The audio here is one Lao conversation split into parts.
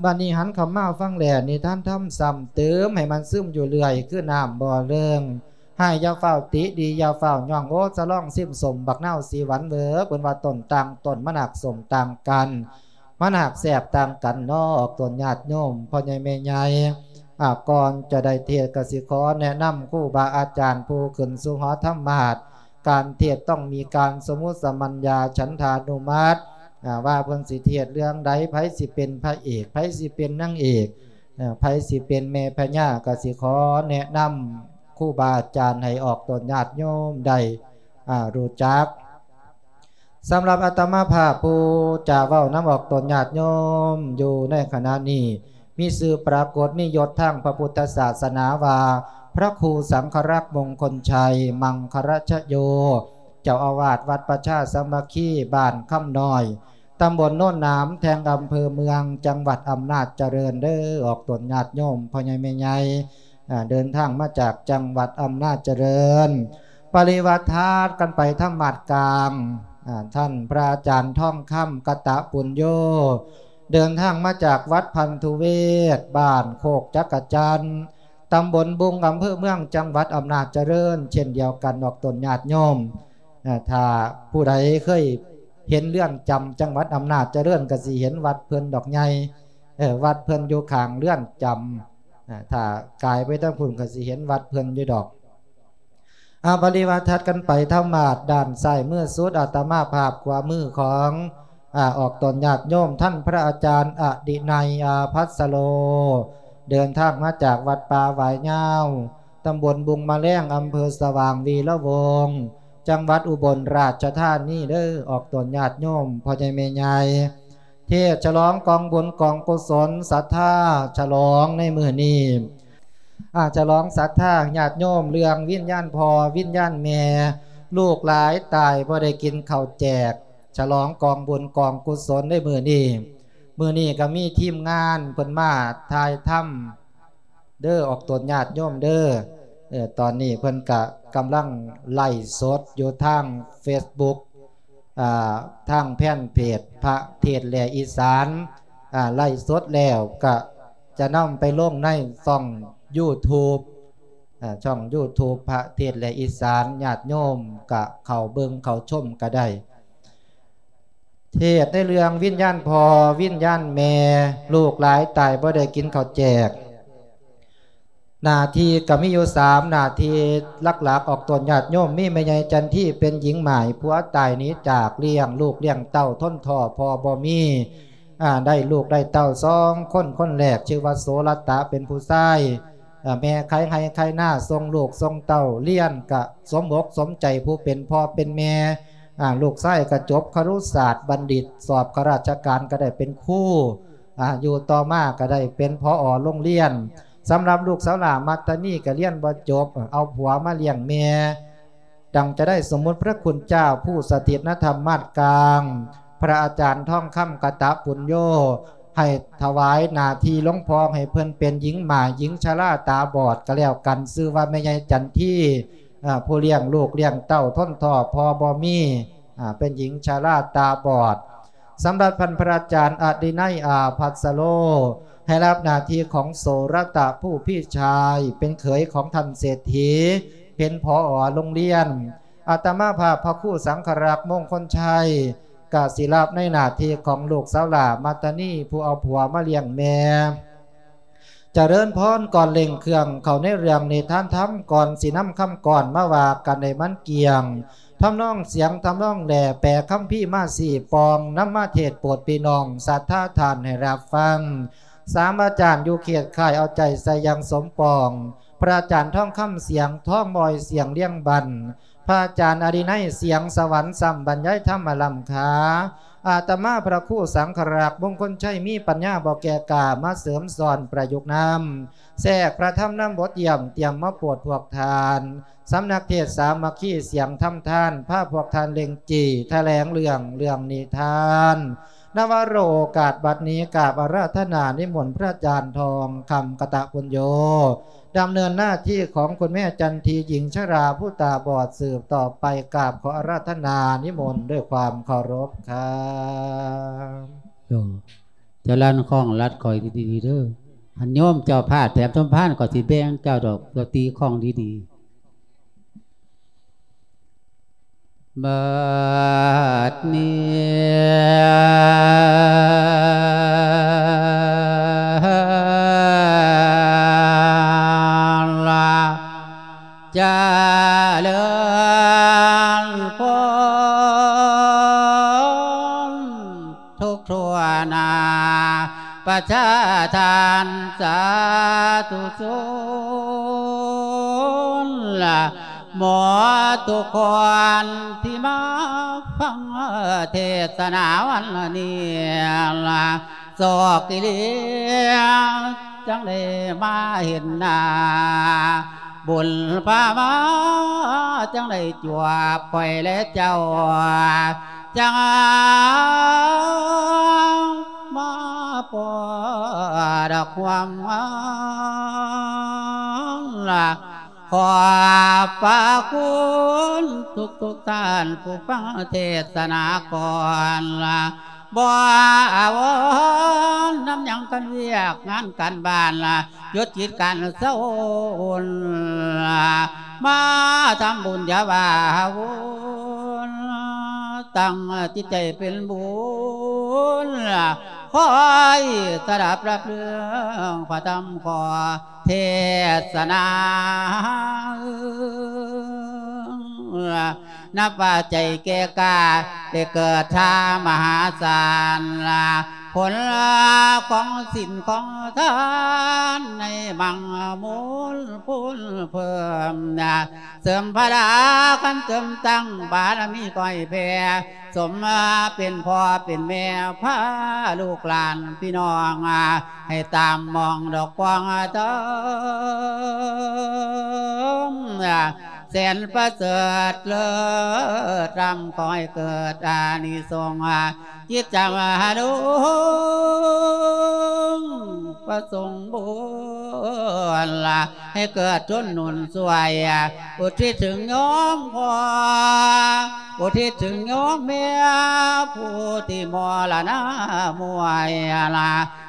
ບັດນີ້ຫັນເຂົ້າມາຟັງແລ້ວ ນິທານທຳຊ້ຳເຕີມໃຫ້ມັນຊຶມຢູ່ເລື້ອຍ ຄືນ້ຳບໍ່ເລິງ. ຮ້າຍຢ່າຟ້າວຕິ ດີຢ່າຟ້າວຍ້ອງ ໂອ້ ສະຫຼອງຊິມຊົມ ບັກນາວສີຫວັນເວີ ເພິ່ນວ່າຕົ້ນຕ່າງຕົ້ນ ມັນຫາກສົ້ມຕ່າງກັນ ມັນຫາກແຊບຕ່າງກັນເນາະ ອອກຕົນຍາດໂຍມ ພໍ່ໃຫຍ່ແມ່ໃຫຍ່. ອາ ກ່ອນຈະໄດ້ເທດ ກະຊິຂໍແນະນຳຄູບາອາຈານຜູ້ຂຶ້ນສູ່ຫໍທຳມາດ ການເທດຕ້ອງມີການສົມມຸດສະມັນຍາ ສັນທານຸມັດ ອາ ວ່າເພິ່ນຊິເທດເລື່ອງໃດ ໃຜຊິເປັນພະເອກ ໃຜຊິເປັນນາງເອກ ເອີ ໃຜຊິເປັນແມ່ພະຍາ ກະຊິຂໍແນະນຳຄູບາອາຈານໃຫ້ອອກຕົນຍາດໂຍມໄດ້ ອາ ຮູ້ຈັກ. ສຳລັບອາດຕະມາພາບຜູ້ຈະເວົ້ານຳອອກຕົນຍາດໂຍມຢູ່ໃນຂະນະນີ້ ມີຊື່ປາກົດ ມີຍົດທາງພະພຸດທະສາສະໜາວ່າ ພະຄູສັງຄະລັກ ມົງຄົນໄຊ ມັງຄະລະຊະໂຍ ເຈົ້າອາວາດວັດປະຊາສາມັກຄີ ບ້ານຄຳນ້ອຍ ຕຳບົນໂນນໜາມແທງ ອຳເພີເມືອງ ຈັງຫວັດອຳນາດຈະເລີນເດີ ອອກຕົນຍາດໂຍມ ພໍ່ໃຫຍ່ແມ່ໃຫຍ່ ອາ ເດີນທາງມາຈາກຈັງຫວັດອຳນາດຈະເລີນ. ປະລິວາດຖັດກັນໄປທຳມາດກາງ ອາ ທ່ານພະອາຈານທອງຄຳ ກະຕະປຸນໂຍ ເດີນທາງມາຈາກວັດພັນທຸເວດ ບ້ານໂຄກຈັກກະຈັນ ຕຳບົນບຸງ ອຳເພີເມືອງ ຈັງຫວັດອຳນາດຈະເລີນ ເຊັ່ນດຽວກັນ ອອກຕົນຍາດໂຍມ. ອາ ຖ້າຜູ້ໃດເຄີຍເຫັນເຮືອນຈຳຈັງຫວັດອຳນາດຈະເລີນ ກະຊິເຫັນວັດເພິ່ນດອກໃຫຍ່ ເອີ ວັດເພິ່ນຢູ່ຂ້າງເຮືອນຈຳ. ອາ ຖ້າກາຍໄປທາງພຸ້ນ ກະຊິເຫັນວັດເພິ່ນຢູ່ດອກ. ອາ ປະລິວາດຖັດກັນໄປທຳມາດດ້ານຊ້າຍມືສຸດ ອາດຕະມາພາບຂວາມືຂອງ ອາ ອອກຕົນຍາດໂຍມ ທ່ານພະອາຈານອະດິໄນ ອາພັດສະໂລ ເດີນທາງມາຈາກວັດປ່າຫວາຍຍາວ ຕຳບົນບຸງມະແລງ ອຳເພີສະຫວ່າງວີລະວົງ ຈັງຫວັດອຸບົນລາຊະທານີເດີ ອອກຕົນຍາດໂຍມ ພໍ່ໃຫຍ່ແມ່ໃຫຍ່. ເທດສະຫຼອງກອງບຸນກອງກຸສົນສັດທາ ສະຫຼອງໃນມື້ນີ້ ອາ ສະຫຼອງສັດທາຍາດໂຍມ ເລື່ອງວິນຍານພໍ່ວິນຍານແມ່ ລູກຫຼາຍຕາຍບໍ່ໄດ້ກິນເຂົ້າແຈກ ສະຫຼອງກອງບຸນກອງກຸສົນໃນມື້ນີ້. ມື້ນີ້ກະມີທີມງານເພິ່ນມາຖ່າຍທຳ ເດີ ອອກຕົນຍາດໂຍມເດີ. ເອີ ຕອນນີ້ເພິ່ນກະກຳລັງໄລຟ໌ສົດຢູ່ທາງເຟສບຸກ ອາ ທາງແຟນເພຈພະເທດແລະອີສານ ອາ ໄລຟ໌ສົດແລ້ວກະຈະນຳໄປລົງໃນຊ່ອງຢູທູບ ອາ ຊ່ອງຢູທູບພະເທດແລະອີສານ ຍາດໂຍມກະເຂົ້າເບິ່ງເຂົ້າຊົມກະໄດ້. ເທດໃນເລື່ອງວິນຍານພໍ່ວິນຍານແມ່ ລູກຫຼາຍຕາຍບໍ່ໄດ້ກິນເຂົ້າແຈກ. ໜ້າທີ່ກໍມີຢູ່ສາມໜ້າທີ່ຫຼັກໆ ອອກຕົນຍາດໂຍມ ມີແມ່ໃຫຍ່ຈັນທີເປັນຍິງໝ້າຍ ຜົວຕາຍໜີຈາກ ລ້ຽງລູກລ້ຽງເຕົ້າ ທົນທໍ້ພໍ່ບໍ່ມີ ອາ ໄດ້ລູກໄດ້ເຕົ້າສອງຄົນ ຄົນແລກຊື່ວ່າໂສລະຕະ ເປັນຜູ້ຊາຍ ອາ ແມ່ໄຖໄຮ່ໄຖນາ ສົ່ງລູກສົ່ງເຕົ້າຮຽນ ກະສົມອົກສົມໃຈຜູ້ເປັນພໍ່ເປັນແມ່ ອາ ລູກຊາຍກະຈົບຄະລຸສາດບັນດິດ ສອບຂ້າລາຊະການກະໄດ້ເປັນຄູ ອາ ຢູ່ຕໍ່ມາກະໄດ້ເປັນ ຜອ ໂຮງຮຽນ. ສຳລັບລູກສາວຫຼ້າມັດຕານີກະຮຽນບໍ່ຈົບ ເອົາຜົວມາລ້ຽງແມ່ ດັ່ງຈະໄດ້ສົມມຸດພະຄຸນເຈົ້າຜູ້ສະຖິດນະທຳມາດກາງ ພະອາຈານທອງຄຳ ກະຕະປຸນໂຍ ໃຫ້ຖວາຍໜ້າທີ່ລົງພໍ່ ໃຫ້ເພິ່ນເປັນຍິງໝ້າຍ ຍິງຊະລາຕາບອດກະແລ້ວກັນ ຊື່ວ່າແມ່ໃຫຍ່ຈັນທີ ອາ ຜູ້ລ້ຽງລູກລ້ຽງເຕົ້າ ທົນທໍ້ພໍ່ບໍ່ມີ ອາ ເປັນຍິງຊະລາຕາບອດ. ສຳລັບທ່ານພະອາຈານອະດິໄນ ອາພັດສະໂລ ໃຫ້ຮັບໜ້າທີ່ຂອງໂສລະຕະ ຜູ້ພີ່ຊາຍ ເປັນເຂີຍຂອງທ່ານເສດຖີ ເປັນ ຜອ ໂຮງຮຽນ. ອາດຕະມາພາບພະຄູສັງຄະລັກ ມົງຄົນໄຊ ກະຊິຮັບໃນໜ້າທີ່ຂອງລູກສາວຫຼ້າມັດຕານີ ຜູ້ເອົາຜົວມາລ້ຽງແມ່. ຈະເລີນພອນ ກ່ອນເລັ່ງເຄື່ອງເຂົ້າໃນເລື່ອງນິທານທຳ ກ່ອນຊິນຳຄຳກອນມາວ່າກັນໃຫ້ມັນກ້ຽງ ທຳນອງສຽງ ທຳນອງແຫຼ ແປຄຳພີມາຊີ້ປ່ອງ ນຳມາເທດໂປດພີ່ນ້ອງສັດທາທ່ານໃຫ້ຮັບຟັງ. ສາມອາຈານຢູ່ເຂດຄ້າຍ ເອົາໃຈໃສ່ຢ່າງສົມປອງ ພະອາຈານທອງຄຳ ສຽງທອງມອຍ ສຽງລຽງບັນ ພະອາຈານອະດິໄນ ສຽງສະຫວັນ ຊ້ຳບັນຍາຍທຳມະລ້ຳຄ່າ. ອາດຕະມາພະຄູສັງຄະລັກ ມົງຄົນໄຊ ມີປັນຍາບໍ່ແກ່ກ້າ ມາເສີມສອນປະຍຸກນຳ ແຊກພະທຳນຳບົດຢ້ຽມ ຕຽມມາໂປດພວກທ່ານ. ສຳນັກເທດສາມັກຄີ ສຽງທຳທານ ພາພວກທ່ານເລັ່ງຈີ້ ຖະແຫຼງເລື່ອງ ເລື່ອງນິທານ. ນະວະໂລກາດບັດນີ້ ກາບອາລາທະນານິມົນພະອາຈານທອງຄຳ ກະຕະປຸນໂຍ ດຳເນີນໜ້າທີ່ຂອງຄຸນແມ່ຈັນທີ ຍິງຊະລາຜູ້ຕາບອດສືບຕໍ່ໄປ. ກາບຂໍອາລາທະນານິມົນດ້ວຍຄວາມເຄົາລົບຄັບ. ເຈົ້າລັນຄ້ອງລັດຂ້ອຍດີໆເດີ. ຄັນໂຍມເຈົ້າພາດແຖມສົມພານ ຂ້ອຍຊິແບ່ງເຈົ້າດອກ ເຈົ້າຕີຄ້ອງດີໆ. ບັດນີ້ລະ ຈະເລີນພົນ ທຸກທົ່ວໜ້າ ປະຊາທ່ານສາທຸຊົນ ໝົດທຸກຄົນທີ່ມາຟັງເທດສະໜາວັນນີ້ ໂຊກອີ່ຫຼີ ຈັ່ງໄດ້ມາເຫັນໜ້າ ບຸນພາມາ ຈັ່ງໄດ້ຈວບຂ້ອຍແລະເຈົ້າ ຈັ່ງມາພໍດຄວາມງາມ ຂອບພະຄຸນທຸກໆທ່ານຜູ້ຟັງເທດສະໜາກ່ອນ ບໍ່ອາວົນນຳຫຍັງ ຄັນວຽກງານການບ້ານ ຢຸດກິດການເຊົາວຸນ ມາທຳບຸນຢ່າວ່າວຸນ ຕັ້ງຈິດໃຈເປັນບຸນ ຄອຍສະດັບຮັບເລື່ອງພະທຳຂໍເທດສະໜາ ນັບວ່າໃຈແກ່ກ້າ ໄດ້ເກີດທາມະຫາສານ ຜົນຂອງສິນຂອງທານ ໃນມັງມູນພູນເພີ່ມ ເສີມພະລາຄັນເຕີມຕັ້ງ ບາລະມີກໍໃຫ້ແຜ່ ສົມເປັນພໍ່ເປັນແມ່ ພາລູກຫຼານພີ່ນ້ອງ ໃຫ້ຕາມມອງດອກປອງເຕີມ ແສນປະເສີດເລີດລ້ຳ ຂໍໃຫ້ເກີດອານິສົງ ຈິດຈຳຫາລຸງ ປະສົງບຸນ ໃຫ້ເກີດທົນໜູນຊ່ວຍ ອຸທິດເຖິງໂຍມພໍ່ ອຸທິດເຖິງໂຍມແມ່ ຜູ້ທີ່ມໍລະນະມວຍ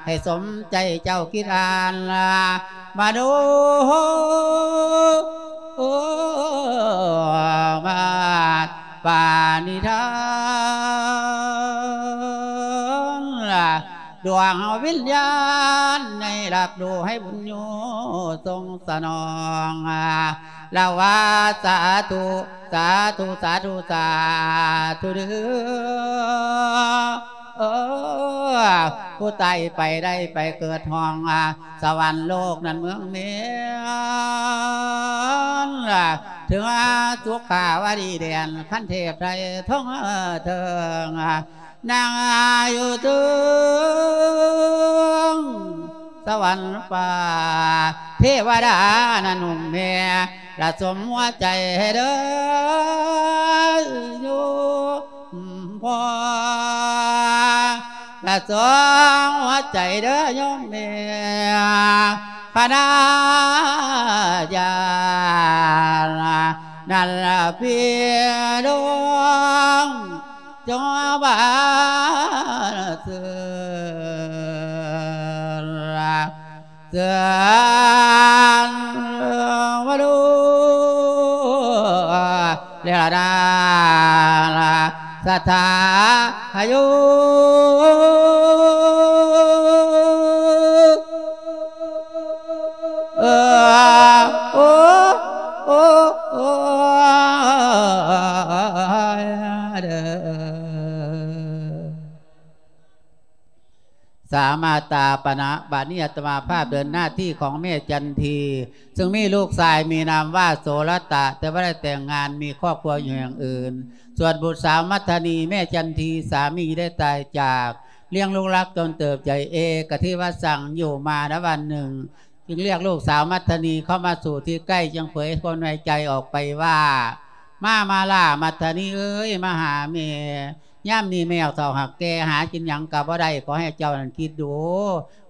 ໃຫ້ສົມໃຈເຈົ້າຄິດອ່ານ ມະໂນມາດປານິທານ ດວງເຮົາວິນຍານໃຫ້ຮັບຮູ້ ໃຫ້ບຸນໂຍຊົງສະໜອງ ລາວາສາທຸ ສາທຸ ສາທຸ ສາທຸເດີ. ເອີ ຜູ້ຕາຍໄປໄດ້ໄປເກີດຫ້ອງ ສະຫວັນໂລກນັ້ນເມືອງເມນ ເຖິງສຸຂາວະດີແດນ ຄັນເທບໄທທົ່ງເທິງ ນັ່ງຢູ່ເທິງສະຫວັນຟ້າ ເທວະດານັ້ນນຸ່ມແມ່ ລະສົມຫົວໃຈໃຫ້ເດີໂຍມພໍ່ ລະສົມຫົວໃຈເດີໂຍມແມ່ ພະນາຍານ ນັ້ນລະພີ່ນ້ອງ ຈົ່ງບານເຊີນ ເຊີນມາດູ ແລະນາ ສັດທາໂຍ ເອີ ໂອ ໂອ ໂອ ເດີ ສາມາຕາປະນະ ບາດນີ້ອາດຕະມາພາບເດີນໜ້າທີ່ຂອງແມ່ຈັນທີ ຊຶ່ງມີລູກຊາຍມີນາມວ່າໂສລະຕະ ແຕ່ບໍ່ໄດ້ແຕ່ງງານ ມີຄອບຄົວຢູ່ແຫ່ງອື່ນ. ສ່ວນບຸດສາວມັດທະນີ ແມ່ຈັນທີ ສາມີໄດ້ຕາຍຈາກ ລ້ຽງລູກລັກຈົນເຕີບໃຫຍ່ ເອກະທິວະສັງ ຢູ່ມານະວັນໜຶ່ງ ຈຶ່ງລຽກລູກສາວມັດທະນີເຂົ້າມາສູ່ທີ່ໃກ້ ຈຶ່ງເຜີຍຄວາມໃນໃຈອອກໄປວ່າ ມາ ມາລາ ມັດທະນີເອີຍ ມາຫາແມ່ ຍາມນີ້ແມ່ເຖົ້າຮັກແກ່ ຫາກິນຫຍັງກໍບໍ່ໄດ້ ຂໍໃຫ້ເຈົ້ານັ້ນຄິດດູ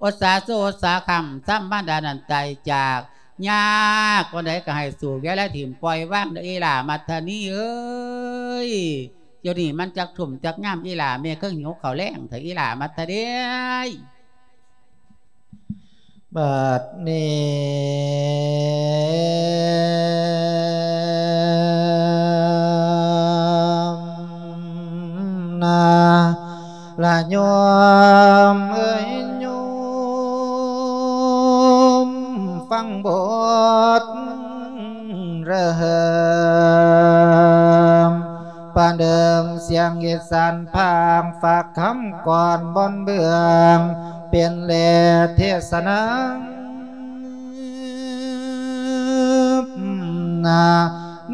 ອົດສາສູ່ອົດສາຄ້ຳ ຊ້ຳມາດານັ້ນຕາຍຈາກ ຍາກປານໃດກໍໃຫ້ສູ້ ຢ່າລະຖິ້ມປ່ອຍວາງເດີອີ່ຫຼ້າມັດທະນີເອີຍ. ດຽວນີ້ມັນຈັກທຸ່ມຈັກຍາມອີ່ຫຼ້າ ແມ່ຄືຫິວເຂົ້າແລງແທ້ອີ່ຫຼ້າມັດທະນີເອີຍ. ບັດນີ້ນາ ລະໂຍມເອີຍໂຍມ ຟັງບົດເລີ່ມ ປະເດີມສຽງອີສານພາກ ຝາກຄຳກ່ອນບ່ອນເບື້ອງ ເປັນແລເທສະນາ ນາ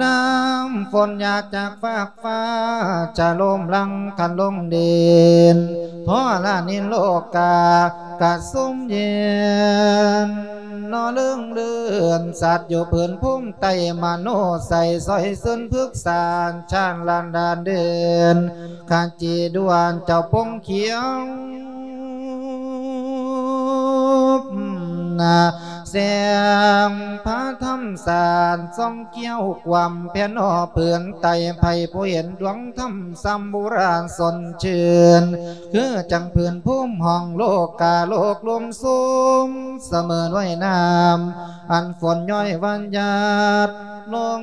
ນ້ຳຝົນຫຍາດຈາກຟາກຟ້າ ຈະລົມຫຼັ່ງຄັນລົງດິນ ທໍລະນິນໂລກາ ກະຊຸ່ມເຢັນ ນອເລີງເລີນ ສັດຢູ່ພື້ນພູມໃຕ້ ມະໂນໄຊ ຊອຍຊືນພຶກສານ ຊານລານດານເດີນ ຂະຈີດວນເຈົ້າປົງຂຽວ ນາ ແສງພະທຳສານ ສ່ອງກ້ຽວກວມແຜ່ນອອກພື້ນໃຕ້ ໃຜຜູ້ເຫັນດວງທຳສ່ຳບູລານສົດຊື່ນ ຄືຈັ່ງພື້ນພູມຫ້ອງໂລກາໂລກ ລົມຊຸ່ມສະເໝີນວຍນ້ຳ ອັນຝົນຍ້ອຍຫວານຫຍາດລົງ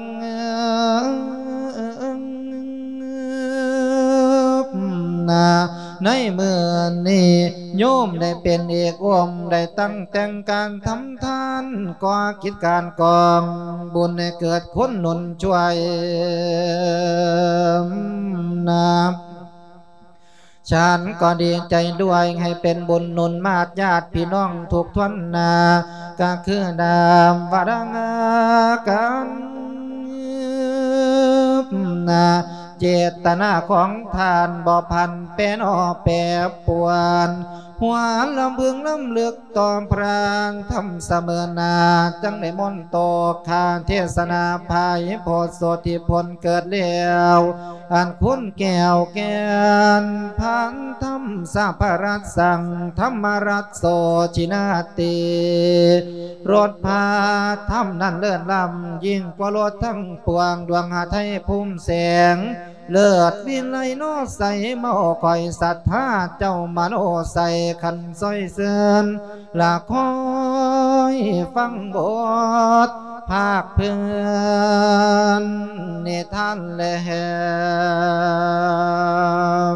ນາ ໃນມື້ນີ້ໂຍມໄດ້ເປັນເອກອົມ ໄດ້ຕັ້ງແຕ່ງການທຳທານ ກໍ່ກິດການກອງບຸນໃຫ້ເກີດຄຸນໜູນຊ່ວຍ ນາ ສັນກໍດີໃຈດ້ວຍ ໃຫ້ເປັນບຸນໜູນມາດຍາດພີ່ນ້ອງທຸກທົ່ວໜ້າ ກະຄືນຳວາລະການ ນາ ເຈດຕະນາຂອງທ່ານບໍ່ຜັນແປນອອກແປປວນ ຫວນລຳເພິງລຳລຶກຕໍ່ພະທຳສະເໝີນາ ຈັ່ງໄດ້ມົນໂຕຄາເທສະນາ ພາຍໂພດໂສທິພົນເກີດແລ້ວ ອັນຄຸນແກ້ວແກ່ນພັນທຳສະພະລັດສັງ ທຳມະລັດໂສຈິນາຕິ ລົດພາທຳນັ້ນເລີດລ້ຳ ຍິ່ງກວ່າລົດທັງປວງ ດວງຫາໄທພູມແສງ ເລີດວິໄລໂນໄຊ ເມົາຂ້ອຍສັດທາເຈົ້າມະໂນໄຊ ຄັນຊ່ອຍເຊີນ ລະຄອຍຟັງບົດພາກເພື່ອນນິທານແລ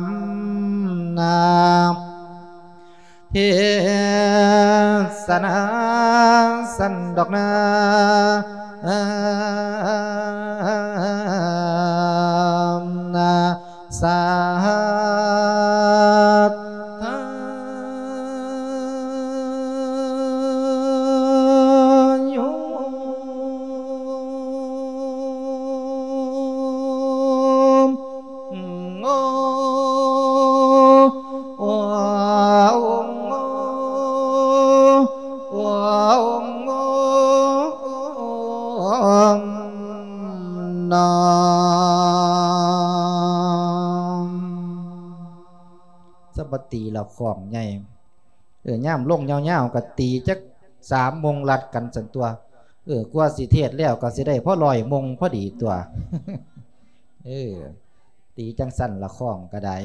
ມ ນາ ເທສະນາສັນດອກນາ ນາ ສາທາໂຍ ໂອ ໂອ ໂອ ໂອ ນອມ ສະບັດຕີລະຄອງໃຫຍ່ ເອີ ຍາມລົງຍາວໆ ກໍຕີຈັກສາມໂມງລັດກັນຊັ້ນຕົວະ ເອີ ກວ່າຊິເທດແລ້ວກໍຊິໄດ້ພໍຮ້ອຍໂມງພໍດີຕົວະ ເອີ ຕີຈັ່ງຊັ້ນລະຄອງກໍໄດ້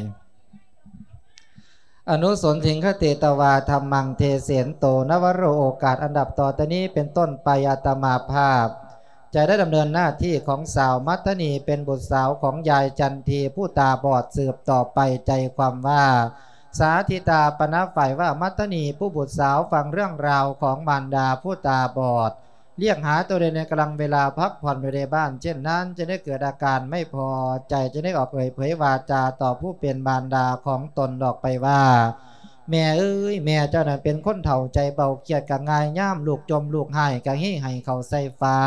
ອະນຸສົນທິງຄະເຕຕະວາທຳມັງເທເສນໂຕ ນະວະໂຣ ໂອກາດອັນນັບຕໍ່ແຕ່ນີ້ເປັນຕົ້ນໄປ ອາດຕະມາພາບຈະໄດ້ດຳເນີນໜ້າທີ່ຂອງສາວມັດທະນີ ເປັນບຸດສາວຂອງຍາຍຈັນທີຜູ້ຕາບອດ ສືບຕໍ່ໄປ ໃຈຄວາມວ່າ ສາທິຕາປະນະຝ່າຍວ່າ ມັດທະນີຜູ້ບຸດສາວຟັງເລື່ອງລາວຂອງມານດາຜູ້ຕາບອດ ລຽກຫາຕົວເອງໃນກຳລັງເວລາພັກຜ່ອນຢູ່ໃນບ້ານ ເຊັ່ນນັ້ນຈຶ່ງໄດ້ເກີດອາການໄມ່ພໍໃຈ ຈຶ່ງໄດ້ອອກເອີຍເຜີຍວາຈາຕໍ່ຜູ້ເປັນມານດາຂອງຕົນອອກໄປວ່າ ແມ່ເອີຍ ແມ່ເຈົ້ານັ້ນເປັນຄົນເຖົ້າໃຈເບົາ ຄຽດກໍງ່າຍ ຍາມລູກຈົ່ມລູກຮ້າຍກໍຮີ້ໄຫ້ເຂົ້າໃສ່ຝາ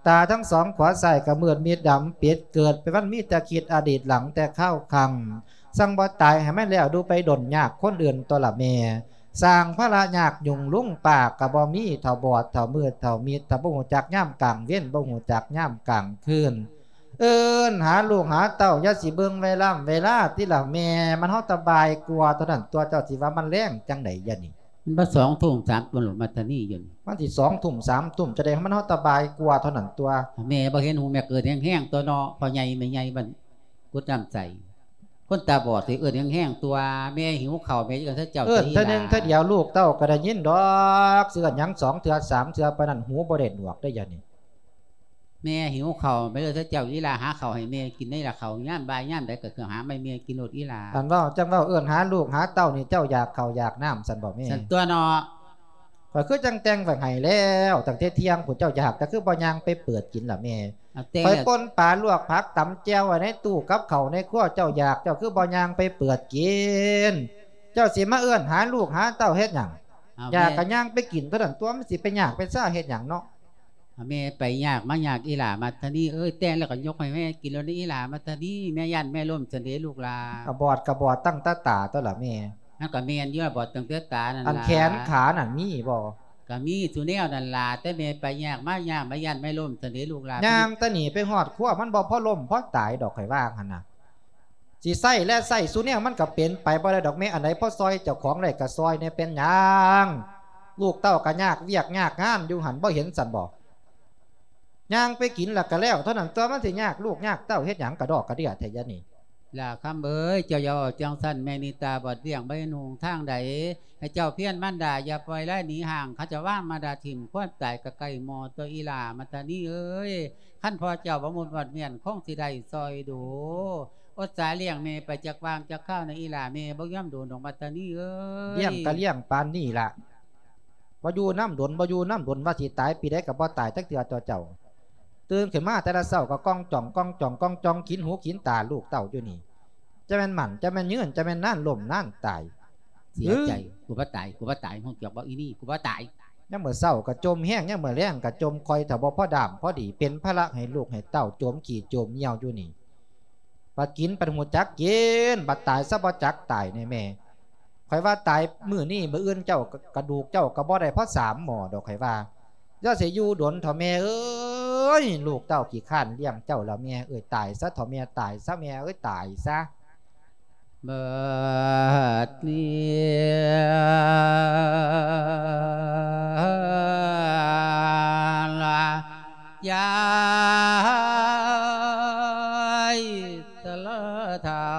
ຕາທັງສອງຂວາຊ້າຍກໍມືດມິດດຳປິດ ເກີດໄປວັນມີແຕ່ຄິດອະດີດຫຼັງແຕ່ຄາວຄັ້ງ ສັ່ງບໍ່ຕາຍໃຫ້ມັນແລ້ວດູໄປດົນຍາກຄົນອື່ນຕົວະລະແມ່ ສ້າງພາລະຍາກຫຍຸ້ງລຸງປ້າກໍບໍ່ມີ ເຖົ້າບອດເຖົ້າມືດເຖົ້າມິດ ຖ້າບໍ່ຮູ້ຈັກຍາມກາງເວັນ ບໍ່ຮູ້ຈັກຍາມກາງຄືນ ເອີ້ນຫາລູກຫາເຕົ້າ ຢ່າຊິເບິ່ງເວລາເວລາຕິລະແມ່ ມັນຮອດແຕ່ບ່າຍກວ່າເທົ່ານັ້ນຕົວະ ເຈົ້າຊິວ່າມັນແລງຈັ່ງໃດຍະນີ້ ມັນບໍ່ສອງທຸ່ມສາມທຸ່ມ ມັດທະນີຢູ່ນີ້ ມັນຊິສອງທຸ່ມສາມທຸ່ມ ຈະໄດ້ໃຫ້ມັນຮອດແຕ່ບ່າຍກວ່າເທົ່ານັ້ນຕົວະ ແມ່ບໍ່ເຫັນຫຸງ ແມ່ເກີດແຮງໆຕົວະເນາະ ພໍ່ໃຫຍ່ແມ່ໃຫຍ່ບ້ານກຸດນ້ຳໃສ ຄົນຕາບອດຊິເອີ້ນແຮງໆ ຕົວະ ແມ່ຫິວເຂົ້າ ແມ່ເອີ້ນເທື່ອເຈົ້າ ເອີ້ນເທື່ອໜຶ່ງເທື່ອດຽວ ລູກເຕົ້າກໍໄດ້ຍິນດອກ ຊິເອີ້ນຫຍັງສອງເທື່ອສາມເທື່ອ ປານນັ້ນຫູບໍ່ໄດ້ໜວກເດ້ ດຽວນີ້. ແມ່ຫິວເຂົ້າ ແມ່ເອີ້ນເທື່ອເຈົ້າ ອີ່ຫຼ້າຫາເຂົ້າໃຫ້ແມ່ກິນ ໃນລະເຂົ້າຍາມບ່າຍຍາມໃດກໍຄືຫາໃຫ້ແມ່ກິນໂລດ ອີ່ຫຼ້າ. ອັນເວົ້າ ຈັ່ງເວົ້າເອີ້ນຫາລູກຫາເຕົ້ານີ້ ເຈົ້າຢາກເຂົ້າຢາກນ້ຳຊັ້ນບໍແມ່? ຊັ້ນຕົວເນາະ. ຂ້ອຍຄືຈັ່ງແຕ່ງໄວ້ໃຫ້ແລ້ວ ຕັ້ງແຕ່ທ່ຽງພຸ້ນ ເຈົ້າຢາກ ແຕ່ຄືບໍ່ຍ່າງໄປເປີດກິນລະແມ່? ເອົາແຕ່ງ ຂ້ອຍ ແລ້ວ ປົ່ນປາລວກຜັກຕຳແຈ່ວໄວ້ໃນຕູ້ກັບເຂົ້າໃນຄົວ ເຈົ້າຢາກ ເຈົ້າຄືບໍ່ຍ່າງໄປເປີດກິນ? ເຈົ້າຊິມາເອີ້ນຫາລູກຫາເຕົ້າເຮັດຫຍັງ? ເອົາ ຢາກ ແມ່ ກໍຍ່າງໄປກິນເທົ່ານັ້ນຕົວະ ມັນຊິໄປຍາກໄປຊາເຮັດຫຍັງເນາະ? ເອົາແມ່ໄປຍາກມາຍາກ ອີ່ຫຼ້າມັດທະນີເອີຍ ແຕ່ງແລ້ວກໍຍົກໃຫ້ແມ່ກິນໂລດ ອີ່ຫຼ້າມັດທະນີ ແມ່ຢ້ານແມ່ລົ້ມຊັ້ນເດລູກຫຼ້າ. ກໍບອດກໍບອດຕັ້ງແຕ່ຕາຕົວະລະແມ່. ມັນກໍແມ່ນຢູ່ ບອດຕັ້ງແຕ່ຕານັ້ນລະ ອັນແຂນຂານັ້ນມີບໍ່? ກໍມີສູ່ແນວນັ້ນລະ ແຕ່ແມ່ໄປຍາກມາຍາກ ມາຢ້ານແມ່ລົ້ມຊັ້ນເດລູກຫຼ້າ. ຍ່າງແຕ່ນີ້ໄປຮອດຄົວ ມັນບໍ່ພໍລົ້ມພໍຕາຍດອກ ຂ້ອຍວ່າຫັ້ນນະ. ຊິໃຊ້ແລະໃຊ້ສູ່ແນວ ມັນກໍເປັນໄປບໍ່ໄດ້ດອກແມ່. ອັນໃດພໍຊ່ອຍເຈົ້າຂອງໄດ້ກໍຊ່ອຍແດ່ ເປັນຫຍັງ? ລູກເຕົ້າກໍຍາກວຽກຍາກງານຢູ່ຫັ້ນ ບໍ່ເຫັນຊັ້ນບໍ? ຍ່າງໄປກິນແລ້ວກໍແລ້ວເທົ່ານັ້ນຕົວະ ມັນຊິຍາກລູກຍາກເຕົ້າເຮັດຫຍັງກະດອກກະເດຍແທ້ຍານີ້. ຫຼ້າຄຳເອີຍ ເຈົ້າຢ່າເວົ້າຈັ່ງຊັ້ນ ແມ່ນີ້ຕາບອດລ້ຽງບໍ່ເຫັນຫຸງທາງໃດ. ໃຫ້ເຈົ້າພຽນມານດາຢ່າປ່ອຍລາຍໜີຫ່າງ ເຂົາຈະວາງມາດາຖິ້ມ ຄວາມຕາຍກໍໃກ້ໝໍ້ຕົວະ ອີ່ຫຼ້າມັດທະນີເອີຍ. ຄັນພໍ່ເຈົ້າບໍ່ໝຸດມອດມ້ຽນ ຄົງຊິໄດ້ຊ່ອຍດູ ອົດສາລ້ຽງແມ່ໄປຈັກຫວ່າງຈັກຄາວໃນ ອີ່ຫຼ້າ ແມ່ບໍ່ຍອມໂດນດອກມັດທະນີເອີຍ. ລ້ຽງກໍລ້ຽງປານນີ້ລະ ບໍ່ຢູ່ນຳດົນ ບໍ່ຢູ່ນຳດົນ ວ່າຊິຕາຍປີໃດກໍບໍ່ຕາຍຈັກເທື່ອຕົວະເຈົ້າ. ຕື່ນຂຶ້ນມາແຕ່ລະເຊົ້າກໍກ່ອງຈ່ອງ ກ່ອງຈ່ອງ ກ່ອງຈ່ອງ ກິນຫູກິນຕາລູກເຕົ້າຢູ່ນີ້. ຈະແມ່ນໝັ້ນ ຈະແມ່ນຍືນ ຈະແມ່ນນານລົ້ມນານຕາຍ. ເສຍໃຈ ຫື ກູບໍ່ຕາຍ ກູບໍ່ຕາຍ ຮູ້ຈັກບໍ່ອີ່ນີ້ ກູບໍ່ຕາຍ. ຍາມມື້ເຊົ້າກໍຈົ່ມແຮງ ຍາມມື້ແລງກໍຈົ່ມ ຂ້ອຍຖ້າບໍ່ພໍດາມພໍດີ ເປັນພາລະໃຫ້ລູກໃຫ້ເຕົ້າ ຈົ່ມຂີ້ຈົ່ມຍ່ຽວຢູ່ນີ້. ບັດກິນ ບັດຮູ້ຈັກກິນ ບັດຕາຍຊະບໍ່ຈັກຕາຍແນ່ແມ່. ຂ້ອຍວ່າຕາຍມື້ນີ້ ມື້ອື່ນເຈົ້າ ກະດູກເຈົ້າກໍບໍ່ໄດ້ພໍສາມໝໍ້ດອກ ຂ້ອຍວ່າ. ຢ່າຊິຢູ່ດົນເຖາະແມ່ເອີຍ ລູກເຕົ້າຂີ້ຄ້ານລ້ຽງເຈົ້າແລ້ວແມ່ເອີຍ. ຕາຍຊະເຖາະແມ່ ຕາຍຊະແມ່ເອີຍ ຕາຍຊະ. ບັດນີ້ລະ ຍາຍຊະລາເຖົ້າ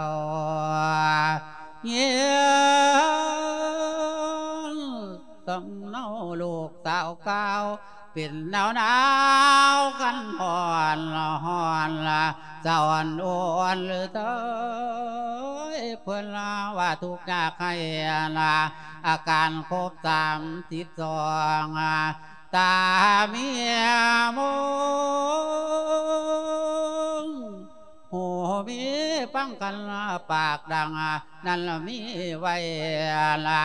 ຍິນສຳເນົາລູກສາວກ່າວ ເປັນໜາວໆ ຄັນຮ້ອນຮ້ອນລະ ສະອ່ອນໂອນເລີຍ ເພິ່ນວ່າທຸກຍາກໄຮ້ລະ ອາການຄົບສາມສິບສອງ ຕາມີມອງ ຫູມີຟັງກັນ ປາກດັງ ນັ້ນລະມີໄວ້ລະ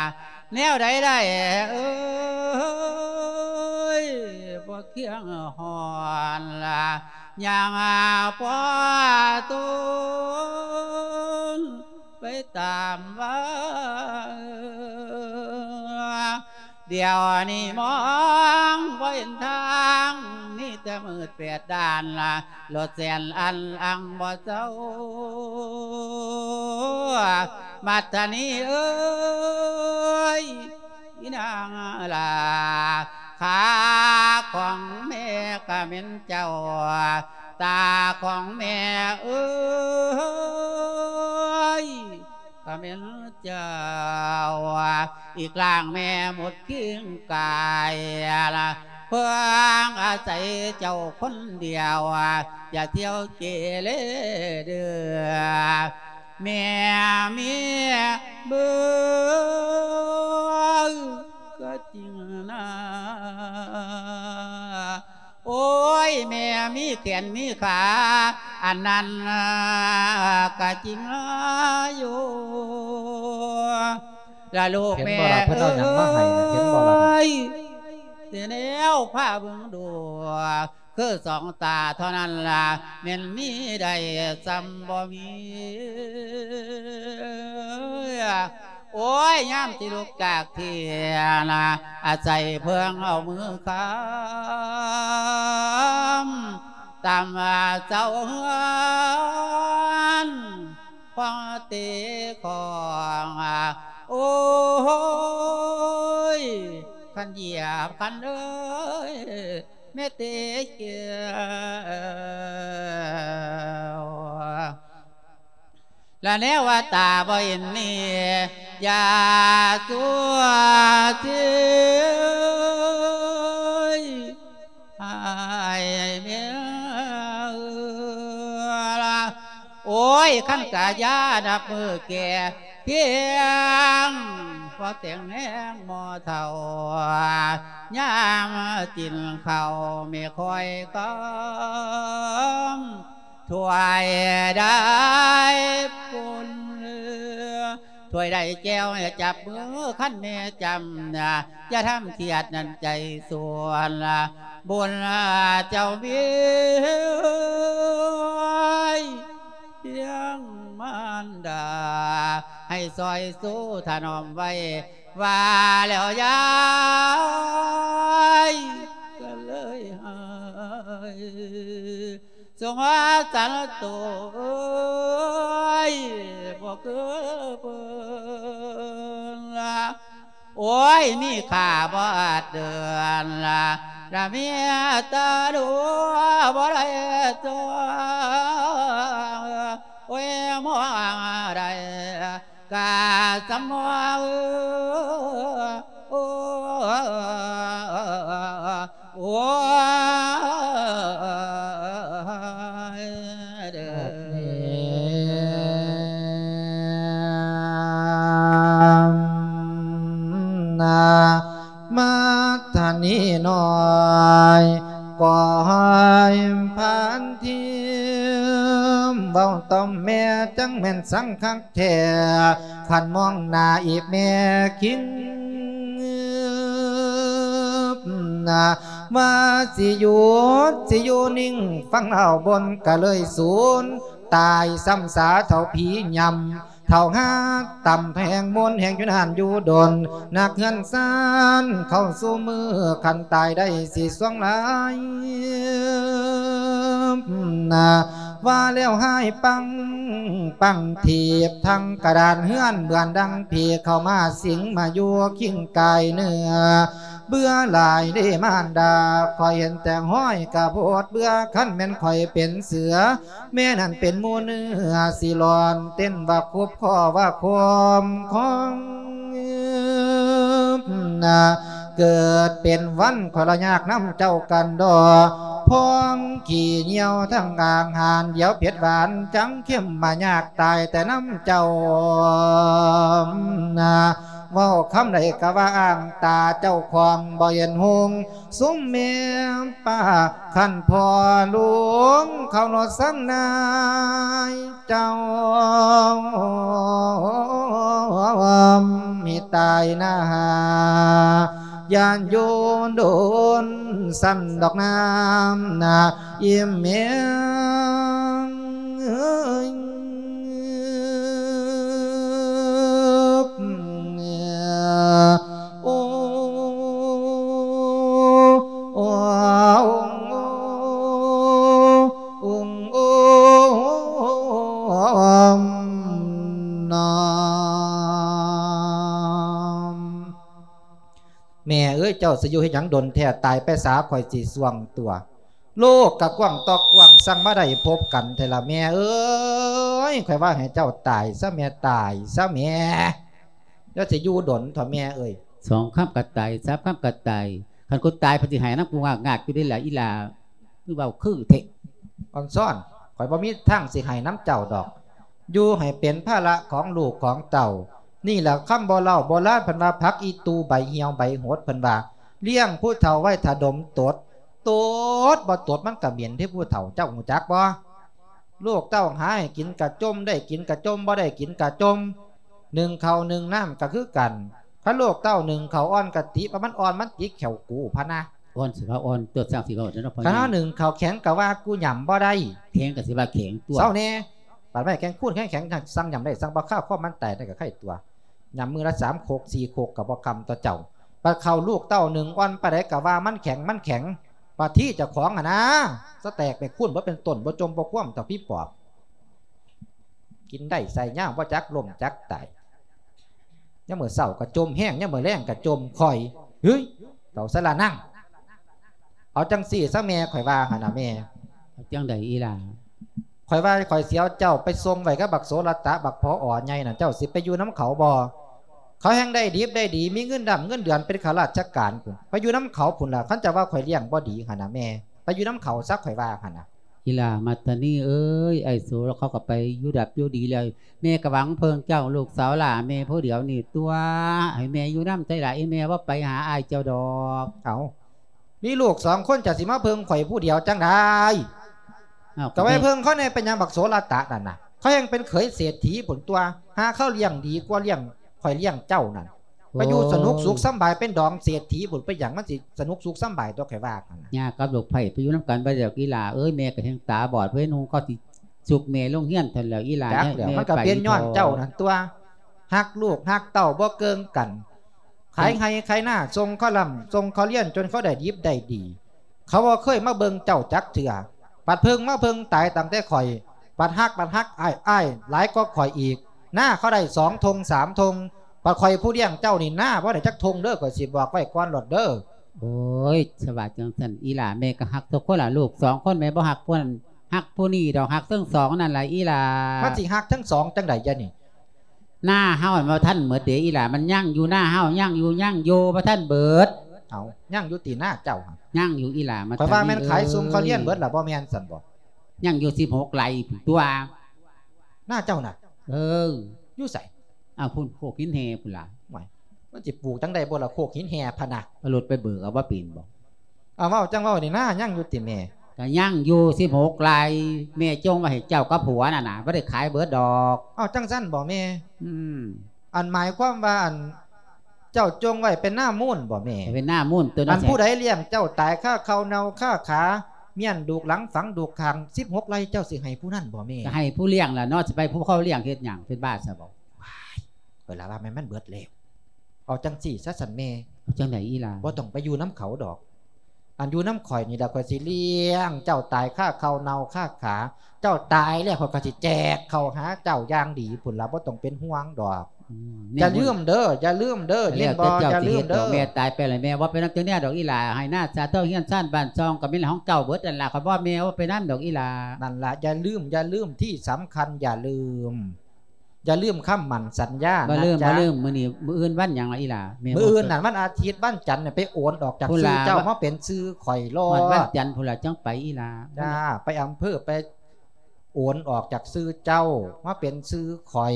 ແນວໃດໄດ້ເອີຍ ບໍ່ຄຽງຮ້ອນລະ ຍ່າງພໍຕົນໄປຕາມວ່າ ດຽວນີ້ມອງບໍ່ເຫັນທາງ ມີແຕ່ມືດແປດດ້ານລະ ລົດແສນອັນອັງບໍ່ເຊົາ ມັດທະນີເອີຍ ອີນາງຫຼ້າ ຂາຂອງແມ່ກະແມ່ນເຈົ້າ ຕາຂອງແມ່ເອີຍ ກະແມ່ນເຈົ້າ ອີກລ່າງແມ່ໝົດຄີງກາຍ ເພິ່ງອາໄສເຈົ້າຄົນດຽວ ຢ່າທ່ຽວເກເລເດີ ແມ່ມີເບີກະຈິງນາ ໂອ້ຍ ແມ່ມີແຂນມີຂາ ອັນນັ້ນກະຈິງຢູ່ລະລູກແມ່ເອີຍ ເຫັນບໍ່ລະ ເພິ່ນເອົາຫຍັງມາໃຫ້ນະ ເຫັນບໍ່ລະນະ ຊິແນວພາເບິ່ງດູ ຄືສອງຕາເທົ່ານັ້ນລະ ແມ່ນມີໄດ້ສ່ຳບໍ່ມີ ໂອ້ຍ ຍາມທີ່ລຸກຈາກທີ່ນະ ອາໄສເພິ່ງເອົາມືຄ້ຳ ຕາມວ່າເຈົ້າເຮືອນ ຂອງເຕຂອງ ໂອ້ຍ ຄັນຢຽບຄັນເອີຍ ແມ່ເຕແກ້ວ ລະແນວວ່າຕາບໍ່ເຫັນນີ້ ຢ່າຊົ່ວເສຍ ອ້າຍແມ່ເອີຍລະ ໂອ້ຍ ຄັນກະຢ່ານັບມື້ແກ່ພຽງ ພໍແຕ່ງແຮງໝໍ້ເຖົ້າ ຍາມກິນເຂົ້າແມ່ຄອຍກຳ ຖ້ວຍໃດປຸ້ນ ຖ້ວຍໃດແຈ່ວຈັບມື ຄັນແມ່ຈຳ ຢ່າທຳຄຽດນັ້ນໃຈສວນ ບຸນເຈົ້າມີພຽງມານດາ ໃຫ້ຊ່ອຍຊູຖະໜອມໄວ້ ວ່າແລ້ວຍາຍກໍເລີຍຫາຍ ສົງສານໂຕເອີຍ ບໍ່ຄືເພິ່ນລະ ໂອ້ຍ ມີຄ່າບໍ່ອາດເດີນລະ ລະເມຍຕາດູບໍ່ໄດ້ຕົວ ໂອ້ຍ ມອງໄດ້ ກະສຳມອງ ໂອ້ ໂອ້ຍ ເດີ ນາ ມາທານີນ້ອຍ ກໍໃຫ້ຜ່ານທີມ ເວົ້າຕໍ່ແມ່ຈັ່ງແມ່ນສັງຄັກແທ້ ຄັນມອງໜ້າອີກແມ່ຄິງ ວ່າຊິຢຸດ ຊິຢູ່ນິ່ງ ຟັງເອົາບົນກະເລີຍສູນ ຕາຍຊ້ຳສາເທົ່າຜີຫຍ້ຳ ເທົ່າຫາກຕ່ຳແພງມົນແຮງຢູ່ນານຢູ່ດົນ ນັກເຮືອນຊານເຂົ້າສູ່ມື້ ຄັນຕາຍໄດ້ຊິຊ່ວງຫຼາຍ ວ່າແລ້ວຫາຍປັງ ປັງທີບທັງກະດານເຮືອນ ເບືອນດັ່ງຜີເຂົ້າມາສິງມາຢູ່ຄິງກາຍເນື້ອ ເບື່ອຫຼາຍເດ້ມານດາ ຂ້ອຍເຫັນແຕ່ຮອຍກະໂພດເບື່ອ ຄັນແມ່ນຂ້ອຍເປັນເສືອ ແມ່ນັ້ນເປັນໝູເນື້ອ ຊິລອນເຕັ້ນວ່າຄຸບຄໍວ່າຄວມຂອງ ເກີດເປັນວັນຂ້ອຍລະຍາກນຳເຈົ້າກັນດອກ ພອງຂີ້ຍ່ຽວທັງອາຫານ ດຽວເຜັດຫວານຈັງເຄັມ ມາຍາກຕາຍແຕ່ນຳເຈົ້າ ເວົ້າຄຳໃດກະວ່າອ້າງຕາເຈົ້າຂອງບໍ່ເຫັນຮຸ່ງ ຊຸມແມ່ປ້າ ຄັນພໍ່ຫຼວງເຄົາລົດສັງນາຍເຈົ້າ ມີຕາຍໜ້າ ຢ້ານໂຍນໂດນ ຊັ້ນດອກນ້ຳນະ ອີ່ແມ່ເອີຍ ໂອ້ ໂອ້ ໂອ້ ໂອ້ ນາ ແມ່ເອີຍ ເຈົ້າຊິຢູ່ເຮັດຫຍັງດົນແທ້ ຕາຍໄປສາ ຂ້ອຍຊິຊ່ວງຕົວະ ໂລກກະກວ້າງຕ່ອກວ້າງ ຊ່າງມາໄດ້ພົບກັນແທ້ລະແມ່ເອີຍ ຂ້ອຍວ່າໃຫ້ເຈົ້າຕາຍຊະແມ່ ຕາຍຊະແມ່ ຢ່າຊິຢູ່ດົນເຖາະແມ່ເອີຍ ສອງຄຳກະຕາຍ ສາມຄຳກະຕາຍ ຄັນກູຕາຍເພິ່ນຊິໃຫ້ນຳກູງາກໆຢູ່ເດ້ລະອີ່ຫຼ້າ ຄືເວົ້າຄືເທະ ອອນຊອນ ຂ້ອຍບໍ່ມີທາງຊິໃຫ້ນຳເຈົ້າດອກ ຢູ່ໃຫ້ເປັນພາລະຂອງລູກຂອງເຕົ້າ ນີ້ລະຄຳບໍ່ເລົ່າໂບລານເພິ່ນວ່າ ຜັກອີ່ຕູ່ໃບຫ່ຽວໃບຫົດ ເພິ່ນວ່າ ລ້ຽງຜູ້ເຖົ້າໄວ້ຖ້າດົມຕົດ ຕົດບໍ່ຕົດມັນກະເໝັນເດ້ຜູ້ເຖົ້າ ເຈົ້າຮູ້ຈັກບໍ່? ລູກເຕົ້າຫາໃຫ້ກິນກະຈົ່ມ ໄດ້ກິນກະຈົ່ມ ບໍ່ໄດ້ກິນກະຈົ່ມ ໜຶ້ງເຂົ້າໜຶ້ງນ້ຳກະຄືກັນ ຄັນລູກເຕົ້າໜຶ້ງເຂົ້າອ່ອນກະຕິວ່າມັນອ່ອນ ມັນຕິແຂ້ວກູພະນະ ອ່ອນຊິວ່າອ່ອນ ຕົວະຊ່າງຊິເວົ້າຊັ້ນເນາະ ຄັນເຮົາໜຶ້ງເຂົ້າແຂງກະວ່າກູຫຍ້ຳບໍ່ໄດ້ ແຂງກະຊິວ່າແຂງຕົວະ ເຊົາແດ່ ບາດໄມ້ແຂງຄູນແຂງ ແຂງສັ່ງຫຍ້ຳໄດ້ ສັ່ງບໍ່ຄາວຄວາມມັນຕາຍໄດ້ກະໄຄຕົວະ ຫຍ້ຳມື້ລະສາມຄົກສີ່ຄົກກະບໍ່ຄຳຕໍ່ເຈົ້າ ບາດເຂົ້າລູກເຕົ້າໜຶ້ງອ່ອນປານໃດກະວ່າມັນແຂງ ມັນແຂງ ປາທີເຈົ້າຂອງຫັ້ນນາ ສະແຕກໄປຄູນບໍ່ເປັນຕົ້ນ ບໍ່ຈົ່ມບໍ່ຄວາມເທົ່າຜີປອບ ກິນໄດ້ໃສ່ຍາວ ບໍ່ຈັກລົ້ມຈັກຕາຍ ຍາມມື້ເຊົ້າກະຈົ່ມແຮງ ຍາມມື້ແລງກະຈົ່ມຄ່ອຍ ເຮີ້ຍ ເຖົ້າສະລະນັງ ເອົາຈັ່ງຊີ້ຊະແມ່ ຂ້ອຍວ່າຫັ້ນນະແມ່ ເອົາຈັ່ງໃດອີ່ຫຼ້າ? ຂ້ອຍວ່າຂ້ອຍຊິເອົາເຈົ້າໄປສົ່ງໄວ້ກັບບັກໂສລະຕະ ບັກຜອອໃຫຍ່ນັ້ນ ເຈົ້າຊິໄປຢູ່ນຳເຂົາບໍ່? ເຂົາແຮ່ງໄດ້ດິບໄດ້ດີ ມີເງິນດຳເງິນເດືອນ ເປັນຂ້າລາຊະການພຸ້ນ ໄປຢູ່ນຳເຂົາພຸ້ນລະ. ຄັນເຈົ້າວ່າຂ້ອຍລ້ຽງບໍ່ດີຫັ້ນນະແມ່ ໄປຢູ່ນຳເຂົາຊະ ຂ້ອຍວ່າຫັ້ນນະ. ອີ່ຫຼ້າມັດທະນີເອີຍ ອ້າຍໂສເຂົາກໍໄປຢູ່ດັບຢູ່ດີແລ້ວ ແມ່ກໍຫວັງເພິ່ງເຈົ້າ ລູກສາວຫຼ້າແມ່ຜູ້ດຽວນີ້ຕົວະ ໃຫ້ແມ່ຢູ່ນຳໄດ້ຫຼ້າ ອີ່ແມ່ບໍ່ໄປຫາອ້າຍເຈົ້າດອກ. ເອົ້າ ມີລູກສອງຄົນ ເຈົ້າຊິມາເພິ່ງຂ້ອຍຜູ້ດຽວຈັ່ງໃດ? ເອົ້າ ກໍໄວ້ເພິ່ງເຂົາແດ່ ເປັນຫຍັງບັກໂສລະຕະນັ້ນນະ ເຂົາແຮ່ງເປັນເຂີຍເສດຖີພຸ້ນຕົວະ ຫາເຂົາລ້ຽງດີກວ່າລ້ຽງ ຂ້ອຍລ້ຽງເຈົ້ານັ້ນ. ໂອ້ຍ ໄປຢູ່ສະໜຸກສຸກສຳບາຍ ເປັນດອງເສດຖີພຸ້ນ ໄປຫຍັງມັນຊິສະໜຸກສຸກສຳບາຍຕົວະ ຂ້ອຍວ່າຫັ້ນນະ. ຍາກັບລູກໃພ້ໄປຢູ່ນຳກັນບໍ່ໄດ້ດອກອີ່ຫຼ້າເອີຍ ແມ່ກໍແຮ່ງຕາບອດ ເພິ່ນຫຸ່ງກໍຊິຊຸກແມ່ລົງຮຽນຫັ້ນແລ້ວອີ່ຫຼ້າ. ຈັກແລ້ວ ແມ່ ມັນກໍເປັນຍ້ອນເຈົ້ານັ້ນຕົວະ ຮັກລູກຮັກເຕົ້າບໍ່ເກິ່ງກັນ ຂາຍໄຮ່ຂາຍນາ ສົ່ງເຂົາລ່ຳ ສົ່ງເຂົາຮຽນ ຈົນເຂົາໄດ້ດິບໄດ້ດີ ເຂົາບໍ່ເຄີຍມາເບິ່ງເຈົ້າຈັກເທື່ອ ບັດເພິ່ງມາເພິ່ງຕາຍຕັ້ງແຕ່ຂ້ອຍ ບັດຮັກ ບັດຮັກອ້າຍ ອ້າຍຫຼາຍກວ່າຂ້ອຍອີກ ນາເຂົາໄດ້ສອງທົ່ງສາມທົ່ງ ບັດຂ້ອຍຜູ້ລ້ຽງເຈົ້ານີ້ ນາບໍ່ໄດ້ຈັກທົ່ງເດີ ຂ້ອຍຊິບອກໄວ້ກ່ອນໂລດເດີ. ໂອ້ຍ ສະຫວາດຈັ່ງຊັ້ນ ອີ່ຫຼ້າແມ່ກໍຮັກທຸກຄົນລະ ລູກສອງຄົນແມ່ບໍ່ຮັກຜູ້ນັ້ນ ຮັກຜູ້ນີ້ດອກ ຮັກທັງສອງນັ້ນລະອີ່ຫຼ້າ. ມັນຊິຮັກທັງສອງຈັ່ງໃດຍະນີ້? ນາເຮົາມັນບໍ່ທັນໝົດເດອີ່ຫຼ້າ ມັນຍັງຢູ່ ນາເຮົາຍັງຢູ່ ຍັງຢູ່ ບໍ່ທັນເບິດ. ເອົ້າ ຍັງຢູ່ຕິນາເຈົ້າ? ຍັງຢູ່ອີ່ຫຼ້າ ມັນ ຂ້ອຍວ່າແມ່ນຂາຍຊຸມເຂົາຮຽນເບິດລະ ບໍ່ແມ່ນຊັ້ນບໍ? ຍັງຢູ່ສິບຫົກໄຮ່ພຸ້ນຕົວະ. ນາເຈົ້ານະ? ເອີ ຢູ່ໃສ? ອ້າວ ພຸ້ນ ໂຄກຫີນແຮ່ພຸ້ນລະ. ຫວາຍ ມັນຊິປູກຈັ່ງໃດບໍ່ລະ ໂຄກຫີນແຮ່ພະນະ? ເອົາລົດໄປເບີກເອົາບໍ່ເປັນບໍ? ເອົາ ເວົ້າຈັ່ງເວົ້ານີ້ນາ ຍັງຢູ່ຕິແມ່? ກະຍັງຢູ່ສິບຫົກໄຮ່ ແມ່ຈົ່ງໄວ້ໃຫ້ເຈົ້າກັບຜົວນັ້ນນະ ບໍ່ໄດ້ຂາຍເບິດດອກ. ເອົາ ຈັ່ງຊັ້ນບໍແມ່? ອືມ ອັນໝາຍຄວາມວ່າ ອັນ ເຈົ້າຈົ່ງໄວ້ເປັນນາມູນບໍແມ່? ເປັນນາມູນຕົວນັ້ນ. ອັນຜູ້ໃດລ້ຽງເຈົ້າຕາຍຄາເຂົ່າເນົ່າຄາຂາ ມ້ຽນດູກຫຼັງຝັງດູກຂ້າງ ສິບຫົກໄຮ່ ເຈົ້າຊິໃຫ້ຜູ້ນັ້ນບໍແມ່? ກໍໃຫ້ຜູ້ລ້ຽງລະເນາະ ຊິໄປຜູ້ເຂົາລ້ຽງເຮັດຫຍັງ ເປັນບ້າຊະບໍ? ວ້າຍ ຂ້ອຍລະວ່າແມ່ນມັນເບິດແລ້ວ. ເອົາຈັ່ງຊີ້ຊະຊັ້ນແມ່. ເອົາຈັ່ງໃດອີ່ຫຼ້າ? ບໍ່ຕ້ອງໄປຢູ່ນຳເຂົາດອກ. ອັນຢູ່ນຳຂ້ອຍນີ້ລະ ຂ້ອຍຊິລ້ຽງເຈົ້າຕາຍຄາເຂົ່າເນົ່າຄາຂາ. ເຈົ້າຕາຍແລ້ວ ຂ້ອຍກໍຊິແຈກເຂົ້າຫາເຈົ້າຢ່າງດີພຸ້ນລະ ບໍ່ຕ້ອງເປັນຫ່ວງດອກ. ອືມ ຢ່າລືມເດີ ຢ່າລືມເດີ ຍິນບໍ່? ຢ່າລືມເດີ. ແມ່ຕາຍໄປແລ້ວ ແມ່ເວົ້າໄປນຳຈັ່ງແນວດອກອີ່ຫຼ້າ. ໃຫ້ນາສາເທົ່າ ເຮືອນຊານບ້ານຊ່ອງ ກໍແມ່ນຂອງເຈົ້າເບິດນັ້ນລະ. ຂ້ອຍເວົ້າແມ່ເວົ້າໄປນຳດອກອີ່ຫຼ້າ. ນັ້ນລະ ຢ່າລືມ ຢ່າລືມ ທີ່ສຳຄັນຢ່າລືມ ຢ່າລືມຄຳໝັ້ນສັນຍານະ. ບໍ່ລືມ ບໍ່ລືມ. ມື້ນີ້ ມື້ອື່ນວັນຫຍັງລະອີ່ຫຼ້າ? ແມ່ ມື້ອື່ນນັ້ນວັນອາທິດ ວັນຈັນນີ້ໄປໂອນອອກຈາກຊື່ເຈົ້າມາເປັນຊື່ຂ້ອຍໂລດ. ວັນຈັນພຸ້ນລະຈັ່ງໄປອີ່ຫຼ້າ. ຈ້າ ໄປອຳເພີ ໄປໂອນອອກຈາກຊື່ເຈົ້າມາເປັນຊື່ຂ້ອຍ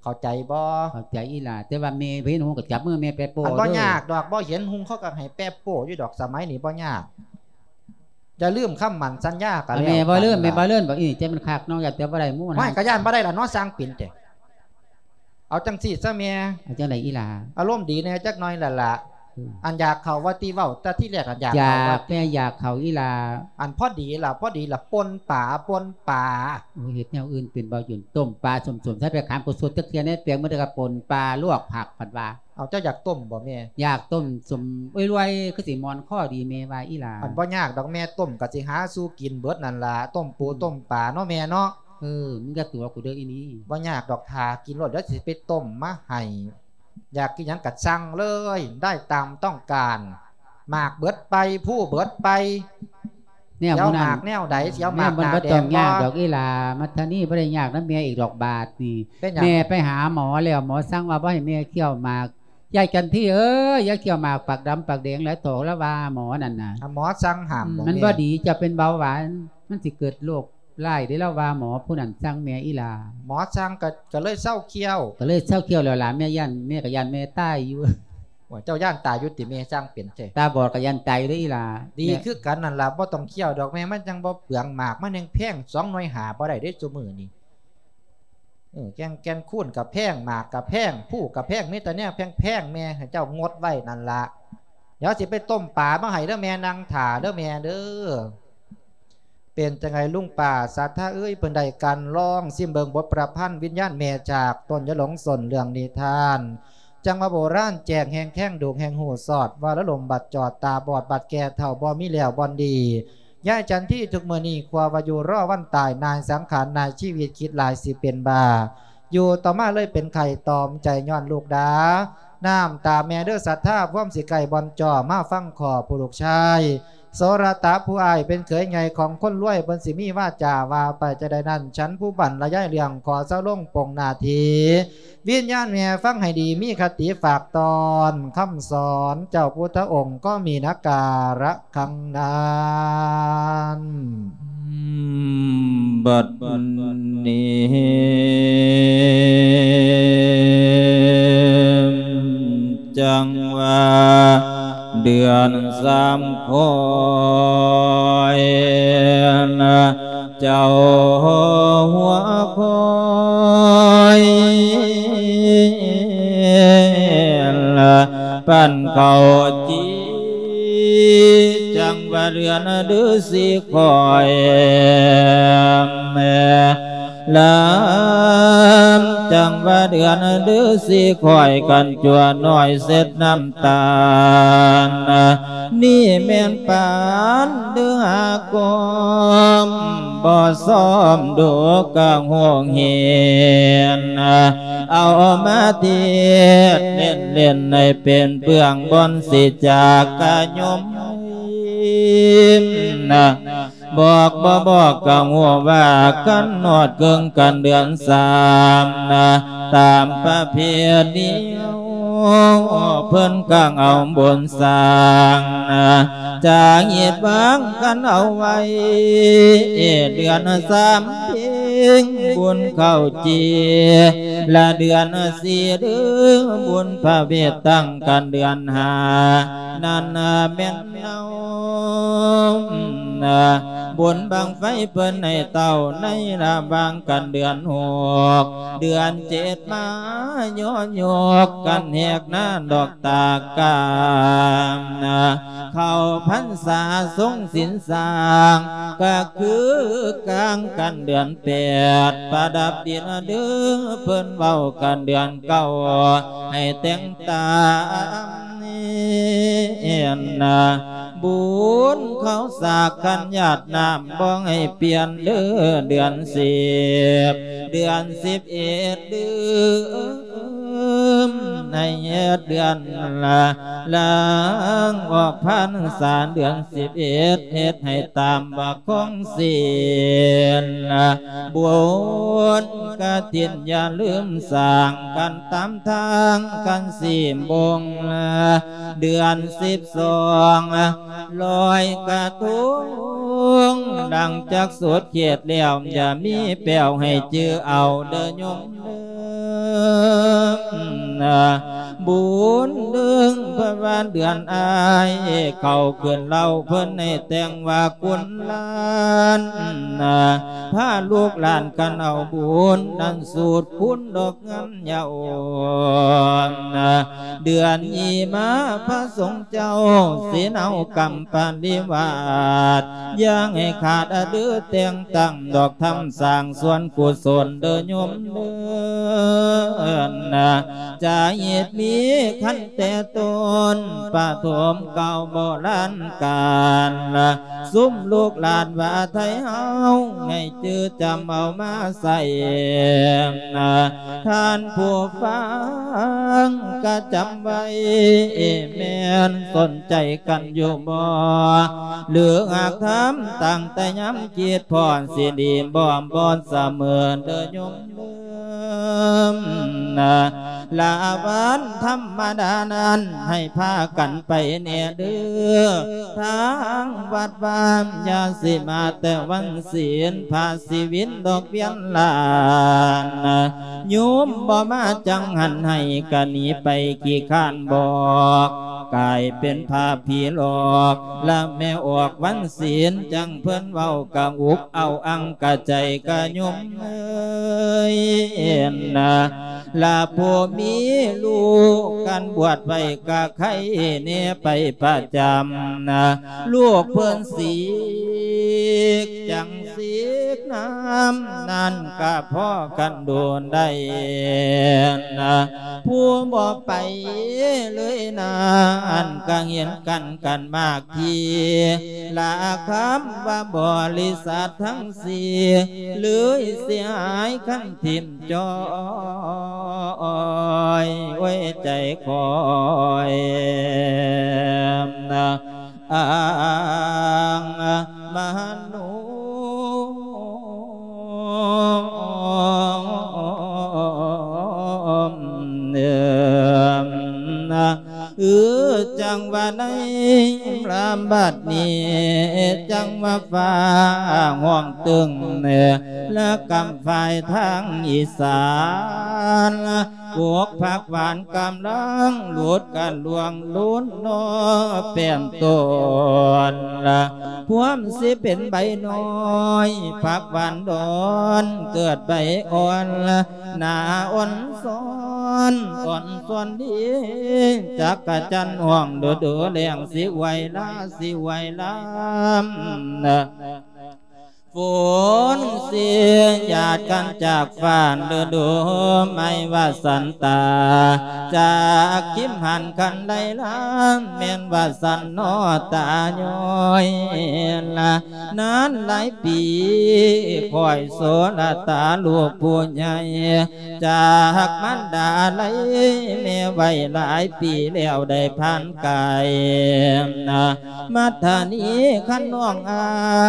ເຂົ້າໃຈບໍ່? ເຂົ້າໃຈອີ່ຫຼ້າ ແຕ່ວ່າແມ່ເຫັນຫຸ່ງກໍຈັບມືແມ່ແປະໂປ້. ອັນບໍ່ຍາກດອກ ບໍ່ເຫັນຫຸ່ງເຂົາກໍໃຫ້ແປະໂປ້ຢູ່ດອກ ສະໄໝນີ້ບໍ່ຍາກ. ຢ່າລືມຄຳໝັ້ນສັນຍາກໍແລ້ວ. ແມ່ບໍ່ລືມ ແມ່ບໍ່ລືມ ບອກອີ່ ໃຈມັນຄັກເນາະ ຢ້ານແຕ່ບໍ່ໄດ້ໝູ່ນະ. ຫ້ວຍ ກະຢ້ານບໍ່ໄດ້ລະເນາະ ຊ່າງເປັນແທ້. ເອົາຈັ່ງຊີ້ຊະແມ່. ເອົາຈັ່ງໃດອີ່ຫຼ້າ? ອາລົມດີແດ່ຈັກໜ້ອຍລະລະ. ອືມ ອັນຢາກເຂົ້າວ່າຕິເວົ້າ ແຕ່ທີແລກອັນຢາກເຂົ້າວ່າຕິ. ຢາກ ແມ່ຢາກເຂົ້າອີ່ຫຼ້າ. ອັນພໍດີລະ ພໍດີລະ ປົ່ນປາ ປົ່ນປາ. ໂອ້ຍ ເຮັດແນວອື່ນເປັນບໍ່? ຢູ່ຕົ້ມປາ ສົ້ມໆ ໃສ່ໄປຂາມກຸສົດຈັກເທື່ອແດ່ ແປງມື້ໃດກໍປົ່ນປາ ລວກຜັກ ເພິ່ນວ່າ. ເອົາ ເຈົ້າຢາກຕົ້ມບໍ່ແມ່? ຢາກຕົ້ມສົ້ມລວຍໆ ຄືຊິມ່ວນຄໍດີແມ່ວ່າອີ່ຫຼ້າ. ອັນບໍ່ຍາກດອກແມ່ ຕົ້ມກໍຊິຫາສູ່ກິນເບິດນັ້ນລະ ຕົ້ມປູ ອືມ ຕົ້ມປາເນາະແມ່ເນາະ. ເອີ ມຶງຢ່າຕົວະກູເດີອີ່ນີ້. ບໍ່ຍາກດອກ ຖ້າກິນໂລດ ດຽວຊິໄປຕົ້ມມາໃຫ້. ຢາກກິນຫຍັງກໍສັ່ງເລີຍ ໄດ້ຕາມຕ້ອງການ. ໝາກເບິດໄປ ພູເບິດໄປ. ແນວ ຊິເອົາໝາກແນວໃດ? ຊິເອົາໝາກໜ້າແດງບໍ່? ແມ່ບໍ່ຕ້ອງຍາກດອກອີ່ຫຼ້າ ມັດທະນີ ບໍ່ໄດ້ຍາກນຳແມ່ອີກດອກບາດນີ້. ເປັນຫຍັງ? ແມ່ໄປຫາໝໍແລ້ວ ໝໍສັ່ງວ່າບໍ່ໃຫ້ແມ່ຄ້ຽວໝາກ. ຍາຍຈັນທີເອີຍ ຢ່າຄ້ຽວໝາກປາກດຳປາກແດງຫຼາຍ ໂຕລະວ່າໝໍນັ້ນນະ. ອ່າ ໝໍສັ່ງຫ້າມບໍ່ແມ່? ອືມ ມັນບໍ່ດີ ເຈົ້າເປັນເບົາຫວານ ມັນຊິເກີດໂລກຮ້າຍເດ້ ລາວວ່າໝໍຜູ້ນັ້ນສັ່ງແມ່ອີ່ຫຼ້າ. ໝໍສັ່ງກໍ ກໍເລີຍເຊົາຄ້ຽວ. ກໍເລີຍເຊົາຄ້ຽວແລ້ວຫຼ້າ ແມ່ຢ້ານ ແມ່ກໍຢ້ານແມ່ຕາຍຢູ່. ໂອ້ຍ ເຈົ້າຢ້ານຕາຍຢູ່ຕິແມ່ ຊ່າງເປັນແທ້. ຕາບອດກໍຢ້ານຕາຍຢູ່ເດ້ອີ່ຫຼ້າ. ດີຄືກັນນັ້ນລະ ບໍ່ຕ້ອງຄ້ຽວດອກແມ່ ມັນຈັ່ງບໍ່ເປືອງໝາກ ມັນແຮງແພງ ສອງໜ່ວຍຫ້າບໍ່ໄດ້ເດ້ຊຸມື້ນີ້. ເອີ ແກ່ນ ແກ່ນຄູນກະແພງ ໝາກກະແພງ ພູກະແພງ ມີແຕ່ແນວແພງໆ ແມ່ ໃຫ້ເຈົ້າງົດໄວ້ນັ້ນລະ. ດຽວຊິໄປຕົ້ມປາມາໃຫ້ເດີແມ່ ນັ່ງຖ້າເດີແມ່ເດີ. ເປັນຈັ່ງໃດລຸງປ້າສັດທາເອີຍ? ເພິ່ນໄດ້ກັ່ນລອງຊິມເບິ່ງບົດປະພັນວິນຍານແມ່ຈາກຕົ້ນຢາຫຼົງ ຕົ້ນເລື່ອງນິທານ ຈັ່ງວ່າໂບລານແຈ້ງແຮ່ງແທງ ດູກແຮ່ງຮູ້ຊອດ ວ່າລະລົມບັດຈອດ ຕາບອດບັດແກ່ເຖົ້າ ບໍ່ມີແລ້ວບ່ອນດີ. ຍາຍຈັນທີທຸກມື້ນີ້ ຄົວວ່າຢູ່ລໍວັນຕາຍ ນາຍສັງຂານ ນາຍຊີວິດ ຄິດຫຼາຍຊິເປັນບ້າ ຢູ່ຕໍ່ມາເລີຍເປັນໄຂ້ ຕອມໃຈຍ້ອນລູກດາ ນ້ຳຕາແມ່ເດີສັດທາ ພວມຊິໃກ້ບ່ອນຈໍ້ ມາຟັງຂໍຜູ້ລູກຊາຍ ໂສລະຕະ ຜູ້ອ້າຍເປັນເຂີຍໃຫຍ່ຂອງຄົນລວຍ ເພິ່ນຊິມີວາຈາວ່າໄປຈັ່ງໃດນັ້ນ ສັນຜູ້ບັນລະຍາຍເລື່ອງ ຂໍເຊົາລົງປົງໜ້າທີ່ ວິນຍານແມ່ຟັງໃຫ້ດີ ມີຄະຕິຝາກຕ້ອນ ຄຳສອນເຈົ້າພຸດທະອົງກໍມີນະກາລະຄັງນານ. ບັດນີ້ ຈັ່ງວ່າເດືອນສາມຄ່ອຍ ເຈົ້າຫົວຂ້ອຍ ປັ້ນເຂົ້າຈີ່ ຈັ່ງວ່າເດືອນເດືອນສີ່ຄ່ອຍ ລາມ ຈັ່ງວ່າເດືອນເດືອນສີ່ຄ່ອຍ ກັນຈົວນ້ອຍເຊັດນ້ຳຕານ ນີ້ແມ່ນປານເດືອນຫ້າກອມ ບໍ່ຊອມດູກະໂຮງເຮນ ເອົາມາທຽບເຫຼັ້ນໆ ໃຫ້ເປັນເບື້ອງບ່ອນຊິຈາກກະຍົມ ບອກບໍ່ບອກກະຮູ້ວ່າ ຄັນຮອດເຄິ່ງກັນເດືອນສາມນະ ຕາມປະເພນີ ເພິ່ນກາງເອົາບຸນສ້າງນະ ຈາງເຮັດວາງກັນເອົາໄວ້ ເດືອນສາມເພັງບຸນເຂົ້າຈີ່ ລະເດືອນສີ່ເດືອນບຸນພະເວດ ຕັ້ງກັນເດືອນຫ້າ ນັ້ນແມ່ນເອົາ ບຸນບັ້ງໄຟເພິ່ນໃຫ້ເຕົ້າ ໃນລະຫວ່າງກັນເດືອນຫົກ ເດືອນເຈັດມາຍໍຍົກກັນແຫກໜ້າດອກຕາກາມ ເຂົ້າພັນສາຊົງສິນສ້າງ ກະຄືກາງກັນເດືອນແປດ ປະດັບດິນເດີ ເພິ່ນເວົ້າກັນເດືອນເກົ້າ ໃຫ້ແຕ່ງຕາມ ບຸນເຂົ້າສາກຄັນຢາດນ້ຳ ບໍ່ໃຫ້ປ່ຽນເດີ ເດືອນສິບ ເດືອນສິບເອັດ ເດືອນໃນເດືອນລະ ລາງອອກພັນສາ ເດືອນສິບເອັດ ເຮັດໃຫ້ຕາມວ່າຂອງສິນ ບຸນກະຖິນຢ່າລືມສ້າງກັນຕາມທາງ ຄັນສິບໂມງລະ ເດືອນສິບສອງ ລອຍກະທົງ ຫຼັງຈາກສຸດເຂດແລ້ວ ຢ່າມີແປ້ວໃຫ້ຈື່ເອົາເດີໂຍມເດີ ບຸນເດືອນພະວານເດືອນອ້າຍ ເຂົ້າຂຶ້ນເລົ່າເພິ່ນໃຫ້ແຕ່ງວ່າຄຸນຫຼານ ພາລູກຫຼານກັນເອົາບຸນ ນັ້ນສູດຄູນດອກງາມ ຍາອ່ອນ ເດືອນຍີ່ມາພະສົງເຈົ້າ ສິນເອົາກຳປະລິວາດ ຢ່າໃຫ້ຂາດອະດືແຕ່ງຕັ້ງດອກທຳສ້າງສ່ວນກຸສົນເດີໂຍມເດີ ຈະເຮັດມີຂັ້ນແຕ່ຕົ້ນ ປະຖົມເກົ່າໂບລານການ ຊຸມລູກຫຼານວ່າໄທເຮົາ ໃຫ້ຈື່ຈຳເອົາມາໃຊ້ ທ່ານຜູ້ຟັງກະຈຳໄວ້ ແມ່ນສົນໃຈກັນຢູ່ບໍ່ ຫຼືຫາກຖາມຕັ້ງແຕ່ຍາມຄິດພໍ້ ຊິດີບໍ່ ບໍ່ສະເໝີເດີໂຍມ ລະວັນທຳມະດານັ້ນ ໃຫ້ພາກັນໄປແດ່ເດີ ທາງວັດວາ ຢ່າຊິມາແຕ່ວັນສິນ ພາຊິວິນດອກວຽນລ້ານ ໂຍມບໍ່ມາຈັງຫັນໃຫ້ ກະໜີໄປຂີ້ຄ້ານບອກ ກາຍເປັນພາບຜີຫຼອກ ລະແມ່ອອກວັນສິນ ຈັ່ງເພິ່ນເວົ້າກະອຸກເອົາອັງກະໃຈກະໂຍມເອີຍ ລະຜູ້ມີລູກກັນບວດໄວ້ກະໄຄແດ່ໄປປະຈຳ ລູກເພິ່ນສີກ ຈັ່ງສີກນ້ຳນັ້ນກະພໍກັນໂດນໄດ້ ຜູ້ບໍ່ໄປເລີຍນັ້ນກະເຫັນກັນກັນມາກ ທີ່ລະຄຳວ່າບໍລິສັດທັງສີ່ ເລີຍເສຍຫາຍຄັນຖິ້ມຈ້ອຍ ໂອ້ຍ ໃຈຂ້ອຍນະ ອັງມະໂນ ເອີ ຈັ່ງວ່າໃນລຳບັດນີ້ ຈັ່ງວ່າຟ້າຮ້ອງຕຶງ ລະກຳຝ່າຍທາງອີສານ ກົກຜັກຫວານກຳລັງຫຼຸດກັນລ່ວງລຸນນອແປ້ນຕົ້ນ ພວມຊິເປັນໃບນ້ອຍ ຜັກຫວານດອນເກີດໃບອ່ອນ ໜ້າອ່ອນຊອນ ອ່ອນຊອນດີ ຈັກກະຈັນຮ້ອງດູດູ ແລ້ງຊິໄຫວລາ ຊິໄຫວລາ ຝົນຊິຫຍາດກັນຈາກຟ້າ ລະດູໃໝ່ວ່າສັນຕາ ຈາກຄິມຫັນຄັນໄລລາ ແມ່ນວ່າສັນນໍຕາຍ້ອຍລະ ນານຫຼາຍປີ ຂ້ອຍໂສລະຕາລູກຜູ້ໃຫຍ່ ຈາກມານດາໄລແມ່ໄວ້ຫຼາຍປີແລ້ວ ໄດ້ຜ່ານກາຍ ມັດທະນີຄັນນ້ອງອ້າ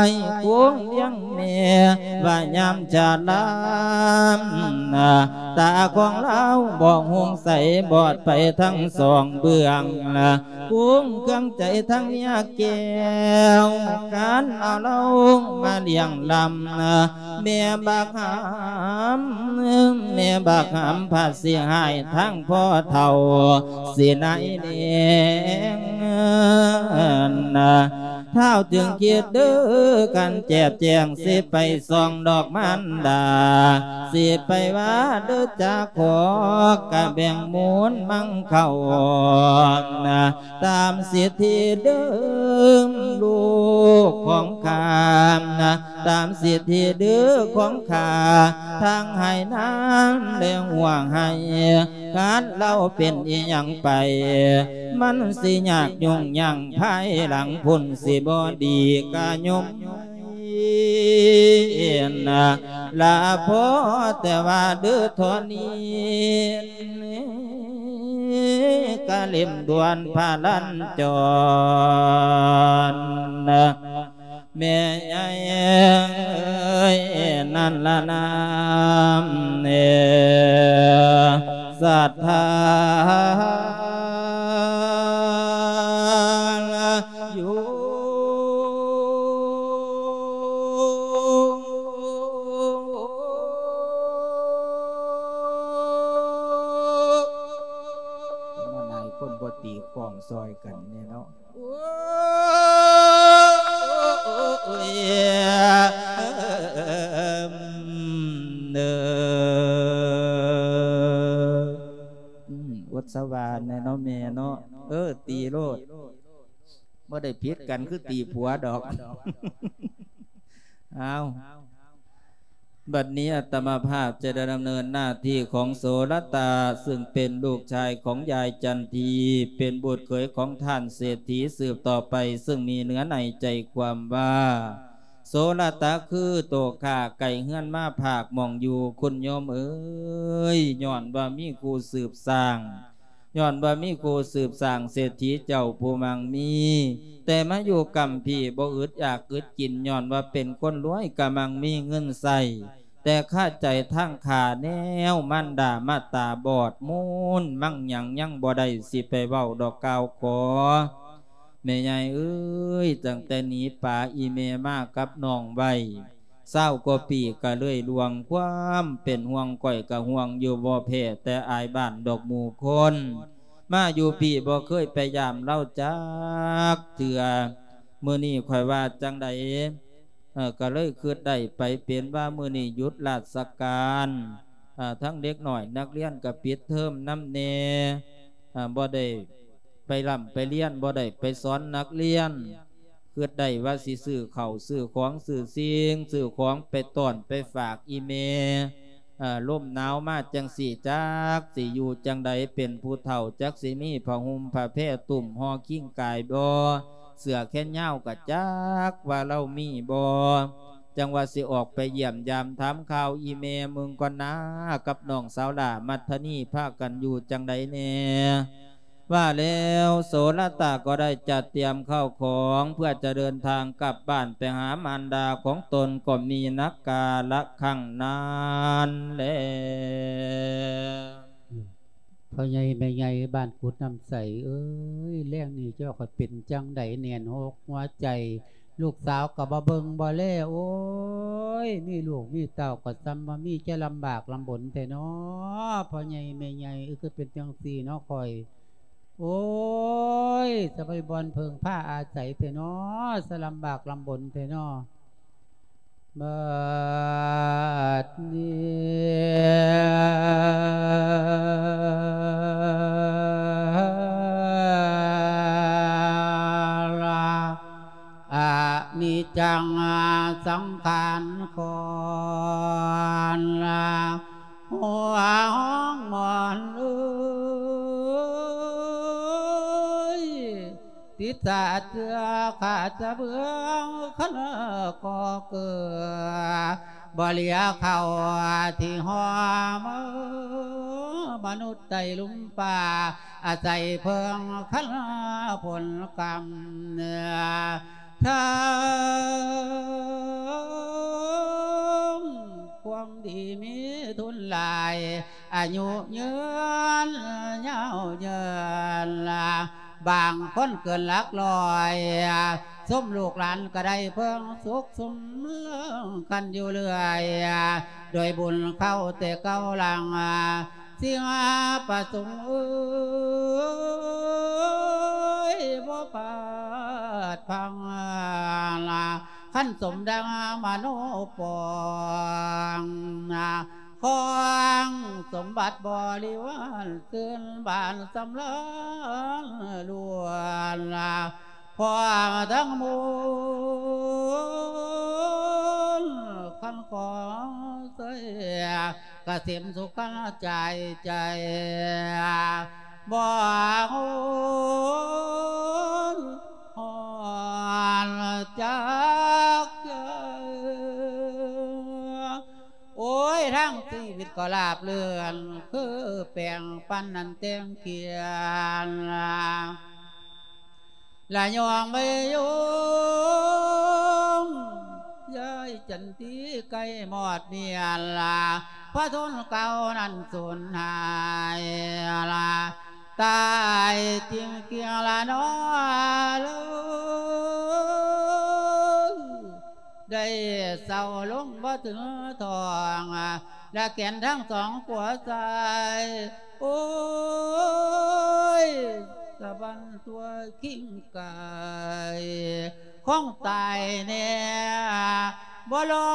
ຍ ຄົງລ້ຽງແມ່ວ່າຍາມຈະລາ ຕາຂອງລາວບໍ່ຮຸ່ງໃສ ບອດໄປທັງສອງເບື້ອງ ກຸ້ງເຄືອງໃຈທັງເມຍແກ້ວ ການເອົາລາວມາລ້ຽງລຳ ແມ່ບັກຫຳ ແມ່ບັກຫຳພະຊິຮ້າຍທັງພໍ່ເຖົ້າ ຊິນາຍແດງ ທ້າວຈຶ່ງຄິດເດີກັນແຈບແຈງ ຊິໄປສ່ອງດອກມານດາ ຊິໄປວ່າເດີຈາຂໍກະແບ່ງມູນມັງເຂົ້າ ຕາມສິດທິເດີມລູກຂອງຂ້າ ຕາມສິດທິເດີຂອງຂ້າ ທັງໄຮ່ນາແລະຫົວໄຮ່ ຄັນລາວເປັນອີ່ຫຍັງໄປ ມັນຊິຍາກຫຍຸ້ງຍາກ ພາຍຫຼັງພຸ້ນຊິບໍ່ດີກະຍົມ ລະພໍແຕ່ວ່າເດີທໍ່ນີ້ ກະເຫຼັ້ມດ່ວນພະລັນຈອນ ແມ່ໃຫຍ່ເອີຍ ນັ້ນລະນາມເອີ ສັດທາຢູ່ ມາຫຼາຍຄົນບໍ່ຕີຄ້ອງຊ່ອຍກັນແນ່ເນາະ. ໂອ້ຍ ເອີ ອືມ ອົດສະຫວານແນ່ເນາະແມ່ເນາະ ເອີ ຕີໂລດ ບໍ່ໄດ້ຜິດກັນຄືຕີຜົວດອກ ອ້າວ. ບັດນີ້ອາດຕະມາພາບຈະໄດ້ດຳເນີນໜ້າທີ່ຂອງໂສລະຕາ ຊຶ່ງເປັນລູກຊາຍຂອງຍາຍຈັນທີ ເປັນບຸດເຂີຍຂອງທ່ານເສດຖີສືບຕໍ່ໄປ ຊຶ່ງມີເນື້ອໃນໃຈຄວາມວ່າ ໂສລະຕາຄືໂຕຂ້າ ໄກເຮືອນມາພາກໝ່ອງຢູ່ ຄຸນໂຍມເອີຍ ຍ້ອນວ່າມີຄູ່ສືບສ້າງ ຍ້ອນວ່າມີຄູ່ສືບສ້າງເສດຖີເຈົ້າຜູ້ມັ່ງມີ ແຕ່ມາຢູ່ກຳພີ້ບໍ່ອຶດຢາກອຶດກິນ ຍ້ອນວ່າເປັນຄົນລວຍກະມັ່ງມີເງິນໃຊ້ ແຕ່ຄາໃຈທາງຂ້າແນວ ມານດາມາຕາບອດ ມູນມັ່ງຫຍັງຍັງບໍ່ໄດ້ ຊິໄປເວົ້າດອກກ່າວຂໍ ແມ່ໃຫຍ່ເອີຍ ຕັ້ງແຕ່ໜີປາອີ່ແມ່ມາກັບນ້ອງໄວ້ ຊາວກວ່າປີກະເລີຍລ່ວງ ຄວາມເປັນຫ່ວງຂ້ອຍກະຫ່ວງຢູ່ ບໍ່ແພ້ແຕ່ອ້າຍບ້ານດອກໝູ່ຄົນ ມາຢູ່ພີ້ບໍ່ເຄີຍໄປຢາມລາວຈັກເທື່ອ ມື້ນີ້ຂ້ອຍວ່າຈັ່ງໃດ ເອີ ກະເລີຍຄິດໄດ້ໄປເປັນວ່າມື້ນີ້ຢຸດລາຊະການ ເອີ ທັງເດັກນ້ອຍນັກຮຽນກະປິດເທີມນຳແດ່ ເອີ ບໍ່ໄດ້ ໄປລ່ຳໄປຮຽນ ບໍ່ໄດ້ໄປສອນນັກຮຽນ ຄິດໄດ້ວ່າຊິຊື້ເຂົ້າຊື້ຂອງ ຊື້ສິ່ງຊື້ຂອງໄປຕ້ອນໄປຝາກອີ່ແມ່ ເອີ ລົມໜາວມາຈັ່ງຊີ້ ຈັກຊິຢູ່ຈັ່ງໃດ ເປັນຜູ້ເຖົ້າ ຈັກຊິມີຜ້າຫົ່ມຜ້າແພຕຸ້ມຫໍ່ຄິງກາຍບໍ່ ເສື້ອແຂນຍາວກະຈັກວ່າລາວມີບໍ່ ຈັ່ງວ່າຊິອອກໄປຢ້ຽມຢາມຖາມຂ່າວອີ່ແມ່ເບິ່ງກ່ອນນາ ກັບນ້ອງສາວຫຼ້າມັດທະນີ ພາກັນຢູ່ຈັ່ງໃດແດ່. ວ່າແລ້ວ ໂສລະຕະກໍໄດ້ຈັດຕຽມເຂົ້າຂອງ ເພື່ອຈະເດີນທາງກັບບ້ານໄປຫາມານດາຂອງຕົນ ກໍມີນັກກາລະຄັ້ງນັ້ນແລ. ພໍ່ໃຫຍ່ແມ່ໃຫຍ່ບ້ານກຸດນ້ຳໃສເອີຍ ແລງນີ້ເຈົ້າຂ້ອຍເປັນຈັ່ງໃດ ແໜ້ນອົກຫົວໃຈ ລູກສາວກໍບໍ່ເບິ່ງບໍ່ແລ ໂອ້ຍ ມີລູກມີເຕົ້າກໍສ່ຳວ່າມີ ຈະລຳບາກລຳບົນແທ້ນໍ ພໍ່ໃຫຍ່ແມ່ໃຫຍ່ເອີຍ ຄືເປັນຈັ່ງຊີ້ນໍຂ້ອຍ ໂອ້ຍ ສະບໍ່ມີບ່ອນເພິ່ງພາອາໄສແທ້ນໍ ສະລຳບາກລຳບົນແທ້ນໍ. ບັດນີ້ ອະນິດຈັງສັງຂານຄອນ ຫົວຫ້ອງໝອນເອີຍ ຕິດສາເຈື່ອຂາດສະເບື້ອງ ຄັນກໍເກືອ ບໍ່ເຫຼືອເຂົ້າທີ່ຫໍເມືອ ມະນຸດໃຕ້ລຸ່ມຟ້າ ອາໄສເພິ່ງຄັນຜົນກຳ ທັງຄວາມດີມີທຶນຫຼາຍ ອາຍຸຍືນຍາວເຍີນ ບາງຄົນເກີນຫຼັກຮ້ອຍ ສົມລູກຫຼານກໍໄດ້ເພິ່ງສຸກສົມເລິງກັນຢູ່ເລື້ອຍ ດ້ວຍບຸນເຂົ້າແຕ່ເກົ່າຫຼັງ ສິ່ງປະສົງເອີຍ ບໍ່ພາດພັງ ຄັນສົມດັ່ງມະໂນປອງ ຂອງສົມບັດບໍລິວານ ຊື່ນບານສຳລານລ້ວນ ພ້ອມທັງມູນ ຄັນຂອງໃສ ກະເສມສຸກຄັນຈາຍໃຈ ບໍ່ຫວງຫວນຈັກເທື່ອ ໂອ້ຍ ທັງຊີວິດກໍລາບເລື່ອນ ຄືແປ້ງປັນນັ້ນແຕ່ງຂຽນ ລະຍອງໄປຍົງ ຍາຍຈັນທີໃກ້ມອດເມຍນລະ ພະທົນເກົ່ານັ້ນສູນຫາຍລະ ຕາຍຈິງໆລະນໍເລີຍ ໄດ້ເຊົາລົງບໍ່ເຖິງທ້ອງ ລະແຂນທັງສອງຂວາຊ້າຍ ໂອ້ຍ ສະບັ້ນຕົວຄີງກາຍ ຄອງຕາຍແນ່ ບໍ່ລອ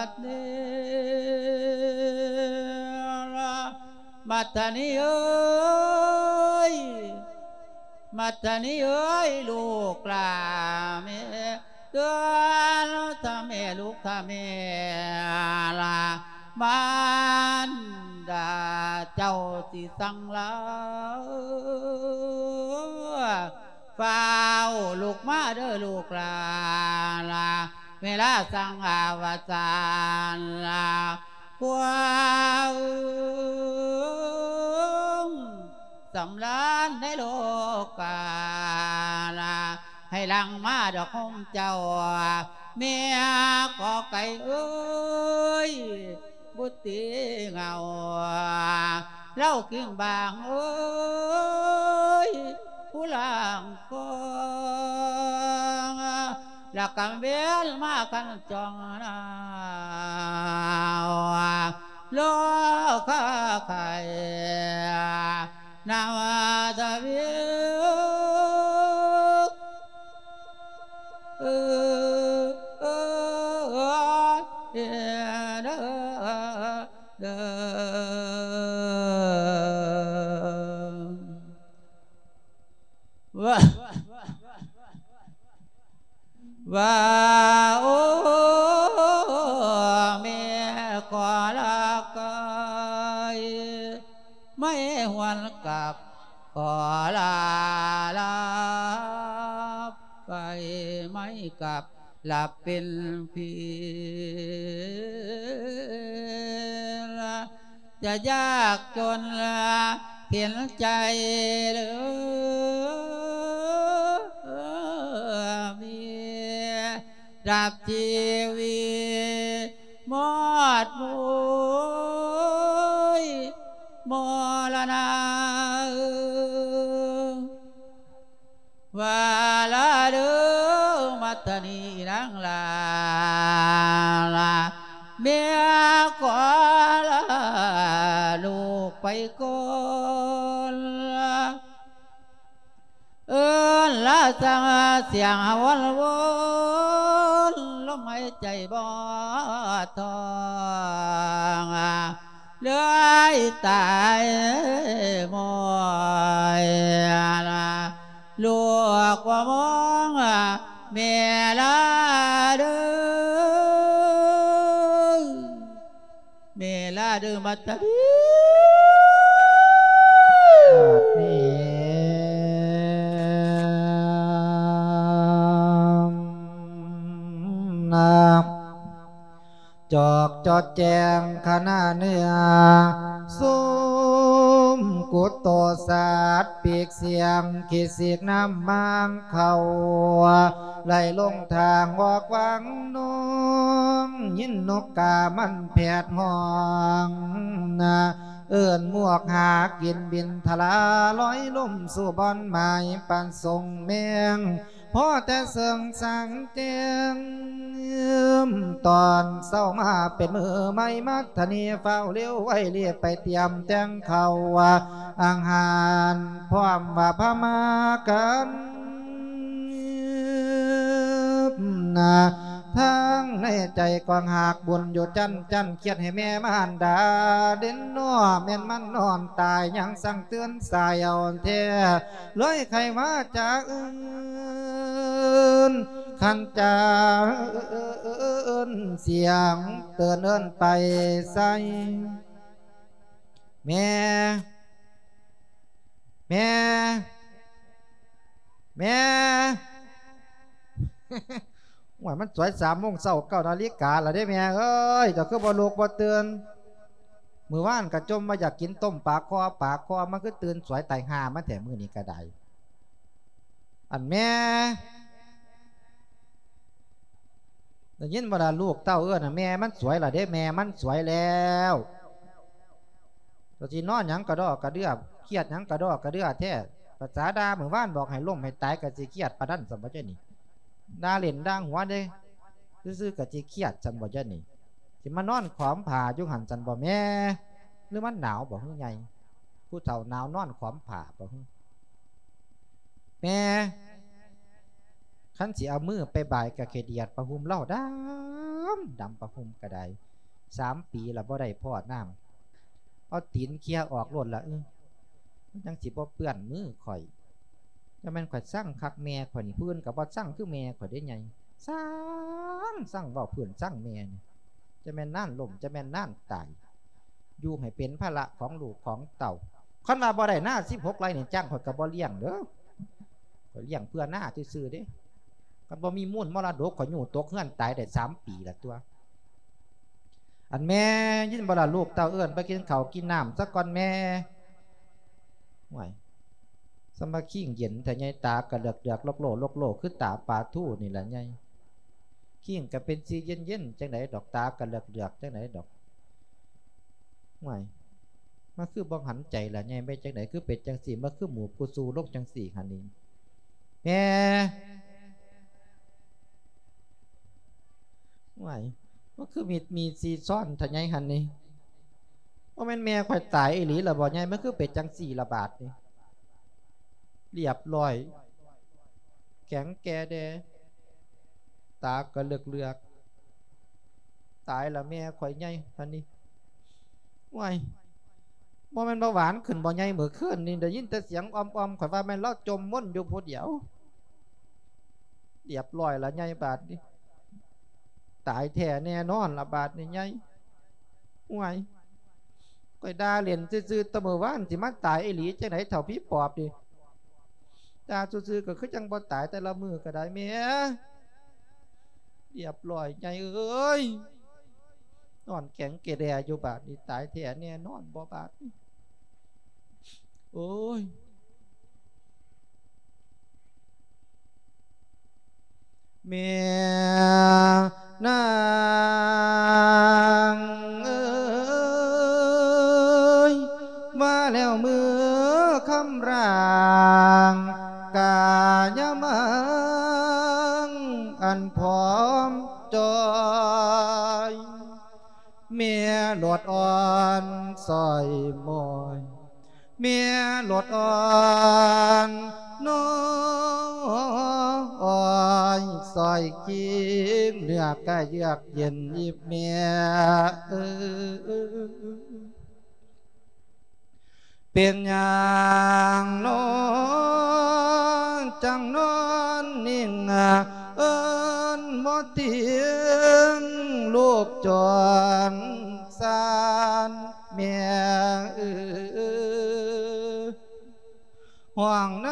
ດເນລະ ມັດທະນີເອີຍ ມັດທະນີເອີຍ ລູກຫຼ້າແມ່ ເຕືອນຖ້າແມ່ ລູກຖ້າແມ່ລະ ມານດາເຈົ້າຊິສັ່ງລາ ຟ້າວລຸກມາເດີລູກຫຼ້າ ເວລາສັງອາວະສານ ຄວາມສຳລານໃນໂລກາ ໃຫ້ຫຼັ່ງມາດອກໂຮມເຈົ້າ ແມ່ກໍໄກ່ເອີຍ ບຸດຕີເຫງົາ ເລົາກິ່ງບາງເອີຍ ຜູ້ລ່າງຄອງ ລະກຳເວນມາຄັນຈ່ອງນາວ ໂລຄາໄຂ່ ນາວາສະເວ ເອີ ເອີ ເອີ ເດີ ເດີ ວ່າ ວ່າ ໂອ້ ແມ່ຂໍລາໄກ ໄມ້ຫວນກັບ ຂໍລາ ລາໄປ ໄມ້ກັບ ລາເປັນພີ ຈະຍາກຈົນເຫັນໃຈເລີຍ ມີດັບຊີວິດໝົດມຸ້ຍມໍລະນະ ວ່າລະເດີ ມັດຕະນີນາງຫຼ້າ ແມ່ຂໍລາລູກໄປກ່ອນ ເອີ້ນລາສັງສຽງຫະວົນວົນ ລົມຫາຍໃຈບໍ່ທ້ອງ ເລີຍຕາຍໝອຍ ລູກບໍ່ມອງແມ່ລາເດີ ແມ່ລາເດີ ມາຕະດີ ນາ ຈອກຈອດແຈ້ງຂະນະເນື້ອ ຊຸມກຸດໂຕສັດ ປີກສຽງຂີ້ສີກນ້ຳມັນເຂົ້າ ໄຫຼລົງທາງອອກວັງນອງ ຍິນນົກກາມັນແຜດຮ້ອງ ເອີ້ນໝວກຫາກິນບິນທະລາ ລອຍລົມສູ່ບ່ອນໝາຍປານຊົງແມງ ພໍແຕ່ເຊິ່ງສັງແຈ້ງ ຕອນເຊົ້າມາເປັນມື້ໃໝ່ ມັດທະນີຟ້າວເລວໄວ ລີບໄປຕຽມແຕ່ງເຂົ້າອາຫານ ພ້ອມວ່າພາມາກັນ ທາງໃນໃຈກວາງຫາກບຸນຢູ່ຈັ່ນໆ ຄຽດໃຫ້ແມ່ມານດາເດັ່ນນໍ ແມ່ນມັນນອນຕາຍ ຍັງສັ່ງເຕືອນສາຍເອົາແທ້ ເລີຍໄຂວາຈາອື່ນ ຄັນຈາອື່ນ ສຽງເຕືອນເອີ້ນໄປໃສ ແມ່ ແມ່ ແມ່ ໂອ້ຍ ມັນສວຍສາມໂມງເຊົ້າ ເກົ້ານາລິກາລະເດ້ແມ່ເອີຍ ເຈົ້າຄືບໍ່ລຸກບໍ່ຕື່ນ? ມື້ວານກະຈົ່ມວ່າຢາກກິນຕົ້ມປາຄໍ່ ປາຄໍ່ ມັນຄືຕື່ນສວຍຕາຍຫ່າມາແທ້ມື້ນີ້ກະໄດ້. ອັນແມ່ ໄດ້ຍິນບໍ່ລະ ລູກເຕົ້າເອີ້ນນະ ແມ່ມັນສວຍລະເດ້ ແມ່ມັນສວຍແລ້ວ. ກະຊິນອນຫຍັງກະດໍກະເດືອ ຄຽດຫຍັງກະດໍກະເດືອແທ້. ພາສາດ່າມື້ວານບອກໃຫ້ລົ້ມໃຫ້ຕາຍ ກະຊິຄຽດປານນັ້ນຊັ້ນບໍ່ເຈົ້ານີ້? ດ່າຫຼິ້ນດ່າຫົວເດ້ ຊື່ໆ ກະຊິຄຽດຊັ້ນບໍ່ເຈົ້ານີ້? ຊິມານອນຂອມຜ້າຢູ່ຫັ້ນຊັ້ນບໍ່ແມ່? ຫຼືມັນໜາວບໍ່ຮືໃຫຍ່? ຜູ້ເຖົ້າໜາວນອນຂອມຜ້າບໍ່ຮື? ແມ່ ຄັນຊິເອົາມືໄປບາຍກະຂີ້ດຽດຜ້າຫົ່ມລາວດຳ ດຳຜ້າຫົ່ມກະໄດ້ ສາມປີລະບໍ່ໄດ້ພໍ້ນ້ຳ ເອົາຕີນເຄຍອອກໂລດລະ ອື ມັນຈັ່ງຊິບໍ່ເປື້ອນມືຂ້ອຍ. ຈະແມ່ນຂ້ອຍຊັງຄັກແມ່ຂ້ອຍນີ້ ຜູ້ອື່ນກະບໍ່ຊັງຄືແມ່ຂ້ອຍເດ້ໃຫຍ່ ຊັງ ຊັງເວົ້າພື້ນຊັງແມ່ນີ້ ຈະແມ່ນນານລົ້ມ ຈະແມ່ນນານຕາຍ ຢູ່ໃຫ້ເປັນພາລະຂອງລູກຂອງເຕົ້າ. ຄັນວ່າບໍ່ໄດ້ນາສິບຫົກໄຮ່ນີ້ ຈ້າງຂ້ອຍກະບໍ່ລ້ຽງເດີ ຂ້ອຍລ້ຽງເພື່ອນາຊື່ໆເດ້. ຄັນບໍ່ມີມູນມໍລະດົກ ຂ້ອຍຍູ້ຕົກເຮືອນຕາຍໄດ້ສາມປີລະຕົວະ. ອັນແມ່ ຍິນບໍ່ລະ ລູກເຕົ້າເອີ້ນໄປກິນເຂົ້າກິນນ້ຳສາກ່ອນແມ່. ໂອ້ຍ ສະມາຄີງເຢັນແທ້ໃຫຍ່ ຕາກະເຫຼືອກໆ ໂລກໆ ຄືຕາປາທູນີ້ລະໃຫຍ່. ຄີງກະເປັນສີເຢັນໆ ຈັ່ງໃດດອກ ຕາກະເຫຼືອກໆ ຈັ່ງໃດດອກ. ໂອ້ຍ ມັນຄືບໍ່ຫັນໃຈລະໃຫຍ່ ແມ່ນຈັ່ງໃດຄືເປັນຈັ່ງຊີ້ ມັນຄືໝູບກູຊູລົງຈັ່ງຊີ້ຫັ້ນນີ້ ແມ່. ໂອ້ຍ ມັນຄືມີດມີຊີຊ້ອນທະໃຫຍ່ຫັ້ນນີ້ ບໍ່ແມ່ນແມ່ຂ້ອຍຕາຍອີ່ຫຼີລະບໍ່ໃຫຍ່ ມັນຄືເປັນຈັ່ງຊີ້ລະບາດນີ້. ລຽບລ້ອຍ ແຂງແກ່ແດ່ ຕາກະເຫຼືອກໆ ຕາຍລະແມ່ຂ້ອຍໃຫຍ່ຫັ້ນນີ້. ໂອ້ຍ ບໍ່ແມ່ນເບົາຫວານຂຶ້ນບໍ່ໃຫຍ່ ມື້ຄືນນີ້ໄດ້ຍິນແຕ່ສຽງອອມໆ ຂ້ອຍວ່າແມ່ນລາວຈົ່ມມົນຢູ່ຜູ້ດຽວ. ລຽບລ້ອຍລະໃຫຍ່ບາດນີ້ ຕາຍແທ້ແນ່ນອນລະບາດນີ້ໃຫຍ່. ໂອ້ຍ ຂ້ອຍດ່າຫຼິ້ນຊື່ໆ ແຕ່ມື້ວານ ຊິມາຕາຍອີ່ຫຼີຈັ່ງໃດ ເຖົ້າຜີປອບນີ້. ດ່າຊື່ໆ ກະຄືຈັ່ງບໍ່ຕາຍແຕ່ລະມື້ກະໄດ້ແມ່. ລຽບລ້ອຍໃຫຍ່ເອີຍ. ນອນແຂງແກ່ແດ່ຢູ່ ບາດນີ້ຕາຍແທ້ແນ່ນອນບໍ່ບາດນີ້. ໂອ້ຍ ແມ່ນາງເອີຍ ວ່າແລ້ວມື້ຄ່ຳລາງກາຍະມັງ ອັນຜອມຈ່ອຍ ແມ່ຫຼອດອ່ອນສ້ອຍໝ້ອຍ ແມ່ຫຼອດອ່ອນນ້ອຍ ອ້ອຍສ້ອຍຄິງ ເນື້ອກະເຍືອກເຢັນອີກແມ່ເອີຍ. ເປັນຫຍັງນ້ອງຈັ່ງນອນນິ່ງ ເອີ້ນບໍ່ຕິງລູກຈອນຊານແມ່ເອີຍ. ຮ້ອງນ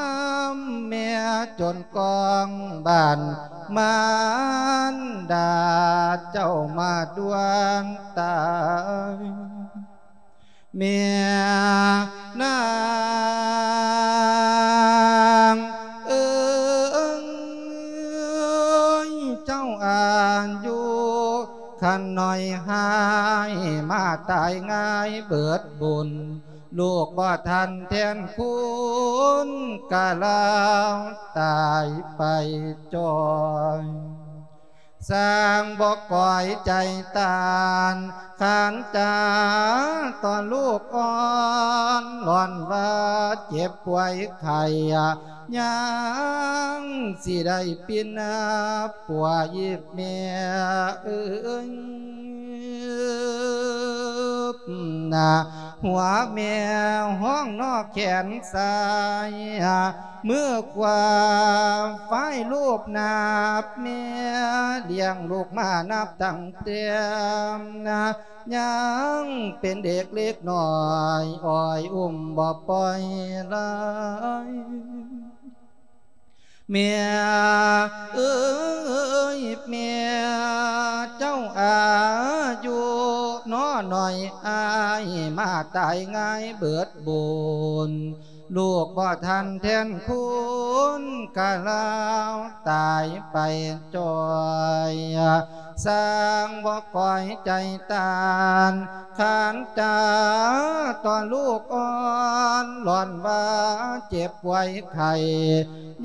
ຳແມ່ຈົນກ້ອງບ້ານ ມານດາເຈົ້າມາດ່ວນຕາຍ ແມ່ນາງເອີຍ ເຈົ້າອາຍຸຄັນນ້ອຍ ຫາຍມາຕາຍງ່າຍເບີດບຸນ ລູກບໍ່ທັນແທນຄຸນ ກະລາວຕາຍໄປຈ່ອຍ. ຊ່າງບໍ່ກອຍໃຈຕານ ຂັນຈາຕໍ່ລູກອ່ອນ ຍ້ອນວ່າເຈັບປ່ວຍໄຂ້ ຍັງຊິໄດ້ປິ່ນປົວອີກແມ່ເອີຍ. ນະ ຫົວແມ່ຫ້ອງນອກແຂນຊ້າຍ ມືຂວາຝາຍລູບໜາບແມ່ ລ້ຽງລູກມານັບຕັ້ງແຕ່ນະ ຍັງເປັນເດັກເລັກນ້ອຍ ອ້ອຍອຸ້ມບໍ່ປ່ອຍລາຍ. ແມ່ເອີຍແມ່ ເຈົ້າອາຍຸນ້ອຍ ອ້າຍມາຕາຍງ່າຍເບີດບຸນ ລູກບໍ່ທັນແທນຄຸນ ກະລາວຕາຍໄປຈ່ອຍ. ຊ່າງບໍ່ກອຍໃຈຕານ ຂັນຈາຕໍ່ລູກອ່ອນ ຍ້ອນວ່າເຈັບປ່ວຍໄຂ້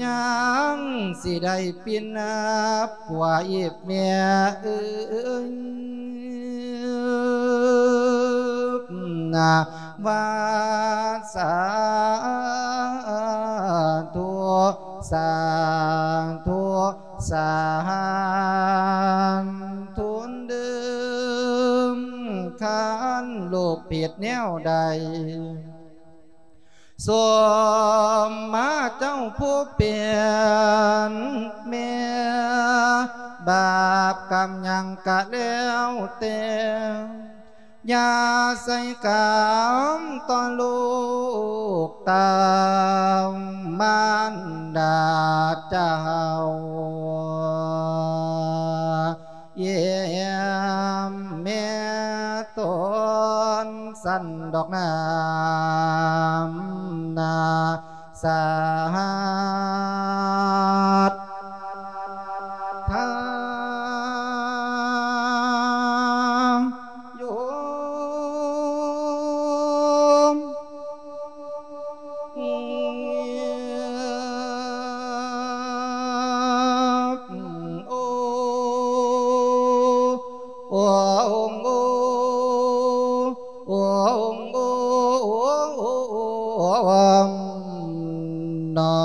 ຍັງຊິໄດ້ປິ່ນປົວອີກແມ່ເອີຍ. ນະ ວ່າສາທຸ ສາທຸ ສາທຸເດີ ຄັນລູກຜິດແນວໃດ ສົມມາເຈົ້າຜູ້ເປັນແມ່ ບາບກຳຫຍັງກະແລ້ວແຕ່ ຢ່າໃສ່ກຳຕໍ່ລູກເຕົ້າ ມານດາເຈົ້າ ຢ້ຽມແມ່ຕົນຊັ້ນດອກນາມນາ ສາທຸ ໂຍມ ໂອ ໂອ ໂອ ໂອ ໂອ ໂອ ນອ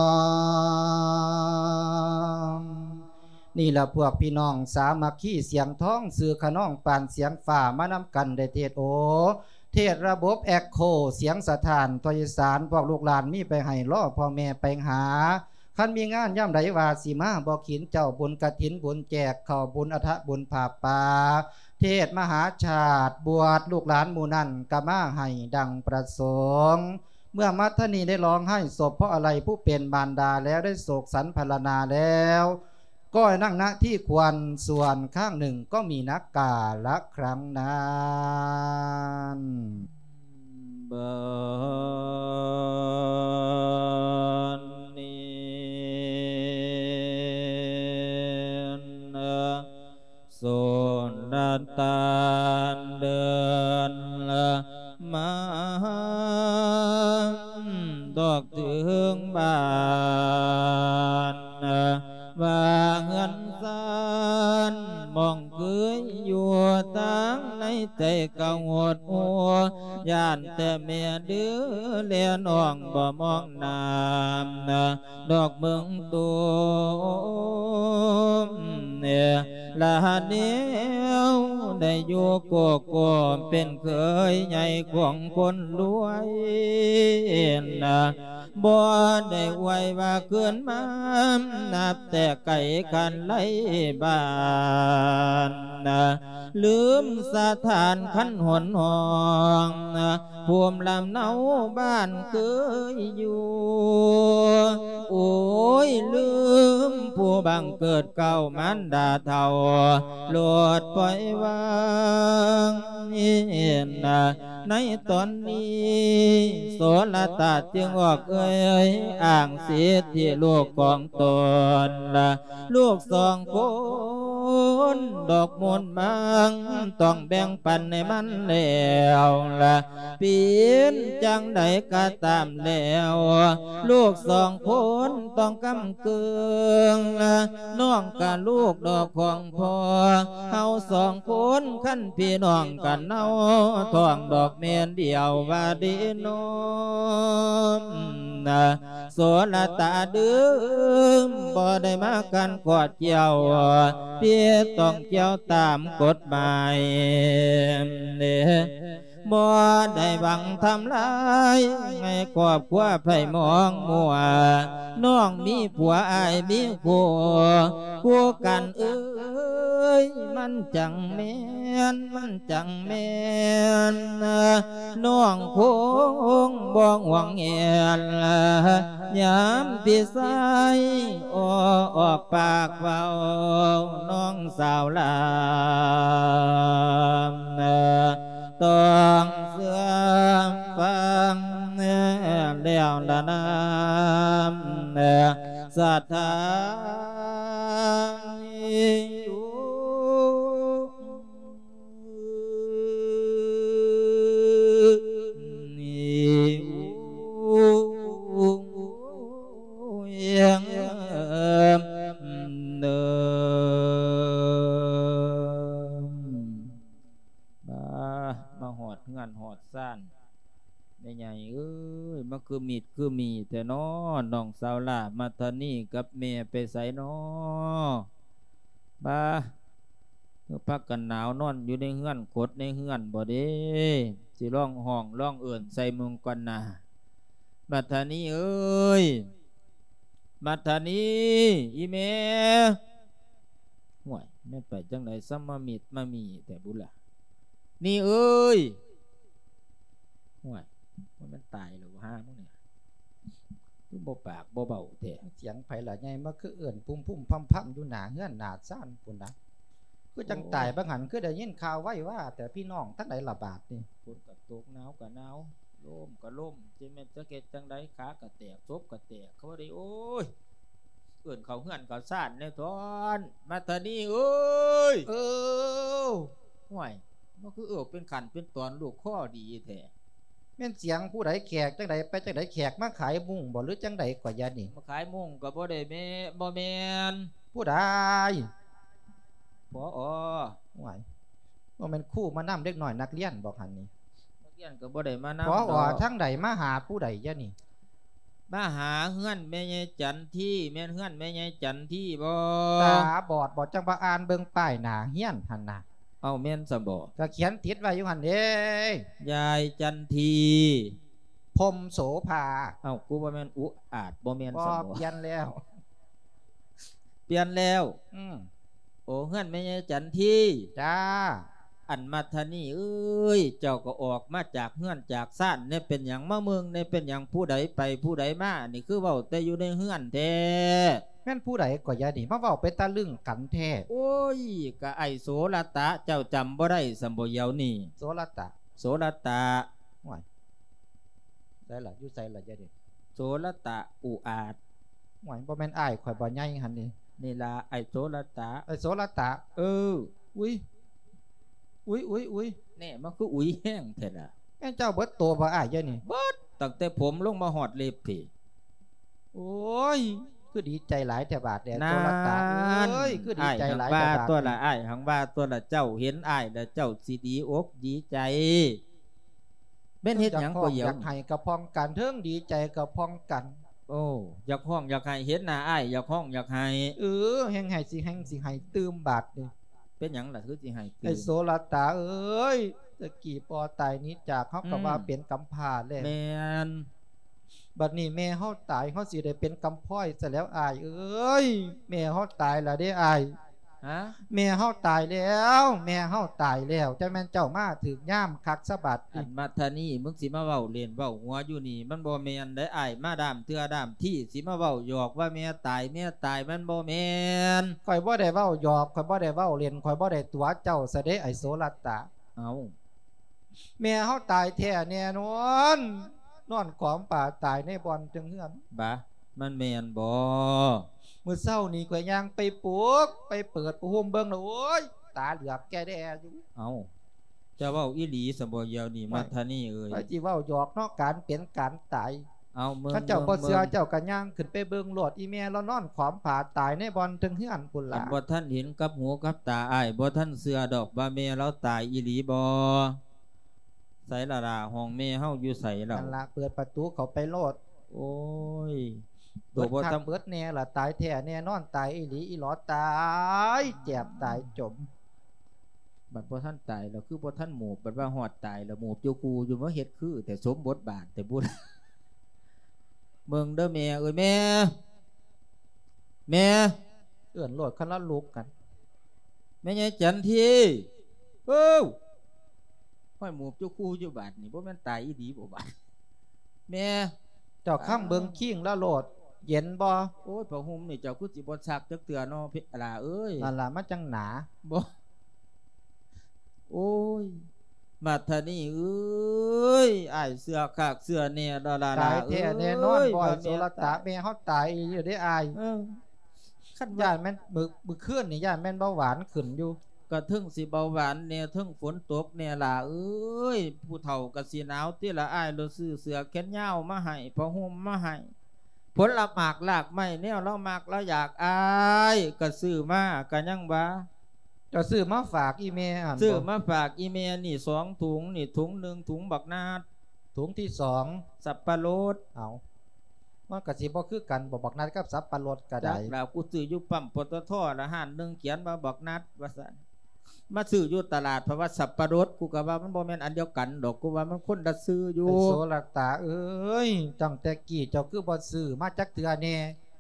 ມ ນີ້ລະພວກພີ່ນ້ອງສາມັກຄີສຽງທອງ ຊື່ຂະນອງປານສຽງຟ້າ ມານຳກັນໄດ້ເທດໂອ ເທດລະບົບແອັກໂຄ ສຽງສະທ້ານທົ່ວອີສານ ພວກລູກຫຼານມີໄປໃຫ້ ລໍພໍ່ແມ່ໄປຫາ ຄັນມີງານຍາມໃດວ່າຊິມາ ບໍ່ຂິນເຈົ້າບຸນກະຖິນ ບຸນແຈກເຂົ້າ ບຸນອັດຖະບຸນຜ້າປ່າ ເທດມະຫາຊາດ ບວດລູກຫຼານໝູ່ນັ້ນກະມາໃຫ້ດັ່ງປະສົງ. ເມື່ອມາທານີໄດ້ຮ້ອງໄຫ້ສົບເພາະອາໄລຜູ້ເປັນມານດາແລ້ວ ໄດ້ໂສກສັນພັນລະນາແລ້ວ ก็นั่งณที่ควร ส่วนข้างหนึ่งก็มีนักกาละครั้งนั้น บัดนี้นะ สุลต่านเดินมา ดอกเถิงบ้าน ว่าเฮือนซานหม่องเคยอยู่ ทางในใจก็หดหู่ ย้านแต่แม่เด้อ และน้องบ่มองหน้า ดอกเมืองตูม ละแนวได้อยู่โกโก้ เป็นเขยใหญ่ของคนรวยนะ บ่ได้อวยว่าคืนมา นับแต่ไกลคันไลบ้านนะ ลืมสถานคันหนห้อง ภูมิลำเนาบ้านเคยอยู่ โอ้ย ลืมผู้บังเกิดเกล้ามารดาเฒ่า โลดปล่อยวางนะ ในตอนนี้ โสรตาจึงออกเอ่ยอ้างสิทธิลูกของตนละ ลูกสองคนดอกมนต์มัง ต้องแบ่งปันให้มันแล้วละ เปลี่ยนจั่งใดก็ตามแล้ว ลูกสองคนต้องกำเกิงละ น้องกะลูกดอกของพ่อ เฮาสองคนคันพี่น้องกัน เฮาท้องดอกแม่นเดียวว่าดีน้อมนะ โสรตาเดิมบ่ได้มากันกอดเกี่ยว เพียงต้องเกี่ยวตามกฎหมาย บ่ได้หวังทำลายให้ครอบครัวไพร่หมองมัว น้องมีผัวอ้ายมีผัว คู่กันเอ้ย มันจั่งแม่น มันจั่งแม่น น้องคงบ่ห่วงแหน ยามพี่ชายออกปากเว้า น้องสาวลา ต้องเชื่อฟังแล้วละนาม ศรัทธา มา มาฮอดเฮือนฮอดซาน แม่ใหญ่เอ้ย มาคือมิตรคือหมี่แท้น้อ น้องสาวหล้า มัทนีกับแม่ไปไสน้อ บา คือพากันหนาวนอนอยู่ในเฮือน ขดในเฮือนบ่เด้ สิลองฮ้องลองเอิ้นใส่เบิ่งก่อนนา มัทนีเอ้ย มัทนี อีแม่ ห้วย แม่นไปจั่งใด๋ ซ้ำมามิดมาหมี่แท้บุล่ะ นี่เอ้ย ห้วย ว่ามันตายแล้วหามึงเนี่ย คือบ่ปากบ่เว้าแท้ เสียงไผล่ะใหญ่ มาคือเอิ้นพุ้มๆ พำๆ อยู่หน้าเฮือนหน้าซานพุ้นนะ คือจั่งตาย โอ้ย บางหัน คือได้ยินข่าวไวว่า แต่พี่น้องทั้งหลายระบาดนี่ ฝนก็ตก หนาวก็หนาว ลมก็ลม สิแม่นจักเฮ็ดจั่งใด๋ ขากะแตก ศพกะแตก เขาว่าได้ โอ้ย เอิ้นเข้าเฮือนเข้าซานแน่ท้อน มัทนีเอ้ย เออ ห้วย มันคือเอิ้นเป็นขั้นเป็นตอน ลูกคอดีแท้ แม่นเสียงผู้ใด๋ แขกจั่งใด๋ ไปจั่งใด๋ แขกมาขายมุ้งบ่ หรือจั่งใด๋ก่อ ยานี่ มาขายมุ้งก็บ่ได้แม่ บ่แม่น ผู้ใด๋ ผอ ห้วย บ่แม่นครูมานำเด็กน้อยนักเรียนบ่หั่นนี่ นักเรียนก็บ่ได้มานำ ผอ ดอก ทางใด๋ มาหาผู้ใด๋ ยานี่ มาหาเฮือนแม่ใหญ่จันที แม่นเฮือนแม่ใหญ่จันทีบ่ ตาบอดบ่ จั่งบ่อ่านเบิ่งป้ายหน้าเฮือนหั่นน่ะ เอ้า แม่นซะบ่ ก็เขียนติดไว้อยู่หั่นเด้ ยายจันที พรหมโสภา เอ้า กูว่าแม่นอุอาจ บ่แม่น บ่ ซะบ่ เปลี่ยนแล้ว เปลี่ยนแล้ว อืม โอ้ เฮือนแม่ใหญ่จันที จ้า อันมัทนีเอ้ย เจ้าก็ออกมาจากเฮือนจากซานแน่ เป็นหยังมาเมืองแน่ เป็นหยังผู้ใดไปผู้ใดมา นี่คือเว้าแต่อยู่ในเฮือนแท้ ມ່ນຜູ້ໃດກໍຢ່ານີ້ ມາເວົ້າເປັນຕາລຶ້ງກັນແທ້. ໂອ້ຍ ກະອ້າຍໂສລະຕະ ເຈົ້າຈຳບໍ່ໄດ້ຊັ້ນບໍ່ດຽວນີ້? ໂສລະຕະ ໂສລະຕະ. ໂອ້ຍ ໃສລະ? ຢູ່ໃສລະດຽວນີ້? ໂສລະຕະ ອຸອາດ. ໂອ້ຍ ບໍ່ແມ່ນອ້າຍຂ້ອຍບໍ່ໃຫຍ່ຫັ້ນນີ້? ນີ້ລະ ອ້າຍໂສລະຕະ. ອ້າຍໂສລະຕະ? ເອີ. ອຸ້ຍ ອຸ້ຍ ອຸ້ຍ ອຸ້ຍ ແນ່ ມັນຄືອຸ້ຍແຮງແທ້ລະ? ແມ່ນເຈົ້າເບິດໂຕບໍ່ອ້າຍດຽວນີ້? ເບິດ ຕັ້ງແຕ່ຜົມລົງມາຮອດເລັບພີ້. ໂອ້ຍ ຄືດີໃຈຫຼາຍແທ້ບາດແດ່ ໂຊລະຕາເອີຍ ຄືດີໃຈຫຼາຍແທ້ບາດ. ອ້າຍຫັ້ນວ່າຕົວລະ ອ້າຍຫັ້ນວ່າຕົວລະ ເຈົ້າເຫັນອ້າຍແລ້ວເຈົ້າຊິດີອົກດີໃຈ. ແມ່ນເຮັດຫຍັງກໍຢາກ ຢາກໃຫ້ກະພ້ອງກັນ ເທິງດີໃຈກະພ້ອງກັນ. ໂອ້ ຢາກຮ້ອງຢາກໄຫ້ ເຫັນໜ້າອ້າຍຢາກຮ້ອງຢາກໄຫ້. ເອີ ແຮ່ງໄຫ້ຊິແຮ່ງຊິໄຫ້ຕື່ມບາດນີ້. ເປັນຫຍັງລະຄືຊິໄຫ້ຕື່ມ? ໄອ້ໂສລະຕາເອີຍ ແຕ່ກີ້ພໍ່ຕາຍໜີຈາກ ເຮົາກໍວ່າເປັນກຳພ້າແລ້ວ. ແມ່ນ. ບັດນີ້ແມ່ເຮົາຕາຍ ເຮົາຊິໄດ້ເປັນກຳພ້ອຍຊະແລ້ວອ້າຍເອີຍ. ແມ່ເຮົາຕາຍລະເດ້ອ້າຍ. ຮະ? ແມ່ເຮົາຕາຍແລ້ວ ແມ່ເຮົາຕາຍແລ້ວ. ຈັກແມ່ນເຈົ້າມາຖືກຍາມຄັກຊະບັດນີ້. ອັນມາທານີ ມຶງຊິມາເວົ້າເລ່ນເວົ້າຫົວຢູ່ນີ້ ມັນບໍ່ແມ່ນເດ້ອ້າຍ. ມາດ້າມເທື່ອດ້າມທີ ຊິມາເວົ້າຫຍອກວ່າແມ່ຕາຍ ແມ່ຕາຍ ມັນບໍ່ແມ່ນ. ຂ້ອຍບໍ່ໄດ້ເວົ້າຫຍອກ ຂ້ອຍບໍ່ໄດ້ເວົ້າເລ່ນ ຂ້ອຍບໍ່ໄດ້ຕົວະເຈົ້າຊະເດ້ ໄອ້ໂສລະຕາ. ເອົ້າ ແມ່ເຮົາຕາຍແທ້ແນ່ນອນ ນອນຂອມຝາຕາຍໃນບ່ອນເທິງເຮືອນ. ບາ ມັນແມ່ນບໍ? ມື້ເຊົ້ານີ້ຂ້ອຍຍ່າງໄປປຸກ ໄປເປີດຜ້າຫົ່ມເບິ່ງລະ ໂອ້ຍ ຕາເຫຼືອກແກ່ແດ່ຢູ່. ເອົ້າ ເຈົ້າເວົ້າອີ່ຫຼີຊັ້ນບໍດຽວນີ້ ມາທານີເອີຍ? ຂ້ອຍຊິເວົ້າຫຍອກເນາະ ການເປັນການຕາຍ. ເອົາ ເບິ່ງ ຄັນເຈົ້າບໍ່ເຊື່ອ ເບິ່ງ ເຈົ້າກໍຍ່າງຂຶ້ນໄປເບິ່ງໂລດ ອີ່ແມ່ລາວນອນຂອມຝາຕາຍໃນບ່ອນເທິງເຮືອນພຸ້ນລະ. ຄັນບໍ່ທັນເຫັນກັບຫູກັບຕາອ້າຍ ບໍ່ທັນເຊື່ອດອກວ່າແມ່ລາວຕາຍອີ່ຫຼີບໍ. ໃສລະລະ ຫ້ອງແມ່ເຮົາຢູ່ໃສລະ? ນັ້ນລະ ເປີດປະຕູເຂົ້າໄປໂລດ. ໂອ້ຍ ເບິດຄັກເບິດແນ່ລະ ຕາຍແທ້ແນ່ນອນ ຕາຍອີ່ຫຼີອີ່ຫຼໍ ຕາຍແຈບຕາຍຈົມ. ບັດບໍ່ທັນຕາຍລະຄືບໍ່ທັນໝູບ ບັດວ່າຮອດຕາຍລະໝູບຢູ່ຄູ່ຢູ່ ມາເຮັດຄືແທ້ ສົມບົດບາດແທ້ບຸດ. ເບິ່ງເດີແມ່ເອີຍ ແມ່ ແມ່ ເອີ້ນໂລດ ຄັນລາວລຸກຫັ້ນ. ແມ່ໃຫຍ່ຈັນທີ ເອີ ຫ້ອຍ ໝູບຢູ່ຄູ່ຢູ່ບາດນີ້ ບໍ່ແມ່ນຕາຍອີ່ຫຼີບໍ່ບາດ? ແມ່ ເຈົ້າຄຳເບິ່ງຄີງລາວໂລດ ເຢັນບໍ່? ໂອ້ຍ ຜ້າຫົ່ມນີ້ເຈົ້າຄືຊິບໍ່ຊັກຈັກເທື່ອເນາະ ຫຼ້າເອີຍ. ນັ້ນລະ ມັນຈັ່ງໜາ. ບໍ່ ໂອ້ຍ ມາທານີເອີຍ ອ້າຍເຊື່ອຄັກເຊື່ອແນ່ລະລະ. ຕາຍແທ້ແນ່ນອນ ເອີຍ ບໍ່ ໂສລະຕາ ແມ່ເຮົາຕາຍອີ່ຫຼີເດ້ອ້າຍ. ເອີ ຄັນວ່າ ຢ້ານແມ່ນ ມື້ ມື້ຄືນນີ້ຢ້ານແມ່ນເບົາຫວານຂຶ້ນຢູ່. ກະເທິງຊິເບົາຫວານແນ່ ເທິງຝົນຕົກແນ່ຫຼ້າເອີຍ. ຜູ້ເຖົ້າກະຊິໜາວຕິລະອ້າຍ ລະຊື້ເສື້ອແຂນຍາວມາໃຫ້ ຜ້າຫົ່ມມາໃຫ້ ຜົນລະໝາກລາກໄມ້ແນວລາວມັກລາວຢາກ ອ້າຍກະຊື້ມາ ກະຍັງວ່າ ເຈົ້າຊື້ມາຝາກອີ່ແມ່ຫັ້ນບໍ? ຊື້ມາຝາກອີ່ແມ່ນີ້ສອງຖົງ ນີ້ຖົງໜຶ່ງ ຖົງບັກນາດ ຖົງທີສອງ ສັບປະລົດ. ເອົ້າ ມັນກະຊິບໍ່ຄືກັນບໍ ບັກນາດກັບສັບປະລົດກະໄດ້? ຈັກລະ ກູຊື້ຢູ່ປ້ຳ ປຕທ ລະຮ້ານໜຶ່ງຂຽນວ່າບັກນາດວ່າຊັ້ນ ມາຊື້ຢູ່ຕະຫຼາດ ເພາະວ່າສັບປະລົດ ກູກະວ່າມັນບໍ່ແມ່ນອັນດຽວກັນດອກ ກູວ່າມັນຄົນລະຊື່ຢູ່. ໄອ້ໂສລະຕາເອີຍ ຕັ້ງແຕ່ກີ້ເຈົ້າຄືບໍ່ຊື້ມາຈັກເທື່ອແນ່?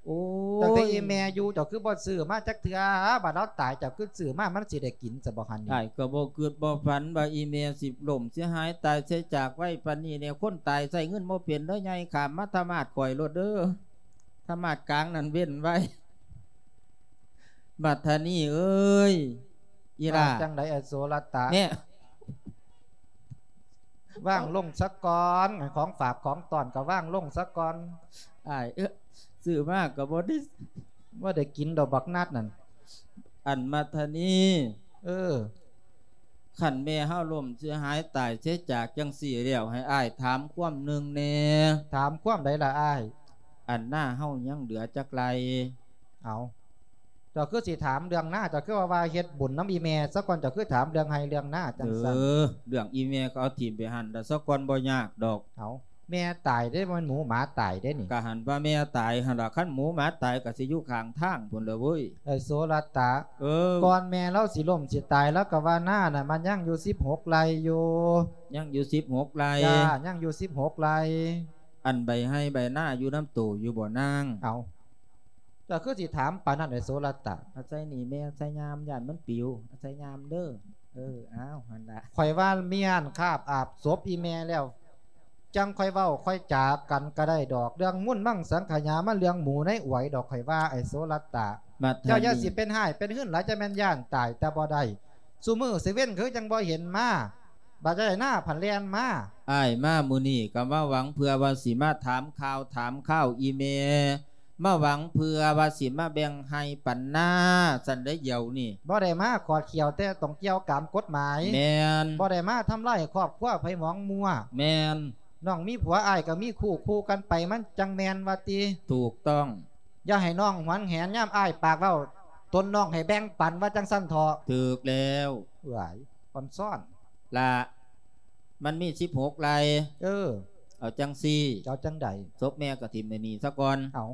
ໂອ້ຍ ຕັ້ງແຕ່ອີ່ແມ່ຢູ່ ເຈົ້າຄືບໍ່ຊື້ມາຈັກເທື່ອ? ບາດລາວຕາຍ ເຈົ້າຄືຊື້ມາ ມັນຊິໄດ້ກິນຊະບໍ່ຫັ້ນນີ້? ອ້າຍກໍບໍ່ຄິດບໍ່ຝັນວ່າອີ່ແມ່ຊິລົ້ມເສຍຫາຍຕາຍເສຍຈາກໄວປານນີ້ແນ່. ຄົນຕາຍໃຊ້ເງິນບໍ່ເປັນເດີ ໃຫຍ່ຂ້າມມາທະມາດຂ້ອຍໂລດເດີ ທະມາດກາງນັ້ນເວັ້ນໄວ້. ບັດທານີ້ເອີຍ ອີ່ຫຼ້າ ວ່າຈັ່ງໃດ ອະ ໂສລະຕະ? ແນ່ ວາງລົງສາກ່ອນ ຂອງຝາກຂອງຕ້ອນກໍວາງລົງສາກ່ອນ. ອ້າຍເອີຍ ຊື້ມາກໍບໍ່ໄດ້ ບໍ່ໄດ້ກິນດອກບັກນາດນັ້ນ. ອັນມາທານີ ເອີ ຄັນແມ່ເຮົາລົ້ມເສຍຫາຍຕາຍເສຍຈາກຈັ່ງຊີ້ແລ້ວ ໃຫ້ອ້າຍຖາມຄວາມໜຶ່ງແນ່. ຖາມຄວາມໃດລະອ້າຍ? ອັນນາເຮົາຍັງເຫຼືອຈັກໄຮ່? ເອົາ ເຈົ້າຄືຊິຖາມເລື່ອງນາ ເຈົ້າຄືວ່າ ວ່າເຮັດບຸນນຳອີ່ແມ່ສາກ່ອນ ເຈົ້າຄືຖາມເລື່ອງໄຮ່ເລື່ອງນາຈັ່ງຊັ້ນ? ເອີ ເລື່ອງອີ່ແມ່ກໍເອົາຖິ້ມໄປຫັ້ນລະສາກ່ອນ ບໍ່ຍາກດອກ. ເອົາ ແມ່ຕາຍເດ້ ບໍ່ແມ່ນໝູໝາຕາຍເດ້ນີ້. ກະຫັ້ນວ່າແມ່ຕາຍຫັ້ນລະ ຄັນໝູໝາຕາຍກະຊິຢູ່ຂ້າງທາງພຸ້ນລະເວີຍ. ເອີ ໂສລະຕະ ເອີ ກ່ອນແມ່ລາວຊິລົ້ມຊິຕາຍ ລາວກະວ່ານານະ ມັນຍັງຢູ່ສິບຫົກໄຮ່ຢູ່. ຍັງຢູ່ສິບຫົກໄຮ່? ຈ້າ ຍັງຢູ່ສິບຫົກໄຮ່. ອັນໃບໄຮ່ໃບນາຢູ່ນຳໂຕຢູ່ບໍ່ນາງ? ເອົາ ເຈົ້າຄືຊິຖາມປານນັ້ນ ໄອ້ໂສລະຕະ? ອາໄສນີ້ແມ່ ອາໄສຍາມ ຢ້ານມັນປິວ ອາໄສຍາມເດີ. ເອີ ອ້າວ ຫັ້ນລະ ຂ້ອຍວ່າມີອັນຄາບອາບສົບອີ່ແມ່ແລ້ວ. ຈັ່ງຄ່ອຍເວົ້າຄ່ອຍຈາກັນກໍໄດ້ດອກ ເລື່ອງມູນມັງສັງຂະຍາ ມັນເລື່ອງໝູໃນອວຍດອກ ຂ້ອຍວ່າ ໄອ້ໂສລະຕະ ບັດ ເຈົ້າຢ່າ ນີ້ ຊິເປັນຮ້າຍເປັນຮືນຫຼາຍ ຈະແມ່ນຢ້ານຕາຍແຕ່ບໍ່ໄດ້ ຊຸມື້ຊິເວັນຄືຈັ່ງບໍ່ເຫັນມາ ບັດໄດ້ໜ້າຜັນແລ່ນມາ. ອ້າຍມາມື້ນີ້ກໍມາຫວັງເພື່ອວ່າຊິມາຖາມຂ່າວຖາມຄາວອີ່ແມ່ ມາຫວັງເພື່ອວ່າຊິມາແບ່ງໄຮ່ປັນນາ ຊັ້ນໃດດຽວນີ້ ບໍ່ໄດ້ມາຂອດຂຽວ ແຕ່ຕ້ອງກ່ຽວຕາມກົດໝາຍ. ແມ່ນ. ບໍ່ໄດ້ມາທຳລາຍຄອບຄົວໃຜໝອງມົວ. ແມ່ນ. ນ້ອງມີຜົວ ອ້າຍກໍມີຄູ່ ຄູ່ກັນໄປ ມັນຈັ່ງແມ່ນວ່າຕິ? ຖືກຕ້ອງ. ຢ່າໃຫ້ນ້ອງຫວງແຫນຍາມອ້າຍປາກເວົ້າ ຕົນນ້ອງໃຫ້ແບ່ງປັນ ວ່າຈັ່ງຊັ້ນເຖາະ. ຖືກແລ້ວ. ເອີຍ ອ່ອນຊ້ອນ. ລະ ມັນມີສິບຫົກໄຮ່. ເອີ ເອົາຈັ່ງຊີ້. ເຈົ້າຈັ່ງໃດ? ສົບແມ່ກໍຖິ້ມໄວ້ນີ້ຊະກ່ອນ. ເອົາ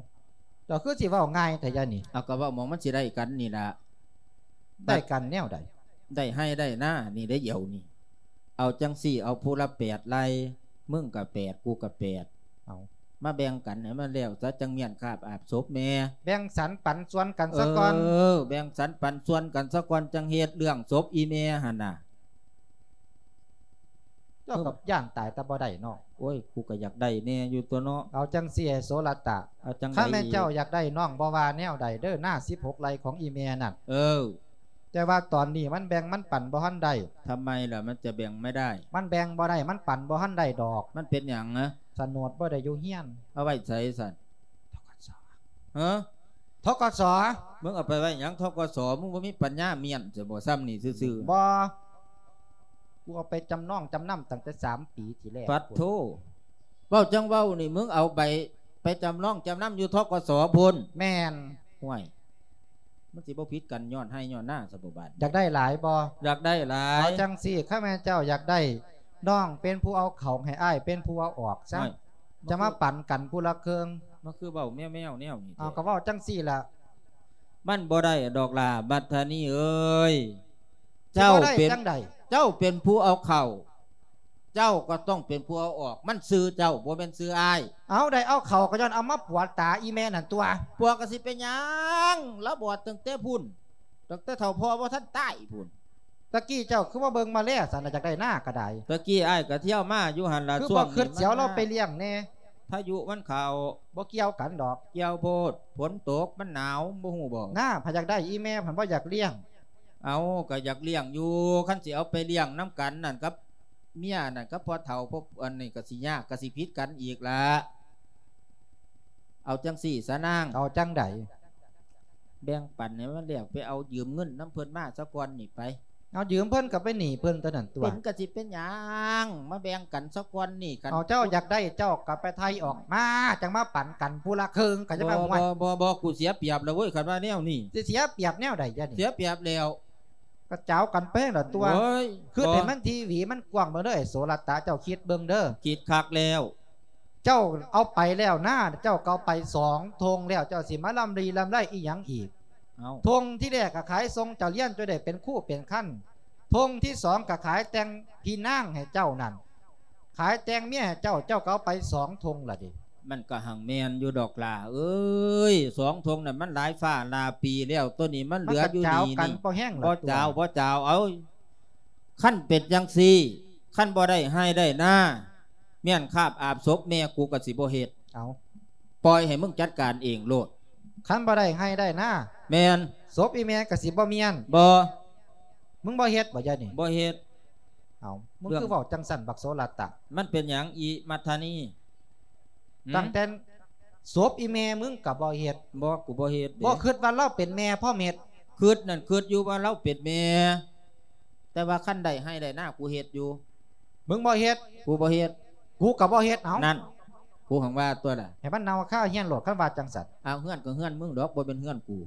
ເຈົ້າຄືຊິເວົ້າງ່າຍແທ້ຢະນີ້? ເອົາ ກໍເວົ້າໝ່ອງມັນຊິໄດ້ກັນນີ້ລະ. ໄດ້ກັນແນວໃດ? ໄດ້ໄຮ່ໄດ້ນານີ້ໄດ໋ດຽວນີ້. ເອົາຈັ່ງຊີ້ ເອົາຜູ້ລະແປດໄຮ່ ມຶງກໍແປດ ກູກໍແປດ. ເອົາ ມາແບ່ງກັນໃຫ້ມັນແລ້ວຊະ ຈັ່ງມ້ຽນຄາບອາບສົບແມ່. ແບ່ງສັນປັນສ່ວນກັນຊະກ່ອນ. ເອີ ແບ່ງສັນປັນສ່ວນກັນຊະກ່ອນ ຈັ່ງເຮັດເລື່ອງສົບອີ່ແມ່ຫັ້ນນະ. ເຈົ້າກໍຢ້ານຕາຍແຕ່ບໍ່ໄດ້ເນາະ. ໂອ້ຍ ກູກໍຢາກໄດ້ແດ່ຢູ່ຕົວະເນາະ. ເອົາຈັ່ງຊີ້ ໄອ້ໂສລະຕະ ເອົາຈັ່ງໃດອີກ? ຄັນແມ່ນເຈົ້າຢາກໄດ້ ນ້ອງບໍ່ວ່າແນວໃດເດີ ນາສິບຫົກໄຮ່ຂອງອີ່ແມ່ນັ້ນ. ເອີ ແຕ່ວ່າຕອນນີ້ມັນແບ່ງມັນປັນບໍ່ທັນໄດ້. ທຳໄມລະ ມັນຈະແບ່ງໄມ່ໄດ້? ມັນແບ່ງບໍ່ໄດ້ ມັນປັນບໍ່ທັນໄດ້ດອກ. ມັນເປັນຫຍັງນະ? ສະໂໜດບໍ່ໄດ້ຢູ່ເຮືອນ. ເອົາໄວ້ໃສຊັ້ນ? ທກສ. ຮະ? ທກສ. ມຶງເອົາໄປໄວ້ຫຍັງ ທກສ? ມຶງບໍ່ມີປັນຍາມ້ຽນຊັ້ນບໍ? ສ່ຳນີ້ຊື່ໆ. ບໍ່ ກູເອົາໄປຈຳນອງຈຳນຳຕັ້ງແຕ່ສາມປີທີ່ແລ້ວ. ປັດໂທ ເວົ້າຈັ່ງເວົ້ານີ້ ມຶງເອົາໃບໄປຈຳນອງຈຳນຳຢູ່ ທກສ ພຸ້ນ? ແມ່ນ. ຫ້ວຍ ມັນຊິບໍ່ຜິດກັນຍ້ອນໄຮ່ຍ້ອນນາຊະບໍບາດ? ຢາກໄດ້ຫຼາຍບໍ່? ຢາກໄດ້ຫຼາຍ. ເອົາຈັ່ງຊີ້ ຄັນແມ່ນເຈົ້າຢາກໄດ້ ນ້ອງເປັນຜູ້ເອົາເຂົ້າໃຫ້ ອ້າຍເປັນຜູ້ເອົາອອກຊະ. ໂອ້ຍ ຈະມາປັນກັນຜູ້ລະເຄິ່ງ. ມັນຄືເວົ້າແມວໆແນວນີ້ແທ້? ເອົາ ກໍເວົ້າຈັ່ງຊີ້ລະ. ມັນບໍ່ໄດ້ດອກຫຼ້າ ບັດທານີເອີຍ. ເຈົ້າເປັນ ເຈົ້າເປັນຜູ້ເອົາເຂົ້າ ເຈົ້າກໍຕ້ອງເປັນຜູ້ເອົາອອກ. ມັນຊື່ເຈົ້າ ບໍ່ແມ່ນຊື່ອ້າຍ. ເອົາ ໄດ້ເອົາເຂົ້າກໍຍ້ອນເອົາມາປົວຕາອີ່ແມ່ນັ້ນຕົວະ. ປົວກໍຊິເປັນຫຍັງ ລາວບອດຕັ້ງແຕ່ພຸ້ນ ຕັ້ງແຕ່ເຖົ້າພໍ່ບໍ່ທັນຕາຍພຸ້ນ. ຕະກີ້ເຈົ້າຄືບໍ່ເບິ່ງມາແລຊັ້ນນະ ຢາກໄດ້ນາກໍໄດ້. ຕະກີ້ອ້າຍກໍທ່ຽວມາຢູ່ຫັ້ນລະ. ຄືບໍ່ຄິດຊິເອົາລາວໄປລ້ຽງແດ່? ພາຍຸມັນເຂົ້າ. ບໍ່ກ່ຽວກັນດອກ. ກ່ຽວໂພດ ຝົນຕົກ ມັນໜາວ ບໍ່ຮູ້ບໍ? ນາ ໃຜຢາກໄດ້ ອີ່ແມ່ພັນບໍ່ຢາກລ້ຽງ. ເອົາ ກໍຢາກລ້ຽງຢູ່. ຄັນຊິເອົາໄປລ້ຽງນຳກັນນັ້ນ ກັບເມຍນັ້ນ ກັບພໍ່ເຖົ້າ ພວກອັນນີ້ກໍຊິຍາກ ກໍຊິຜິດກັນອີກລະ. ເອົາຈັ່ງຊີ້ສະນາງ. ເອົາຈັ່ງໃດ? ແບ່ງປັນໃຫ້ມັນແລ້ວ ໄປເອົາຢືມເງິນນຳເພິ່ນມາສາກ່ອນນີ້ໄປ. ເອົາຢືມເພິ່ນກໍໄປໜີ້ເພິ່ນຕົວນັ້ນຕົວະ. ເປັນກໍຊິເປັນຫຍັງ ມາແບ່ງກັນສາກ່ອນນີ້. ຄັນເອົາເຈົ້າຢາກໄດ້ ເຈົ້າກໍໄປໄຖ່ອອກມາ ຈັ່ງມາປັນກັນຜູ້ລະເຄິ່ງ ກໍຈະມາ. ບໍ່ ບໍ່ ບໍ່ ບໍ່ ກູເສຍປຽບແລ້ວເວີ້ຍ ຄັນວ່າແນວນີ້. ຊິເສຍປຽບແນວໃດ? ຢ່ານີ້ ເສຍປຽບແລ້ວ. ກະຈາວກັນໄປຫັ້ນລະຕົວະ. ໂອ້ຍ ຄິດໃຫ້ມັນທີຫວີມັນກວ້າງເບິ່ງເດີ ໄອ້ໂສລະຕະ ເຈົ້າຄິດເບິ່ງເດີ. ຄິດຄັກແລ້ວ. ເຈົ້າເອົາໄປແລ້ວນາ ເຈົ້າກໍເອົາໄປສອງທົ່ງແລ້ວ ເຈົ້າຊິມາລ່ຳລີລ່ຳໄລອີ່ຫຍັງອີກ? ເອົ້າ ທົ່ງທີແລກກໍຂາຍສົ່ງເຈົ້າຮຽນ ເຈົ້າໄດ້ເປັນຄູເປັນຄັນ. ທົ່ງທີສອງກໍຂາຍແຕ່ງພີ່ນາງໃຫ້ເຈົ້ານັ້ນ. ຂາຍແຕ່ງເມຍໃຫ້ເຈົ້າ ເຈົ້າກໍເອົາໄປສອງທົ່ງລະເດ. ມັນກໍຮັ່ງແມ່ນຢູ່ດອກຫຼ້າເອີຍ ສອງທົ່ງນັ້ນມັນຫຼາຍຟ້າຫຼາຍປີແລ້ວ ໂຕນີ້ມັນເຫຼືອຢູ່ນີ້ນີ້. ບໍ່ຈາວ ບໍ່ຈາວ ເອົາ ຄັນເປັນຈັ່ງຊີ້ ຄັນບໍ່ໄດ້ໄຮ່ໄດ້ນາ ມ້ຽນຄາບອາບສົບແມ່ ກູກໍຊິບໍ່ເຮັດ. ເອົາ ປ່ອຍໃຫ້ມຶງຈັດການເອງໂລດ. ຄັນບໍ່ໄດ້ໄຮ່ໄດ້ນາ. ແມ່ນ. ສົບອີ່ແມ່ກໍຊິບໍ່ມ້ຽນ. ບໍ່. ມຶງບໍ່ເຮັດບໍ່? ຢ່ານີ້ ບໍ່ເຮັດ. ເອົ້າ ມຶງຄືເວົ້າຈັ່ງຊັ້ນ ບັກໂສລະຕະ? ມັນເປັນຫຍັງ ອີ່ມັດທະນີ? ຕັ້ງແຕ່ສົບອີ່ແມ່ມຶງກໍບໍ່ເຮັດ. ບໍ່ ກູບໍ່ເຮັດເດ້. ບໍ່ຄິດວ່າລາວເປັນແມ່ພໍ່ເມັດ? ຄິດນັ້ນຄິດຢູ່ວ່າລາວເປັນແມ່ ແຕ່ວ່າຄັນໄດ້ໄຮ່ໄດ້ນາ ກູເຮັດຢູ່. ມຶງບໍ່ເຮັດ? ກູບໍ່ເຮັດ. ກູກໍບໍ່ເຮັດ. ເອົ້າ ນັ້ນ ກູຫາງວ່າຕົວະລະ ໃຫ້ມັນເນົ່າຄາຮຽນໂລດ ຄັນວ່າຈັ່ງຊັ້ນ. ເອົາ ເຮືອນກໍເຮືອນມຶງດອກ ບໍ່ແມ່ນເຮືອນກູ.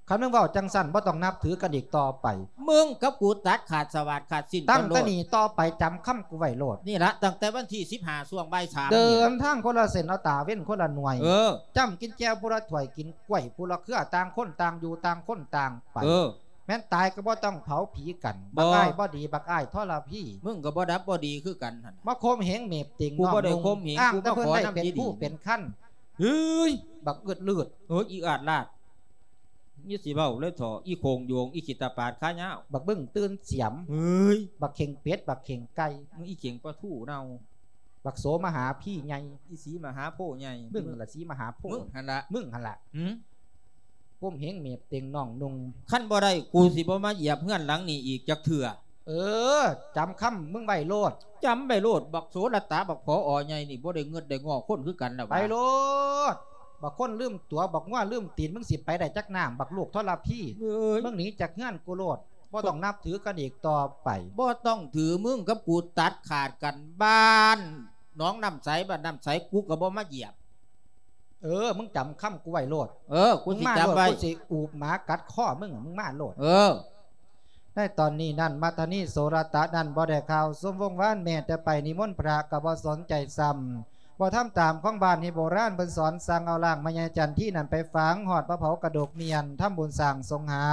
ຄັນມຶງເວົ້າຈັ່ງຊັ້ນ ບໍ່ຕ້ອງນັບຖືກັນອີກຕໍ່ໄປ. ມຶງກັບກູຕັດຂາດສະຫວາດຂາດສິ້ນກັນໂລດ. ຕັ້ງແຕ່ນີ້ຕໍ່ໄປຈຳຄຳກູໄວ້ໂລດ. ນີ້ລະ ຕັ້ງແຕ່ວັນທີສິບຫ້າ ຊ່ວງບ່າຍສາມ ເດີນທາງຄົນລະເສັ້ນ ເອົາຕາເວັນຄົນລະໜ່ວຍ. ເອີ ຈ້ຳກິນແຈ່ວຜູ້ລະຖ້ວຍ ກິນກ້ວຍຜູ້ລະເຄືອ ຕ່າງຄົນຕ່າງຢູ່ ຕ່າງຄົນຕ່າງໄປ. ເອີ ແມ່ນຕາຍກໍບໍ່ຕ້ອງເຜົາຜີກັນ. ບໍ່ ບັກອ້າຍບໍ່ດີ ບັກອ້າຍທໍລະພີ. ມຶງກໍບໍ່ດັບບໍ່ດີຄືກັນຫັ້ນ. ມາຂົ່ມເຫງເໝບຕິງ ກູບໍ່ໄດ້ຂົ່ມເຫງ ອ້າງແຕ່ເພິ່ນໄດ້ເປັນຜູ້ເປັນຄັນ. ເຮີ້ຍ ບັກອືດລືດ ເຮີ້ຍ ອີອາດລາດ. ຢ່າຊິເວົ້າເລີຍເຖາະ ອີໂຄງໂຍງ ອີຂີ້ຕາປາດຂາຍາວ ບັກບຶ້ງຕື່ນສຽມ ເຮີ້ຍ ບັກເຂັງເປັດ ບັກເຂັງໄກ່ ມຶງອີເຂັງປາທູເນົ່າ. ບັກໂສມະຫາພີໃຫຍ່ ອີ່ສີມະຫາໂພໃຫຍ່ ມຶງລະສີມະຫາໂພ ມຶງຫັ້ນລະ ມຶງຫັ້ນລະ ຫື ກົ້ມເຫງເມບເຕັງນ້ອງນຸ່ງ ຄັນບໍ່ໄດ້ ກູຊິບໍ່ມາຢຽບເຮືອນຫຼັງນີ້ອີກຈັກເທື່ອ. ເອີ ຈຳຄຳມຶງໄວ້ໂລດ ຈຳໄວ້ໂລດ ບັກໂສລະຕາ ບັກຜອອໃຫຍ່ນີ້ ບໍ່ໄດ້ເງິດໄດ້ງໍຄົນຄືກັນລະຫວາ ໄປໂລດ ບັກຄົນລືມຕົວ ບັກງົວລືມຕີນ ມຶງຊິໄປໄດ້ຈັກນ້ຳ ບັກລູກທໍລະພີ ເອີຍ ມຶງໜີຈາກເຮືອນກູໂລດ ບໍ່ຕ້ອງນັບຖືກັນອີກຕໍ່ໄປ ບໍ່ຕ້ອງຖື ມຶງກັບກູຕັດຂາດກັນ ບ້ານໜອງນ້ຳໃສ ບ້ານນ້ຳໃສ ກູກໍບໍ່ມາຢຽບ. ເອີ ມຶງຈຳຄຳກູໄວ້ໂລດ ເອີ ກູຊິຈຳໄວ້ ມຶງມາໂລດ ກູຊິອູບໝາກັດຄໍມຶງ ມຶງມາໂລດ ເອີ. ໃນຕອນນີ້ນັ້ນ ມັດທະນີໂສລະຕະນັ້ນບໍ່ໄດ້ຂ່າວຊົມວົງວານ ແມ້ແຕ່ໄປນິມົນພະກໍບໍ່ສົນໃຈຊ້ຳ ບໍ່ທຳຕາມຂອງບ້ານທີ່ໂບລານເພິ່ນສອນ ສັ່ງເອົາຮ່າງແມ່ຍາຍຈັນທີນັ້ນໄປຝັງ ຮອດມາເຜົາກະດູກມ້ຽນ ທຳບຸນສ້າງສົງຫາ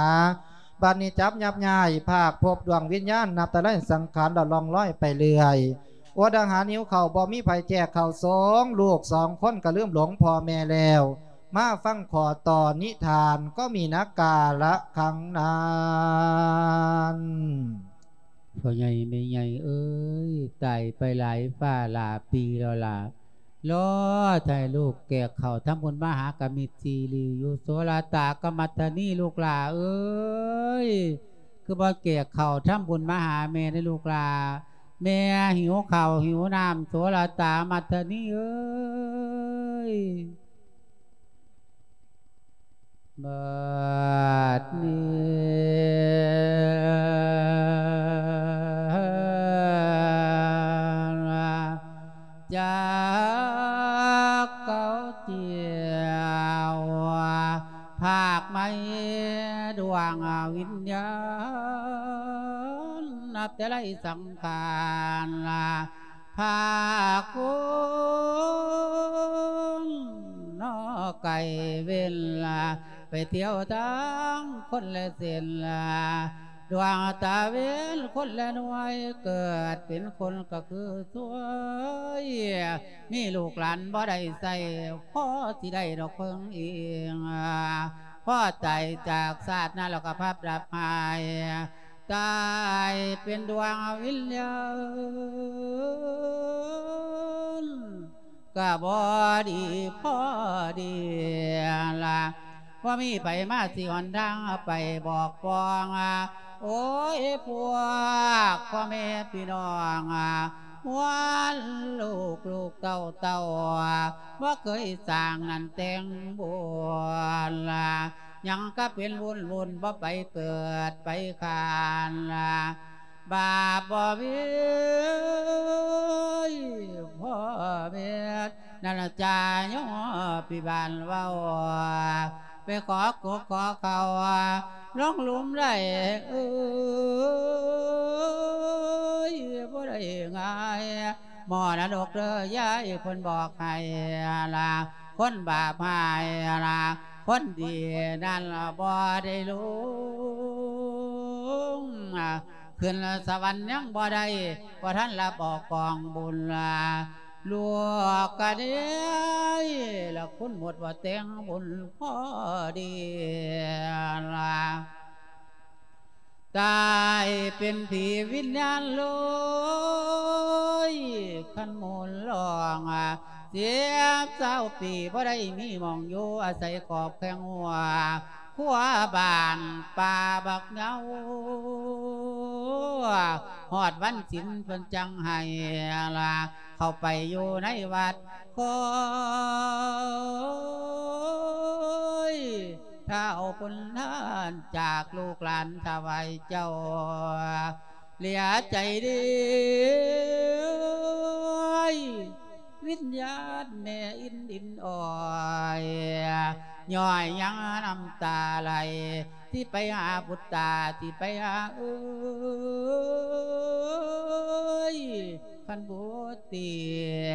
ບັດນີ້ຈັບຍັບຍ້າຍ ພາກພົບດວງວິນຍານ ນັບແຕ່ໄລສັງຂານ ລະລ່ອງລອຍໄປເລື້ອຍ ອົດອາຫານຫິວເຂົ້າ ບໍ່ມີໃຜແຈກເຂົ້າສອງ ລູກສອງຄົນກໍລືມຫຼົງພໍ່ແມ່ແລ້ວ ມາຟັງຂໍ້ຕໍ່ນິທານ ກໍມີນະກາລະຄັງນັ້ນ. ພໍ່ໃຫຍ່ແມ່ໃຫຍ່ເອີຍ ຕາຍໄປຫຼາຍຟ້າຫຼາຍປີແລ້ວລະ ລໍຖ້າໃຫ້ລູກແກກເຂົ້າທຳບຸນມະຫາກະມິດຊີລີຢູ່ ໂສລະຕາກັບມັດທະນີ ລູກຫຼ້າເອີຍ ຄືບໍ່ແກກເຂົ້າທຳບຸນມາຫາແມ່ເດີລູກຫຼ້າ ແມ່ຫິວເຂົ້າຫິວນ້ຳ ໂສລະຕາ ມັດທະນີເອີຍ. ບັດນີ້ຈັກເອົາຈຽວ ພາກໄມ້ດວງວິນຍານ ນັບແຕ່ໄລສັງຂານ ພາກຄົນນອກໄກເວັນລະ ໄປທ່ຽວທາງຄົນລະເສັ້ນລະ ດວງຕາເວັນຄົນລະໜ່ວຍ ເກີດເປັນຄົນກໍຄືສວຍ ມີລູກຫຼານບໍ່ໄດ້ໃຊ້ ພໍຊິໄດ້ດອກເພິ່ງອີງ ພໍຕາຍຈາກຊາດນັ້ນແລ້ວກໍພັບດັບຫາຍ ຕາຍເປັນດວງວິນຍານ ກະບໍ່ດີພໍດີລະ ບໍ່ມີໃຜມາຊີ້ຫົນທາງໄປບອກປອງ ໂອຍ ພວກພໍ່ແມ່ພີ່ນ້ອງ ມວນລູກລູກເຕົ້າເຕົ້າ ບໍ່ເຄີຍສ້າງນັ້ນແຕ່ງບຸນ ຍັງກະເປັນວຸ້ນວຸ້ນ ບໍ່ໄປເກີດໄປຄານ ບາບບໍ່ມີພໍ່ແມ່ ນັ້ນລະຈາຍອມພິບານເວົ້າ ໄປຂໍກົບຂໍເຂົ້າ ລົງຫຼຸມໄດ້ເອີຍ ບໍ່ໄດ້ງ່າຍ ມໍລະດົກເດີຍາຍ ເພິ່ນບອກໃຫ້ລະ ຄົນບາບຫາຍລະ ຄົນດີນັ້ນລະບໍ່ໄດ້ລົງ ຂຶ້ນສະຫວັນຍັງບໍ່ໄດ້ ບໍ່ທັນລະບອກກອງບຸນລະ ລູກກະເດຍລະ ຄຸນໝົດວ່າແຕ່ງບຸນພໍດີລະ ຕາຍເປັນຜີວິນຍານໂລຍ ຄັນໝູນລອງ ສິບຊາວປີ ບໍ່ໄດ້ມີໝ່ອງຢູ່ອາໄສຂອບແຄງຫົວ ຄົວບ້ານປ່າບັກເຍົາ ຮອດວັນສິນເພິ່ນຈັ່ງໃຫ້ລະ ເຂົ້າໄປຢູ່ໃນວັດ ຄອຍທ້າວພຸນທານ ຈາກລູກຫຼານຖວາຍເຈົ້າ ເຫຼືອໃຈເດີ ວິນຍານແມ່ອິນອິນອອຍ ຍ້ອຍຍັງນ້ຳຕາໄຫຼ ຊິໄປຫາບຸດຕາ ຊິໄປຫາເອີຍ ຄັນບຸດເຕຍ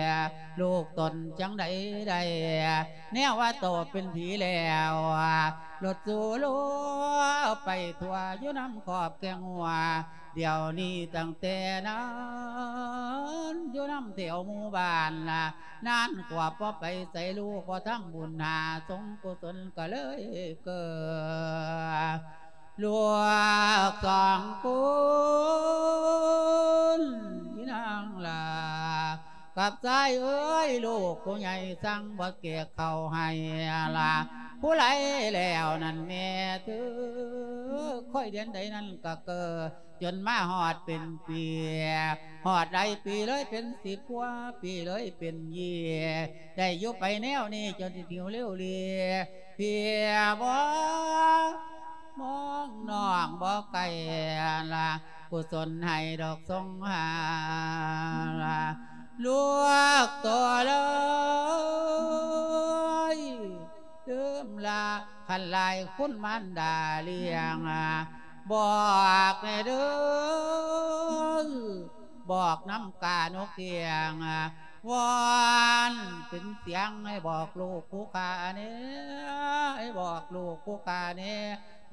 ລູກຕົນຈັ່ງໃດໄດ້ ແນວວ່າໂຕເປັນຜີແລ້ວ ລົດສູໂລໄປທົ່ວຢູ່ນຳຂອບແຄງຫົວ ດຽວນີ້ຕັ້ງແຕ່ນັ້ນ ຢູ່ນຳແຖວໝູ່ບ້ານລະ ນານກວ່າບໍ່ໄປໃສ ລູກບໍ່ທຳບຸນຫາສົງກຸສົນກໍເລີຍເກີດ ລູກສອງຄົນ ອີນາງຫຼ້າ ກັບຊາຍເອີຍ ລູກຜູ້ໃຫຍ່ສັ່ງບໍ່ແກກເຂົ້າໃຫ້ລະ ຜູ້ໃດແລ້ວນັ້ນແມ່ເທີ ຂ້ອຍເດືອນໃດນັ້ນກໍເກີດ ຈົນມາຮອດເປັນປີ ຮອດຫຼາຍປີເລີຍເປັນສິບກວ່າປີເລີຍເປັນເຢຍ ໄດ້ຢູ່ໄປແນວນີ້ຈົນຊິຫິວເລວເລ ເພຍບໍ່ ມອງນ້ອງບໍ່ໄກລະ ກຸສົນໃຫ້ດອກສົງຫາລະ ລູກໂຕເລີຍ ລືມລະ ຄັນຫຼາຍຄຸນມານດາລ້ຽງ ບອກແດ່ເດີ ບອກນຳການົກກຽງ ວອນເປັນສຽງໃຫ້ບອກລູກຜູ້ຂ້າແດ່ ໃຫ້ບອກລູກຜູ້ຂ້າແດ່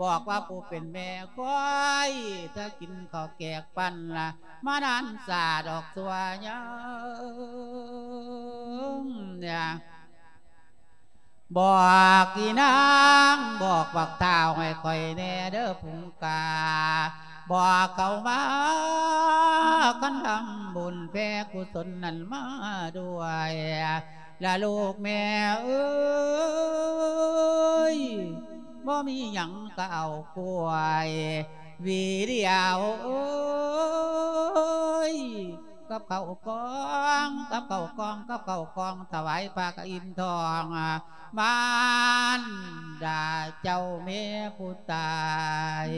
ບອກວ່າຜູ້ເປັນແມ່ຄອຍ ຖ້າກິນເຂົ້າແກກປັ້ນລະ ມານານສາດອກຊົ່ວຍາມ ບອກອີນາງ ບອກບັກທ້າວໃຫ້ຂ້ອຍແດ່ເດີພຸງກາ ບອກເຂົາມາ ຄັນທຳບຸນແຜ່ກຸສົນນັ້ນມາດ້ວຍ ລະລູກແມ່ເອີຍ ບໍ່ມີຫຍັງກໍເອົາກ້ວຍ ຫວີດຽວເອີຍ ກັບເຂົ້າກອງ ກັບເຂົ້າກອງ ກັບເຂົ້າກອງ ຖວາຍພະກະອິນທອງ ມານດາເຈົ້າແມ່ຜູ້ຕາຍ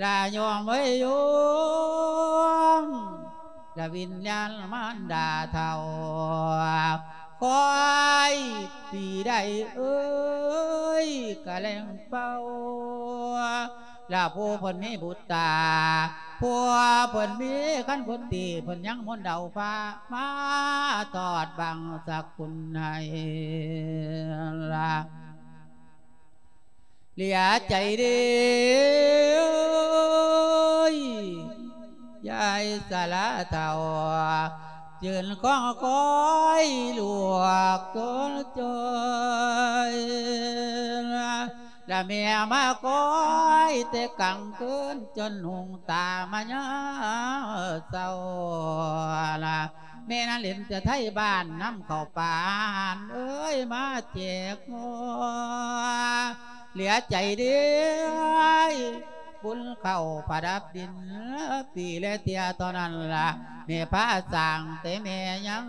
ລະໂຍມເອີຍໂຍມ ລະວິນຍານມານດາເຖົ້າ ຄອຍປີໃດເອີຍ ກະແລ່ງເປົ່າ ລະຜູ້ເພິ່ນມີບຸດຕາ ຜູ້ເພິ່ນມີຄັນຄົນຕີ ເພິ່ນຍັງມົນເດົາຟ້າ ມາທອດບັງສະກຸນໃຫ້ລະ ເຫຼືອໃຈເດີ ຍາຍສາລາເຖົ້າ ຢືນຄອງຄອຍລວກຕົວຈ່ອຍ ລະແມ່ມາຄອຍແຕ່ກາງຄືນ ຈົນຫຸງຕາມາຍາມເຊົ້າລະ ແມ່ນາເຫຼັນຈະໄທບ້ານນຳເຂົ້າປານເອີຍ ມາແຈກຫົວ ເຫຼືອໃຈເດີ ບຸນເຂົ້າປະດັບດິນ ປີແລະເທື່ອເທົ່ານັ້ນລະ ແມ່ພາສ້າງແຕ່ແມ່ຍັງ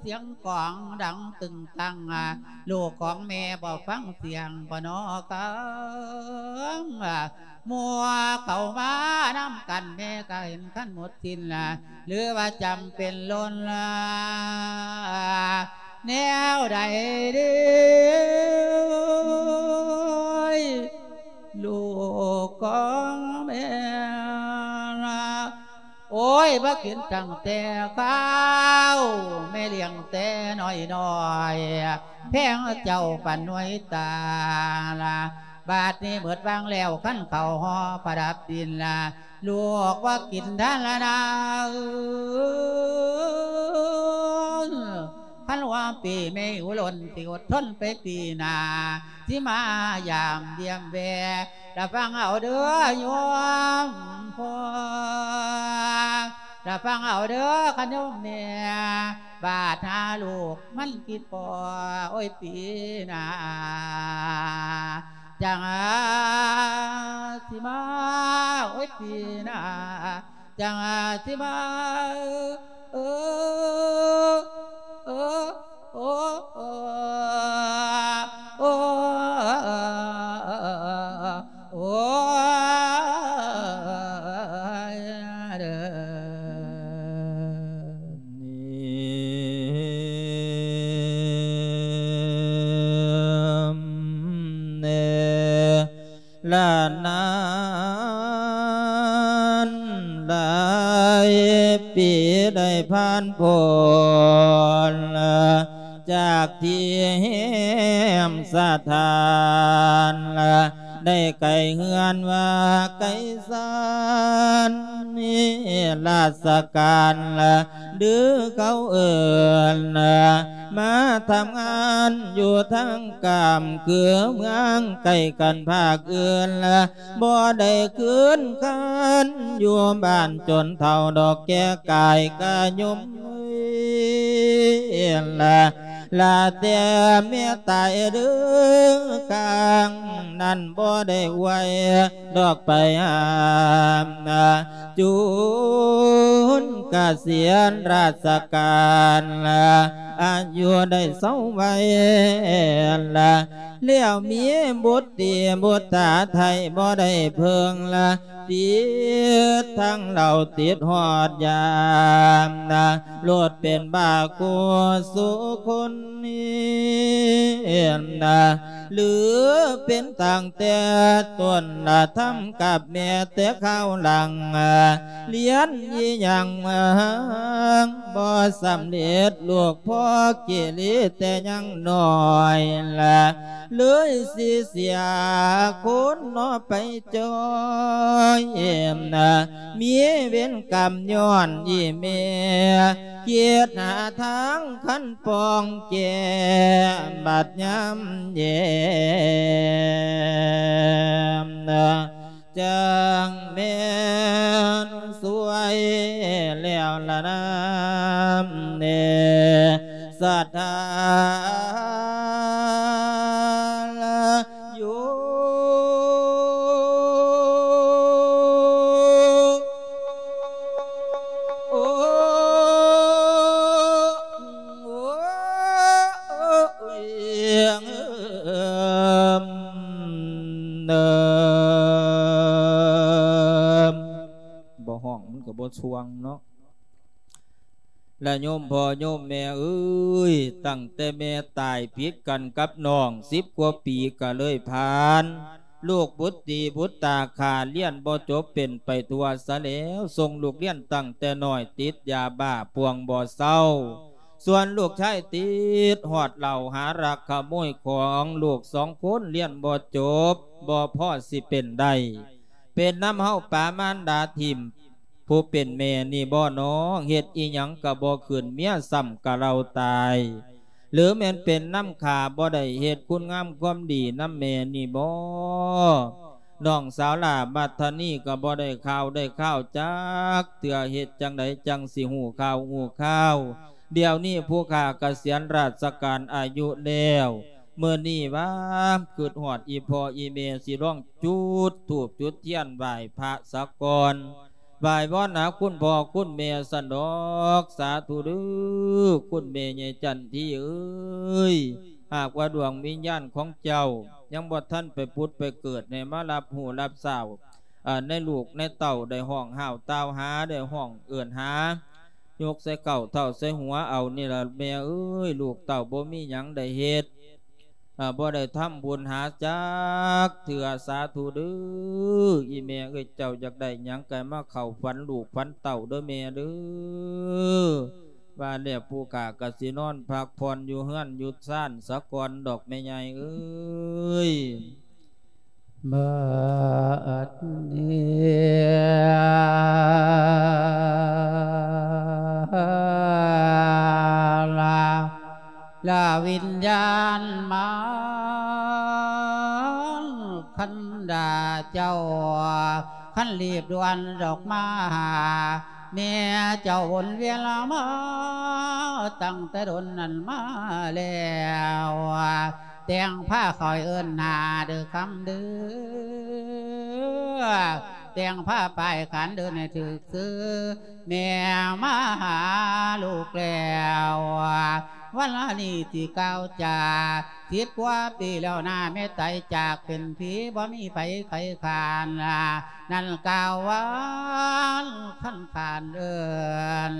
ສຽງກອງດັງຕຶງຕັງ ລູກຂອງແມ່ບໍ່ຟັງສຽງບໍ່ນໍກຳ ໝູ່ເຂົ້າມານຳກັນ ແມ່ກໍເຫັນຄັນໝົດສິ້ນລະ ຫຼືວ່າຈຳເປັນລົ້ນລະ ແນວໃດເດີ ລູກຂອງແມ່ລະ ໂອ້ຍ ບໍ່ກິນຕັ້ງແຕ່ເຊົ້າ ແມ່ລ້ຽງແຕ່ນ້ອຍໆ ແພງເຈົ້າປານໜ່ວຍຕາລະ ບາດນີ້ໝົດວັງແລ້ວ ຄັນເຂົ້າຫໍ່ປະດັບດິນລະ ລູກວ່າກິນທານລະນາ ຄັນວ່າປີແມ່ຢູ່ລົ້ນ ຊິອົດທົນໄປປີໜ້າ ຊິມາຢາມຢ້ຽມແວ່ ລະຟັງເອົາເດີໂຍມພໍ່ ລະຟັງເອົາເດີຄັນໂຍມແມ່ ບາດຫາລູກມັນຄິດພໍ ໂອ້ຍ ປີໜ້າ ຈັ່ງຊິມາ ໂອ້ຍ ປີໜ້າ ຈັ່ງຊິມາ ເອີ ເອີ ໂອ້ ໂອ້ ໂອ້ ໂອ້ ໂອ້ ເດີ ນີ້ ແນ່ ລະນານຫຼາຍປີໄດ້ຜ່ານພົ້ນ ຈາກທີ່ແຮມສະຖານ ໄດ້ໄກເຮືອນວ່າໄກສານ ມີລາຊະການ ຫຼືເຂົາເອີ້ນ ມາທຳງານຢູ່ທາງກາມ ຄືເມືອງໄກກັນພາກອື່ນລະ ບໍ່ໄດ້ຄືນຄັນຢູ່ບ້ານຈົນເຖົ້າດອກແກ່ກາຍກະຍົມເອີຍລະ ລະແຕ່ແມ່ຕາຍເດີ ຄາງນັ້ນບໍ່ໄດ້ໄຫວດອກໄປຫາ ຈຸນກະສຽນລາຊະການ ອາຍຸໄດ້ເຊົາໄວລະ ແລ້ວມີບຸດຕີບຸດຕາໄທບໍ່ໄດ້ເພິ່ງລະ ຕິດທັງເຫຼົ້າຕິດຮອດຢາ ໂລດເປັນບ້າຄູ່ສູ່ຄົນນີ້ ຫຼືເປັນຕັ້ງແຕ່ຕົ້ນລະ ທຳກັບແມ່ແຕ່ຄາວຫຼັງ ລຽນອີ່ຫຍັງມາບໍ່ສຳເລັດ ລູກພໍ່ກິເລແຕ່ຍັງນ້ອຍລະ ເລີຍຊິເສຍຄຸນເນາະໄປຈ່ອຍ ມີເວນກຳຍ້ອນອີ່ແມ່ ຄິດຫາທາງຄັນປ່ອງແກ້ ບັດຍາມແຍມ ຈັ່ງແມ່ນສວຍແລ້ວລະນາເນ ສະຖາລະໂຍ ໂອ້ ໂອ້ຍ ເອີມ ເອີມ ບໍ່ຮ້ອງມັນກໍບໍ່ຊ່ວງເນາະ ລະໂຍມພໍ່ໂຍມແມ່ເອີຍ ຕັ້ງແຕ່ແມ່ຕາຍຜິດກັນກັບນ້ອງສິບກວ່າປີກໍເລີຍຜ່ານ ລູກບຸດຕີບຸດຕາຂ້າ ລຽນບໍ່ຈົບເປັນໄປທົ່ວຊະແລ້ວ ສົ່ງລູກລຽນຕັ້ງແຕ່ນ້ອຍ ຕິດຢາບ້າປ່ວງບໍ່ເຊົາ ສ່ວນລູກຊາຍຕິດຮອດເຫຼົ້າ ຫາລັກຂະໂມຍຂອງ ລູກສອງຄົນລຽນບໍ່ຈົບ ບໍ່ພໍຊິເປັນໄດ້ ເປັນນຳເຮົາປະມານດາຖິ້ມ ຜູ້ເປັນແມ່ນີ້ບໍ່ນ້ອງ ເຮັດອີ່ຫຍັງກໍບໍ່ຂຶ້ນ ເມຍຊ້ຳກະເລົາຕາຍ ຫຼືແມ່ນເປັນນຳຂ້າ ບໍ່ໄດ້ເຮັດຄຸນງາມຄວາມດີນຳແມ່ນີ້ບໍ່ ນ້ອງສາວຫຼ້າມັດທະນີກໍບໍ່ໄດ້ຂ່າວໄດ້ຄາວຈັກເທື່ອ ເຮັດຈັ່ງໃດຈັ່ງຊິຮູ້ຂ່າວຮູ້ຄາວ ດຽວນີ້ຜູ້ຂ້າກະສຽນລາຊະການອາຍຸແລ້ວ ມື້ນີ້ວ່າຄຶດຮອດອີ່ພໍ່ອີ່ແມ່ ຊິລອງຈຸດທູບຈຸດທຽນໄຫວ້ພະສາກ່ອນ ໄຫວ້ວອນຫາຄຸນພໍ່ຄຸນແມ່ຊັ້ນດອກ ສາທຸເດີ ຄຸນແມ່ໃຫຍ່ຈັນທີເອີຍ ຫາກວ່າດວງວິນຍານຂອງເຈົ້າ ຍັງບໍ່ທັນໄປຜຸດໄປເກີດ ໃຫ້ມາຮັບຮູ້ຮັບຊາວ ເອີ ໃນລູກໃນເຕົ້າ ໄດ້ຮ້ອງຫ້າວຕ່າວຫາ ໄດ້ຮ້ອງເອີ້ນຫາ ຍົກໃສ່ເກົ້າເທົ້າໃສ່ຫົວເອົານີ້ລະແມ່ເອີຍ ລູກເຕົ້າບໍ່ມີຫຍັງໄດ້ເຮັດ ເອີ ບໍ່ໄດ້ທຳບຸນຫາຈັກເທື່ອ ສາທຸເດີ ອີ່ແມ່ເອີຍ ເຈົ້າຢາກໄດ້ຫຍັງກໍໃຫ້ມາເຂົ້າຝັນລູກຝັນເຕົ້າເດີແມ່ເດີ ວ່າແລ້ວຜູ້ຂ້າກໍຊິນອນພັກຜ່ອນຢູ່ເຮືອນຢູ່ຊານສາກ່ອນດອກແມ່ໃຫຍ່ເອີຍ. ບັດນີ້ ລະ ລະວິນຍານມານຄັນດາເຈົ້າ ຄັນລີບດ່ວນດອກມາຫາ ແມ່ເຈົ້າວົນວຽນມາ ຕັ້ງແຕ່ດົນນັ້ນມາແລ້ວ ແຕ່ງພາຂ້ອຍເອີ້ນຫາເດີຄຳເດີ ແຕ່ງພາປ້າຍຂານເດີໃຫ້ຖືກຊື່ ແມ່ມາຫາລູກແລ້ວ ວັນລະນີ້ຊິກ່າວຈາ ສິບກວ່າປີແລ້ວນາ ແມ່ໄຕຈາກເປັນຜີ ບໍ່ມີໃຜໃຄຂານ ນັ້ນກ່າວຫວານຄັນຂານເອີ້ນ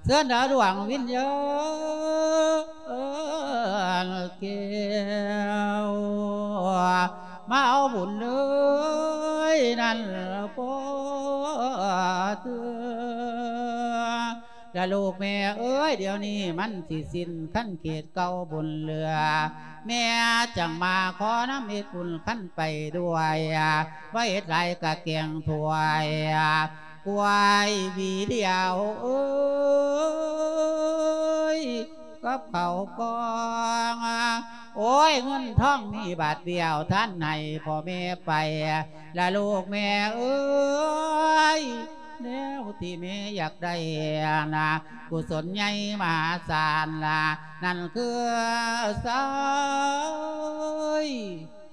ເຊີນດາວດວງວິນຍານແກ້ວ ມາເອົາບຸນເອີຍນັ້ນພໍເທື່ອ ລະລູກແມ່ເອີຍ ດຽວນີ້ມັນຊິສິ້ນຄັນເຂດເກົ່າບຸນເຫຼືອ ແມ່ຈັ່ງມາຂໍນຳເຮັດບຸນຄັນໄປດ້ວຍ ວ່າເຮັດຫຼາຍກະແກງຖ້ວຍ ກວາຍຫວີດຽວເອີຍ ກັບເຂົ້າກ່ອງ ໂອ້ຍ ເງິນທອງມີບາດດຽວ ທ່ານໃຫ້ພໍ່ແມ່ໄປ ລະລູກແມ່ເອີຍ ແນວທີ່ແມ່ຢາກໄດ້ນະ ກຸສົນໃຫຍ່ມະຫາສານລະ ນັ້ນຄືຊາຍ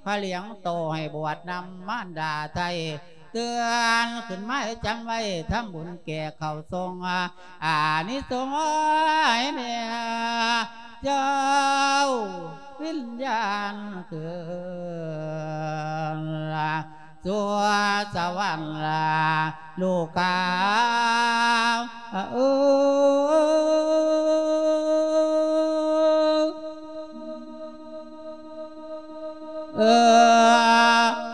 ພະລ້ຽງໂຕໃຫ້ບວດນຳມານດາໄທ ເຕືອນຂຶ້ນມາໃຫ້ຈຳໄວ້ ທຳບຸນແກ່ເຂົ້າຊົງ ອານິສົງໃຫ້ແມ່ເຈົ້າວິນຍານຄືນ ສູ່ສະຫວັນລະລູກຂ້າເອີຍ. ເອີ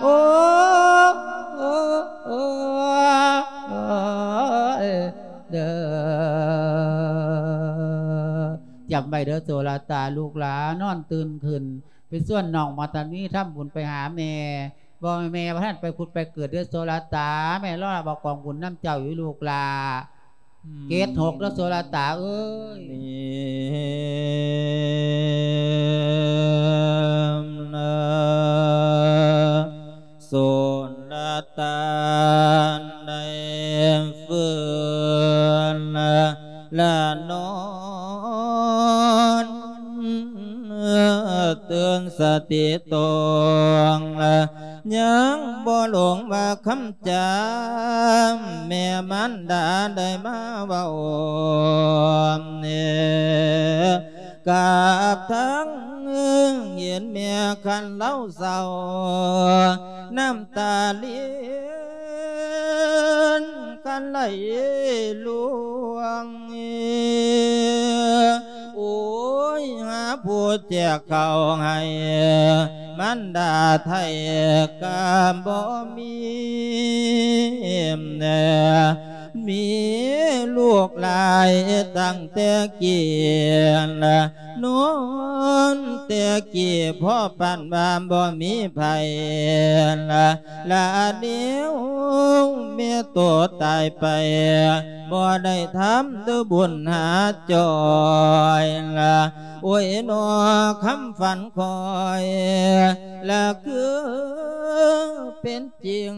ໂອ້ ເອີ ເອີ ເອີ ເດີ ຈຳໄວ້ເດີໂສລະຕາ ລູກຫຼານນອນຕື່ນຂຶ້ນ ໄປຊວນນ້ອງມາຕານີທຳບຸນໄປຫາແມ່ ບໍ່ແມ່ວ່າທ່ານໄປຜຸດໄປເກີດເດີໂສລະຕາ ແມ່ລໍຮັບເອົາກອງບຸນນຳເຈົ້າຢູ່ລູກຫຼ້າ. ເກດຫົກເດີໂສລະຕາເອີຍ. ໂສລະຕາໄດ້ຟື້ນລະນອນ ຕື່ນສະຕິຕົງລະ ຍັງບໍ່ຫຼົງວ່າຄຳຈາແມ່ມານດາໄດ້ມາເວົ້າ ກັບທັງເຫັນແມ່ຄັນລາວເສົ້າ ນ້ຳຕາລິນຄັນໄຫຼລ່ວງ. ໂອ້ຍ ຫາຜູ້ແຈກເຂົ້າໃຫ້ມານດາໄທກະບໍ່ມີ ມີລູກຫຼາຍຕັ້ງແຕ່ກີ້ ນອນແຕ່ກີ້ພໍປານວ່າບໍ່ມີໃຜ ລະແນວແມ່ໂຕຕາຍໄປ ບໍ່ໄດ້ທຳບຸນຫາຈ່ອຍ ໂອ້ຍ ນອ ຄຳຝັນຂ້ອຍ ລະຄືເປັນຈິງ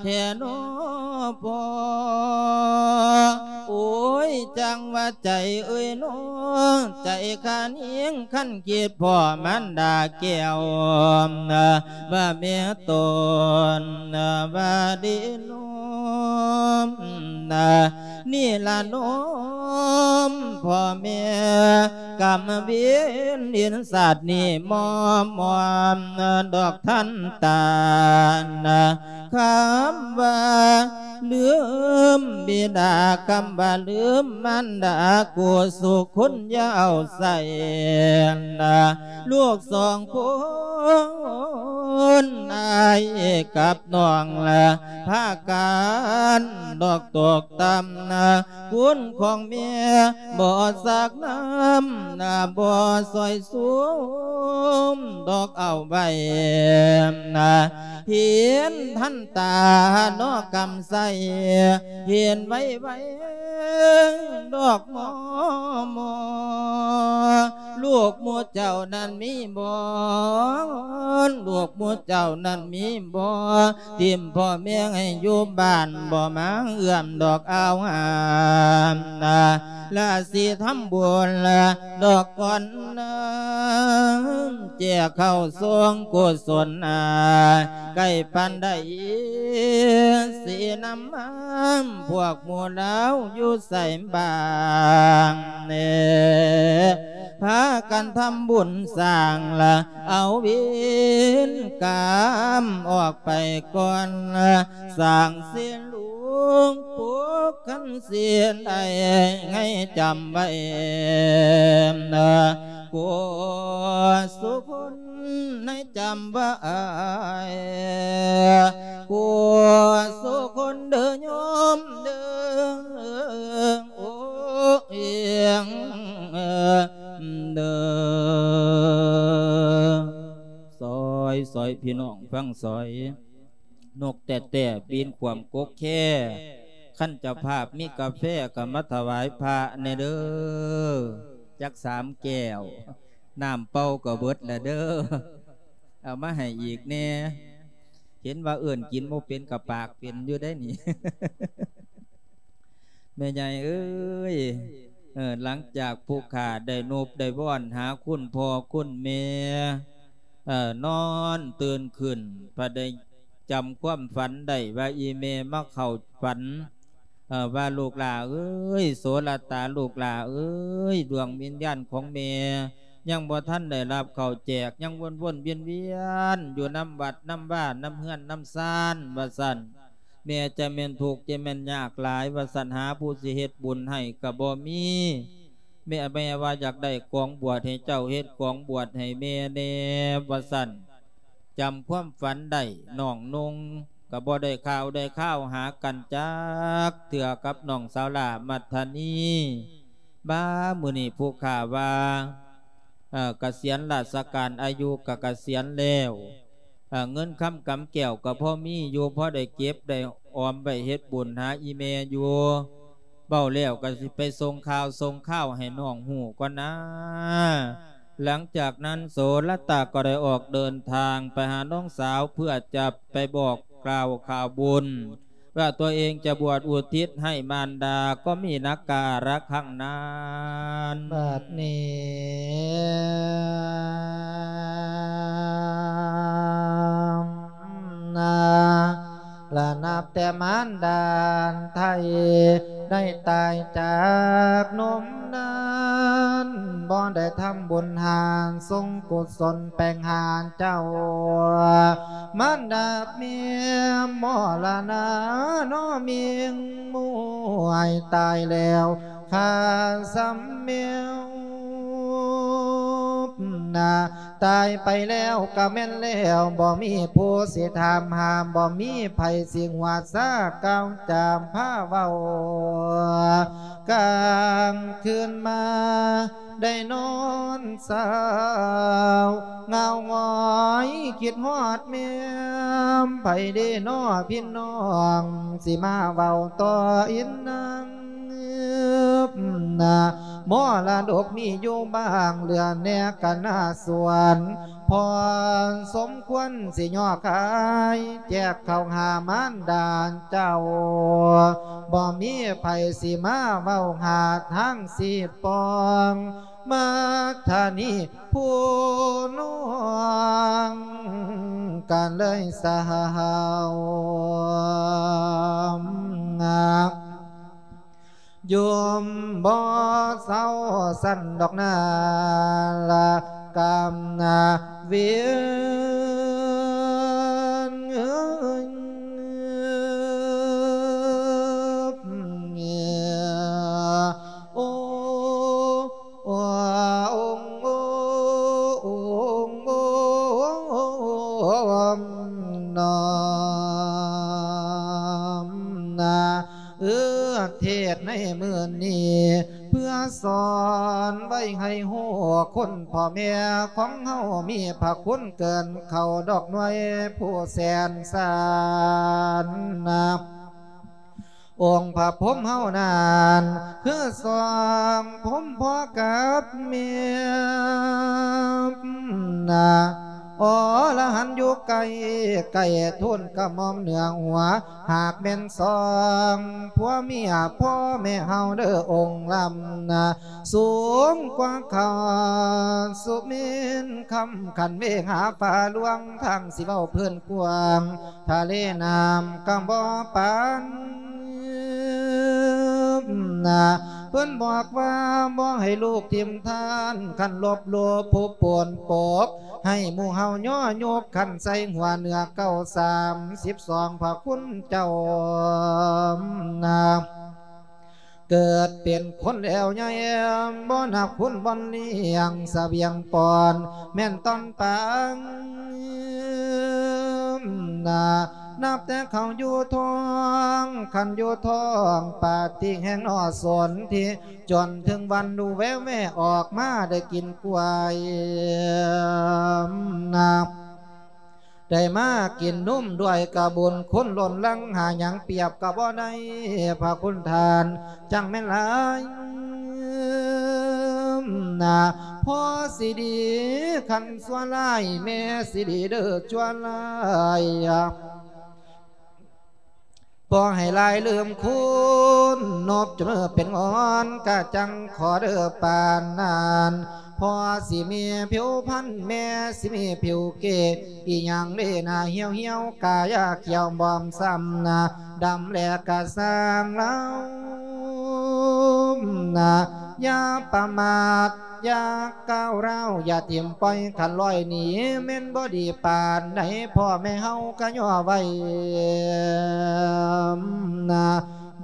ແທ້ນອພໍ່. ໂອ້ຍ ຈັ່ງວ່າໃຈເອີຍນອ ໃຈຂ້າຍິງຄັນ ຄິດພໍມານດາແກ້ວ ວ່າແມ່ຕົນວ່າດີນອມ ນີ້ລະນອມພໍ່ແມ່ ກຳເວນເຫັນຊາດນີ້ມອມມອມດອກທັນຕານ ຄຳວ່າລືມບິດາ ຄຳວ່າລືມມານດາ ກູສຸຄົນຢ່າເອົາໃສ່ ລູກສອງຄົນ ອ້າຍກັບນ້ອງລະ ພາກັນດອກຕົກຕ່ຳ ຄຸນຂອງແມ່ບໍ່ສັກນຳ ບໍ່ຊ່ອຍຊຸມດອກເອົາໄວ້ ເຫັນທັນຕານອກກຳໄຊ ເຫັນໄວໆດອກໝໍ ໝໍ ລູກໝູ່ເຈົ້ານັ້ນມີບໍ່? ລູກໝູ່ເຈົ້ານັ້ນມີບໍ່? ຖິ້ມພໍ່ແມ່ໃຫ້ຢູ່ບ້ານ ບໍ່ມາເອື້ອມດອກອາວຫາມນາ ລະຊິທຳບຸນລະດອກກ່ອນນາ ແຈກເຂົ້າຊົງກຸສົນນາ ໃກ້ປານໃດ ຊິນຳມາ ພວກໝູ່ລາວຢູ່ໃສບ້າງແນ່ ພາກັນທຳບຸນສ້າງລະ ເອົາເວນກຳອອກໄປກ່ອນລະ ສ້າງເສນຫຼວງປົກຄັນເສນໄດ້ ໃຫ້ຈຳໄວ້ນາ ໂກສຸຄົນ ໃຫ້ຈຳໄວ້ ໂກສຸຄົນເດີໂຍມເດີ ໂອ້ ເອີງເດີ ຊອຍ ຊອຍ ພີ່ນ້ອງຟັງຊອຍ ນົກແຕ້ໆບິນຂວ້ຳກົກແຄ ຄັນເຈົ້າພາບມີກາແຟກໍມາຖວາຍພະແດ່ເດີ. ຈັກສາມແກ້ວ ນ້ຳເປົ່າກໍເບິດແລ້ວເດີ້ ເອົາມາໃຫ້ອີກແດ່. ເຫັນວ່າເອີ້ນກິນບໍ່ເປັນກໍປາກເປັນຢູ່ໄດ໋ນີ້ ແມ່ໃຫຍ່ເອີຍ. ເອີ ຫຼັງຈາກຜູ້ຂ້າໄດ້ນົບໄດ້ວອນຫາຄຸນພໍ່ຄຸນແມ່ ເອີ ນອນຕື່ນຂຶ້ນ ພະໄດ້ຈຳຄວາມຝັນໄດ້ວ່າ ອີ່ແມ່ມາເຂົ້າຝັນ ເອີ ວ່າ ລູກຫຼ້າເອີຍ ໂສລະຕາ ລູກຫຼ້າເອີຍ ດວງວິນຍານຂອງແມ່ ຍັງບໍ່ທັນໄດ້ຮັບເຂົ້າແຈກ ຍັງວົນໆວຽນໆຢູ່ນຳວັດນຳວາ ນຳເຮືອນນຳຊານ ວ່າຊັ້ນ. ແມ່ຈະແມ່ນທຸກ ຈະແມ່ນຍາກຫຼາຍ ວ່າຊັ້ນ ຫາຜູ້ຊິເຮັດບຸນໃຫ້ກໍບໍ່ມີ. ແມ່ ແມ່ວ່າຢາກໄດ້ກອງບວດ ໃຫ້ເຈົ້າເຮັດກອງບວດໃຫ້ແມ່ແດ່ ວ່າຊັ້ນ. ຈຳຄວາມຝັນໄດ້ ນ້ອງນຸ່ງກໍບໍ່ໄດ້ຂ່າວໄດ້ຄາວຫາກັນຈັກເທື່ອກັບນ້ອງສາວຫຼ້າມັດທະນີ. ບາດມື້ນີ້ຜູ້ຂ້າວ່າ ເອີ ກະສຽນລາຊະການ ອາຍຸກະກະສຽນແລ້ວ ເອີ ເງິນຄຳກຳແກ້ວກໍພໍມີຢູ່ ພໍໄດ້ເກັບໄດ້ອອມໄວ້ເຮັດບຸນຫາອີ່ແມ່ຢູ່. ເວົ້າແລ້ວກໍຊິໄປສົ່ງຂ່າວສົ່ງຄາວໃຫ້ນ້ອງຮູ້ກ່ອນນາ. ຫຼັງຈາກນັ້ນໂສລະຕາກໍໄດ້ອອກເດີນທາງໄປຫານ້ອງສາວ ເພື່ອຈະໄປບອກກ່າວຂ່າວບຸນ ว่าตัวเองจะบวชอุทิศให้มารดา ก็มีนักการะครั้งนั้น บัดนี้นา และนับแต่มารดาไทยได้ตายจากนมนั้น บ่ได้ทำบุญหาส่งกุศลแปงหาเจ้า มารดาเมียมรณะน้อมิงมวยตายแล้ว ข้าสำเมียว นา ตายไปแล้วก็แม่นแล้ว บ่มีผู้สิถามหา บ่มีไผสิหัวซาก้าวจามพาเว้า กลางคืนมาได้นอนเศร้าเหงาหงอย คิดฮอดแม่ม ไผเด้น้อพี่น้อง สิมาเว้าต่ออีนาง นามรดกมีอยู่บ้าง เหลือแหน่กะนาสวน พอสมควรสิย่อขาย แจกเข้าหามารดาเจ้า บ่มีไผสิมาเว้าหาทางสิปอง มาทานี้ผู้น้องก็เลยเศร้า ยมบ่เศร้าสั่นดอกนา ละกำนาเวียน โอ้ โอ้ โอ้ โอ้ โอ้ น้อมนา เออ เทศน์ในมื้อนี้ เพื่อสอนไว้ให้ฮู้ คนพ่อแม่ของเฮามีพระคุณเกินเขาดอกหน่วยผู้แสนสานนะ องค์พระพรหมเฮานั้น คือสองพรหมพ่อกับแม่นะ อรหันต์อยู่ใกล้ ใกล้ทูลกระหม่อมเหนือหัว หากแม่นสองผัวเมียพ่อแม่เฮาเด้อองค์ลำนะ สูงกว่าเขาสุเมนคำ ขันเวหาฟ้าหลวง ทางสิเว้าพื้นกว้าง ทะเลน้ำกำบ่ปานนะ เพิ่นบอกว่าบ่ให้ลูกถิ่มทาน คันลบหลู่ผู้ปวนปก ให้หมู่เฮาย่อยกขันใส่หัวเหนือเก้าสามสิบสองพระคุณเจ้านะ เกิดเป็นคนแล้วใหญ่ บ่นับคุณบ่เลี้ยงเสบียงปอน แม่นตอนปางนา นับแต่เขาอยู่ท้อง คันอยู่ท้องปาติแห่งนอสนที่ จนถึงวันดูแวแวออกมาได้กินกล้วยนา ได้มากินนมด้วยกะบุญคุณล้นหลั่ง หาหยังเปรียบกะบ่ได้ พระคุณท่านจั่งแม่นหลาย ນາ ພໍຊິດີຄັນຊົ່ວຮ້າຍ ແມ່ຊິດີເດີຊົ່ວຮ້າຍ ບໍ່ໃຫ້ຫຼາຍລືມຄຸນ ນົບຈົນເປັນງອນ ກະຈັ່ງຂໍເດີປານນັ້ນ ພໍ່ຊິມີຜິວພັນ ແມ່ຊິມີຜິວເກ ອີ່ຫຍັງເດນາ ຫ່ຽວໆ ກາຢາຂຽວບອມຊ້ຳນາ ດຳແລກະຊ່າງລາວນາ ຢ່າປະມາດ ຢ່າກ້າວຮ້າວ ຢ່າຖິ້ມປ່ອຍ ຄັນລອຍໜີ ແມ່ນບໍ່ດີປານໃດ ພໍ່ແມ່ເຮົາກະຍໍໄວ້ນາ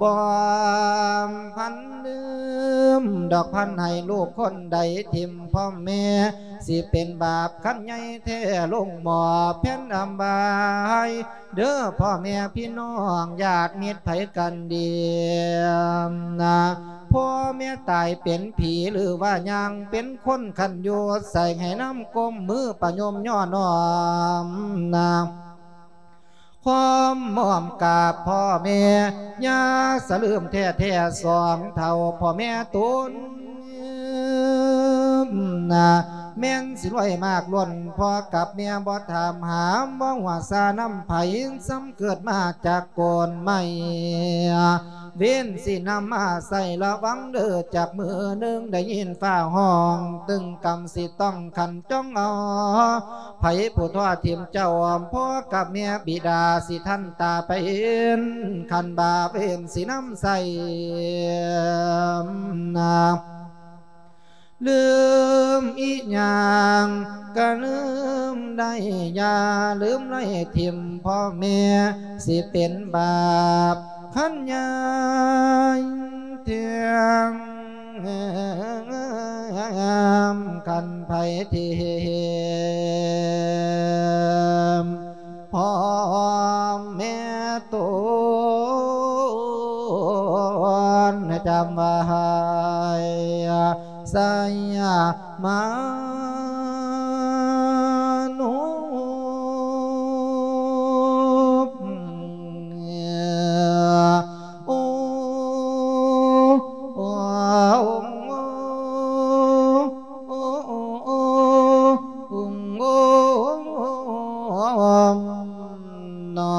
ບໍ່ພັນລືມດອກ ພັນໃຫ້ລູກຄົນໃດຖິ້ມພໍ່ແມ່ ຊິເປັນບາບຄັນໃຫຍ່ແທ້ ລົງໝໍ້ແຜ່ນອຳບາຍ ເດີພໍ່ແມ່ພີ່ນ້ອງ ຍາດມິດໃຜກັນດີນາ ພໍ່ແມ່ຕາຍເປັນຜີ ຫຼືວ່າຍ່າງເປັນຄົນ ຄັນຢູ່ໃສໃຫ້ນຳກົ້ມມືປະຍົມຍໍນ້ອມນາ ຄວາມອ້ອມກາບພໍ່ແມ່ ຢ່າສະລືມແທ້ໆ ສອງເຖົ້າພໍ່ແມ່ຕົນນາ ແມ່ນຊິລວຍມາກລົ້ນ ພໍ່ກັບແມ່ບໍ່ຖາມຫາ ບໍ່ຫົວຊານຳໃຜ ຊ້ຳເກີດມາຈາກໂກນໄມ້ ເວນຊິນຳມາໃສ່ ລະວັງເດີ ຈັກມື້ໜຶ່ງໄດ້ຍິນຟ້າຮ້ອງ ຕຶງກຳຊິຕ້ອງຂັນ ຈົ່ງເອົາໃຜຜູ້ທົວຖິ້ມເຈົ້າ ພໍ່ກັບແມ່ບິດາຊິທັນຕາໄປເຫັນ ຄັນບາບເວນຊິນຳໃສ່ນາ ລືມອີ່ຫຍັງກະລືມໄດ້ ຢ່າລືມໄລ່ຖິ້ມພໍ່ແມ່ ຊິເປັນບາບຄັນໃຫຍ່ແທ້ ຄັນໃຜຖິ້ມພໍ່ແມ່ຕົນ ຈຳໄວ້ ໄຊຍະມານຸ ໂອ ໂອ ໂອ ໂອ ໂອ ນາ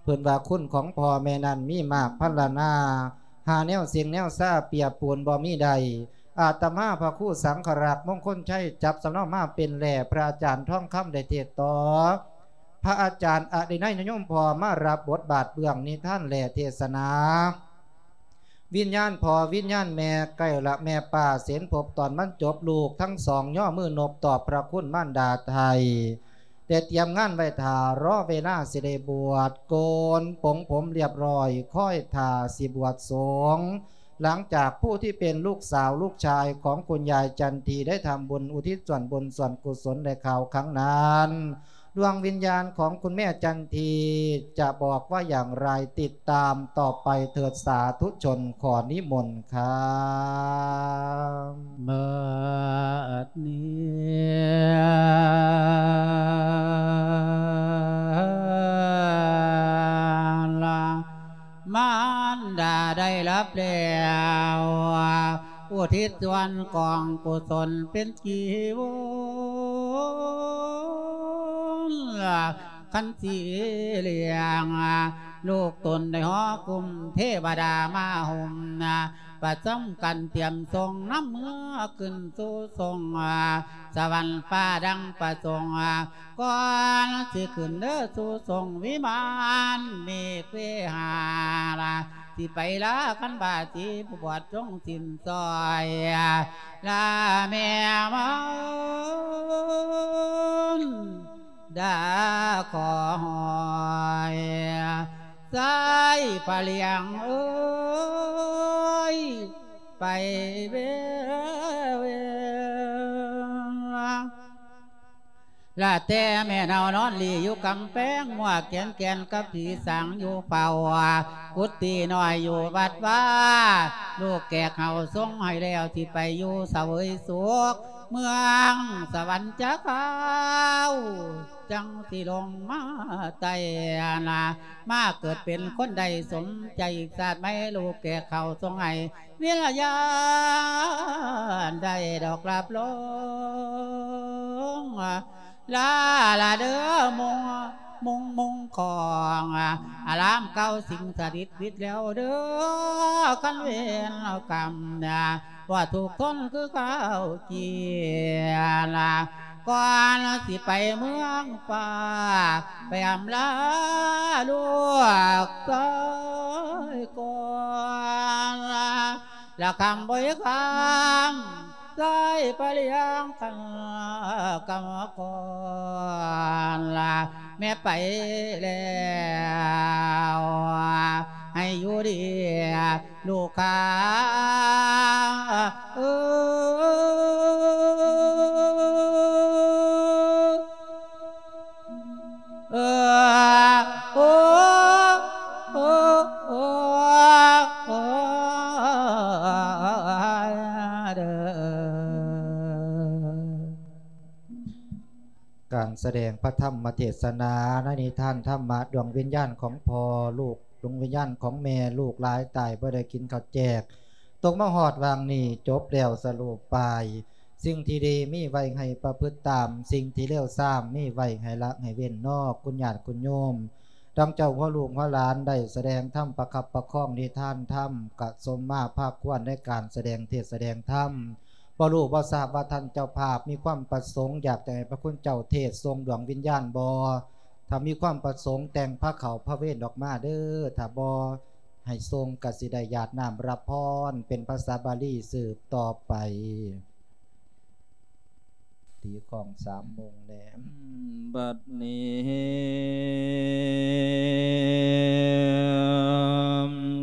ເພິ່ນວ່າຄຸນຂອງພໍ່ແມ່ນັ້ນມີມາກພັນລະນາ ຫາແນວເສັງແນວຊາປຽບປູນບໍ່ມີໄດ້ ອາດຕະມາພະຄູສັງຄະລັກ ມົງຄົນໄຊ ຈັບສຳເນົາມາເປັນແຫຼ້ ພະອາຈານທອງຄຳໄດ້ເທດຕໍ່ ພະອາຈານອະລິໄນຍະຍົມພໍ່ມາຮັບບົດບາດເບື້ອງນິທານແຫຼ້ເທດສະໜາ ວິນຍານພໍ່ວິນຍານແມ່ ໃກ້ລະແມ່ປ້າເສັນພົບຕອນບັນຈົບ ລູກທັງສອງຍໍມືນົບຕອບພະຄຸນມານດາໄທ ແຕ່ຕຽມງານໄວ້ຖ້າ ລໍເວລາຊິໄດ້ບວດ ໂກນປົງຜົມລຽບຮ້ອຍ ຄອຍຖ້າຊິບວດສົງ ຫຼັງຈາກຜູ້ທີ່ເປັນລູກສາວລູກຊາຍຂອງຄຸນຍາຍຈັນທີໄດ້ທຳບຸນອຸທິດສ່ວນບຸນສ່ວນກຸສົນແລະຂ່າວຄັ້ງນັ້ນ ດວງວິນຍານຂອງຄຸນແມ່ຈັນທີຈະບອກວ່າຢ່າງໃດ ຕິດຕາມຕໍ່ໄປເທີດສາທຸຊົນ ຂໍນິມົນຄ່າ. ບັດນີ້ ມານດາໄດ້ຮັບແລ້ວ ອຸທິດສ່ວນກອງກຸສົນເປັນຈີວອນ ຄັນສີຫຼຽງ ລູກຕົນໄດ້ຫໍກຸມ ເທວະດາມາຫົ່ມ ປະຈຳກັນຕຽມສົ່ງ ນຳເມືອຂຶ້ນສູ່ສົງ ສະຫວັນຟ້າດັ່ງປະສົງ ກ່ອນຊິຂຶ້ນເດີສູ່ສົງວິມານເມກເວຫາລາ ຊິໄປລາຄັນບາສີ ຜູ້ບວດຈົ່ງສິ້ນຊອຍ ລາແມ່ມາ ດາຂໍຫອຍ ຊາຍພະຫຼຽງເອີຍ ໄປເວ ເວ ລາແຕ່ແມ່ເນົ່ານອນຫຼີ່ຢູ່ກຳແພງ ໝວກແກນແກ່ນກັບຜີສາງຢູ່ເຝົ້າ ກຸດຕິນ້ອຍຢູ່ວັດວາ ລູກແກກເຮົາຊົງໃຫ້ແລ້ວ ຊິໄປຢູ່ສະເຫວີຍສຸກ ເມືອງສະຫວັນຈັກຄາວ ຈັ່ງຊິລົງມາໄຕ່ນາ ມາເກີດເປັນຄົນໄດ້ສົມໃຈ ຊາດໃໝ່ລູກແກ່ເຂົ້າສົ່ງໃຫ້ວິນຍານໄດ້ດອກລາບລົງ ລາລາເດີມຸງ ມຸງ ມຸງຂອງ ອາລາມເກົ່າສິ່ງສະຖິດວິດແລ້ວເດີ ຄັນເວນກຳນາ ວ່າທຸກທົນຄືເກົ່າກີນາ ກ່ອນຊິໄປເມືອງຟ້າ ໄປອຳລາລູກຊາຍກ່ອນ ລະຄຳບໍ່ຍາກຄຳ ຊາຍປະລ້ຽງຄັນກຳມະກອນ ລະແມ່ໄປແລ້ວ ໃຫ້ຢູ່ດີລູກຂ້າ ເອີ ເອີ ໂອ ໂອ ໂອ ເດີ. ການສະແດງພະທຳມະເທດສະນາໃນນິທານທຳມະ ດວງວິນຍານຂອງພໍ່ລູກ ດວງວິນຍານຂອງແມ່ລູກຫຼາຍຕາຍບໍ່ໄດ້ກິນເຂົ້າແຈກ ຕົກມາຮອດຫວ່າງນີ້ ຈົບແລ້ວສະໂລບປາຍ. ສິ່ງທີ່ດີມີໄວ້ໃຫ້ປະພຶດຕາມ ສິ່ງທີ່ເລວຊາມມີໄວ້ໃຫ້ລະໃຫ້ເວັ້ນເນາະ ຄຸນຍາດຄຸນໂຍມ. ດັ່ງເຈົ້າຫົວລູກຫົວຫຼານໄດ້ສະແດງທຳປະຄັບປະຄອງນິທານທຳ ກະສົມມາພາຄວນໃນການສະແດງເທດສະແດງທຳ. ບໍ່ຮູ້ບໍ່ຊາບວ່າທ່ານເຈົ້າພາບມີຄວາມປະສົງຢາກຈະໃຫ້ພະຄຸນເຈົ້າເທດສົ່ງດວງວິນຍານບໍ່? ຖ້າມີຄວາມປະສົງແຕ່ງພາເຂົ້າພາເວນອອກມາເດີ ຖ້າບໍ່ໃຫ້ສົ່ງກະຊິໄດ້ຢາດນ້ຳຮັບພອນເປັນພາສາບາລີສືບຕໍ່ໄປ. ຕີຂອງສາມໂມງແດ່. ບັດນີ້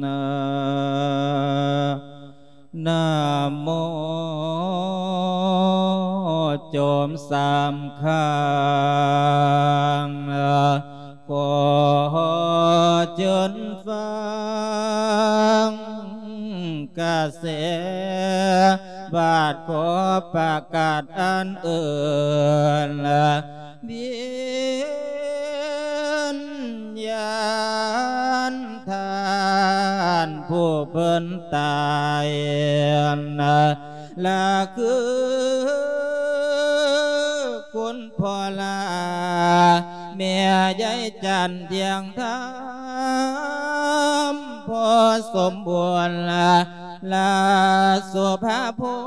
ນາ ນະໂມ ຈອມສາມຂ້າງ ຂໍເຊີນຟັງກະແສ ບາດຂໍປະກາດອັນເອີ້ນ ວິນຍານທ່ານຜູ້ເພິ່ນຕາຍ ລະຄືຄຸນພໍ່ລາ ແມ່ຍາຍຈັນທຽງທຳ ພໍ່ສົມບູນ ລະ ລະ ສຸພາພົ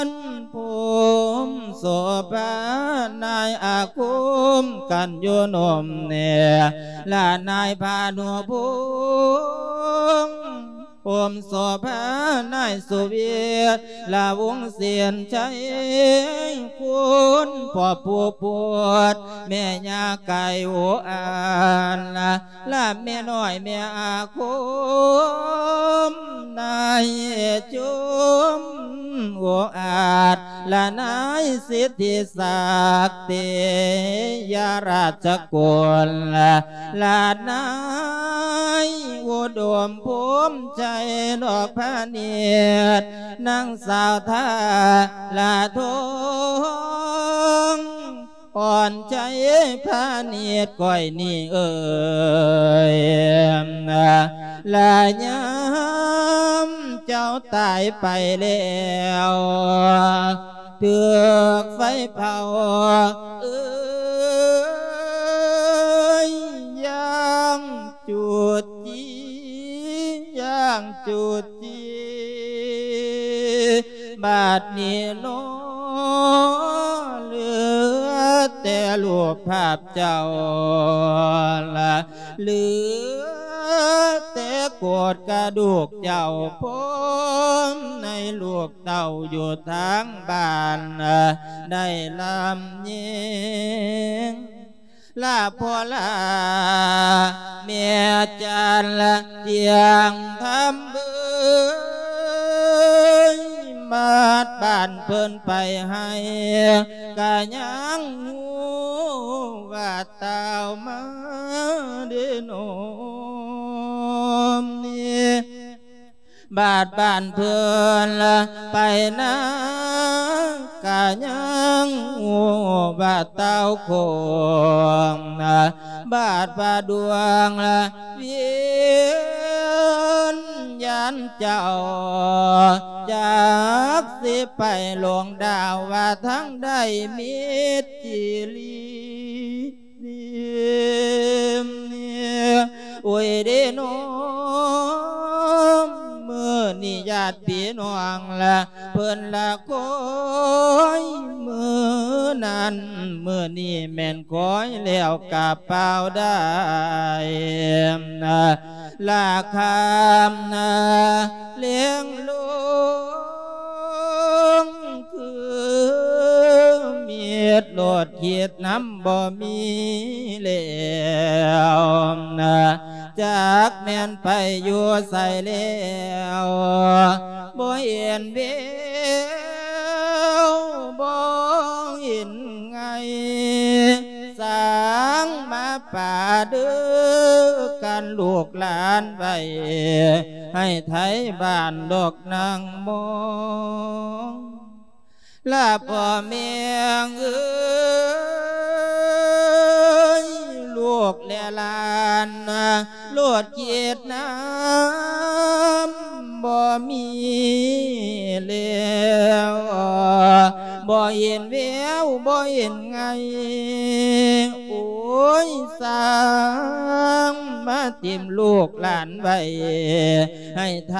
ນ ພູມໂສພາ ນາຍອາຄົມ ກັນຢູ່ນົມແນ່ ລະນາຍພານຸພົງ ພົມໂສພາ ນາຍສຸວິດ ລະວົງເສນໄຊ ຄຸນພໍ່ປູ່ໂພດ ແມ່ຍ່າໄກ່ໂອອານ ລະແມ່ນ້ອຍແມ່ອາຄົມ ນາຍຈຸມໂອອາດ ລະນາຍສິດທິສັກ ເຕຍະລາຊະກຸນ ລະນາຍອຸດົມພົມໄຊ ດອກພານິດ ນາງສາວທາລະທອງ ອ່ອນໃຈພານິດຂ້ອຍນີ້ເອີຍ ລະຍາມເຈົ້າຕາຍໄປແລ້ວ ຖືກໄຟເຜົາເອີຍ ຢ່າງຈູດຈີ ຢ່າງຈູດຈີ ບາດນີ້ໜໍ ເຫຼືອແຕ່ຮູບພາບເຈົ້າ ເຫຼືອແຕ່ໂກດກະດູກເຈົ້າ ພົມໃນລູກເຕົ້າຢູ່ທາງບ້ານ ໄດ້ລຳຍິງ ລາພໍ່ລາແມ່ຈັນລະຈຽງທຳເບີຍ ມາດບ້ານເພິ່ນໄປໃຫ້ ກະຍັງຮູ້ວ່າຕ່າວມາເດໂນມນີ້ ບາດບ້ານເພິ່ນໄປນາ ກະຍັງຮູ້ວ່າເຕົ້າໂຄງ ບາດວ່າດວງວຽນຍານເຈົ້າ ຈັກຊິໄປຫຼົງດາວວ່າທາງໃດມິດຈີລີ. ໂອ້ຍເດ້ນ້ອງ ມື້ນີ້ຍາດພີ່ນ້ອງລະ ເພິ່ນລະຄອຍມື້ນັ້ນ ມື້ນີ້ແມ່ນຄອຍແລ້ວກະເປົ່າໄດ້ ລະຄຳນະແລງລົງ ຄືມິດລົດຄິດນຳບໍ່ມີແລ້ວ ຈັກແມ່ນໄປຢູ່ໃສແລ້ວ ບໍ່ເຫັນແວວ ບໍ່ເຫັນໄງ ສ້າງມາປາເດີກັນລູກຫຼານໄວ້ ໃຫ້ໄທບ້ານດອກນາງມອງ ລະພໍ່ແມ່ເອີຍ ລູກແລະຫຼານ ໂລດຄິດນຳບໍ່ມີແລ້ວ ບໍ່ເຫັນແວວ ບໍ່ເຫັນໄງ ໂອ້ຍ ສ້າງມາຖິ້ມລູກຫຼານໄວ້ ໃຫ້ໄທ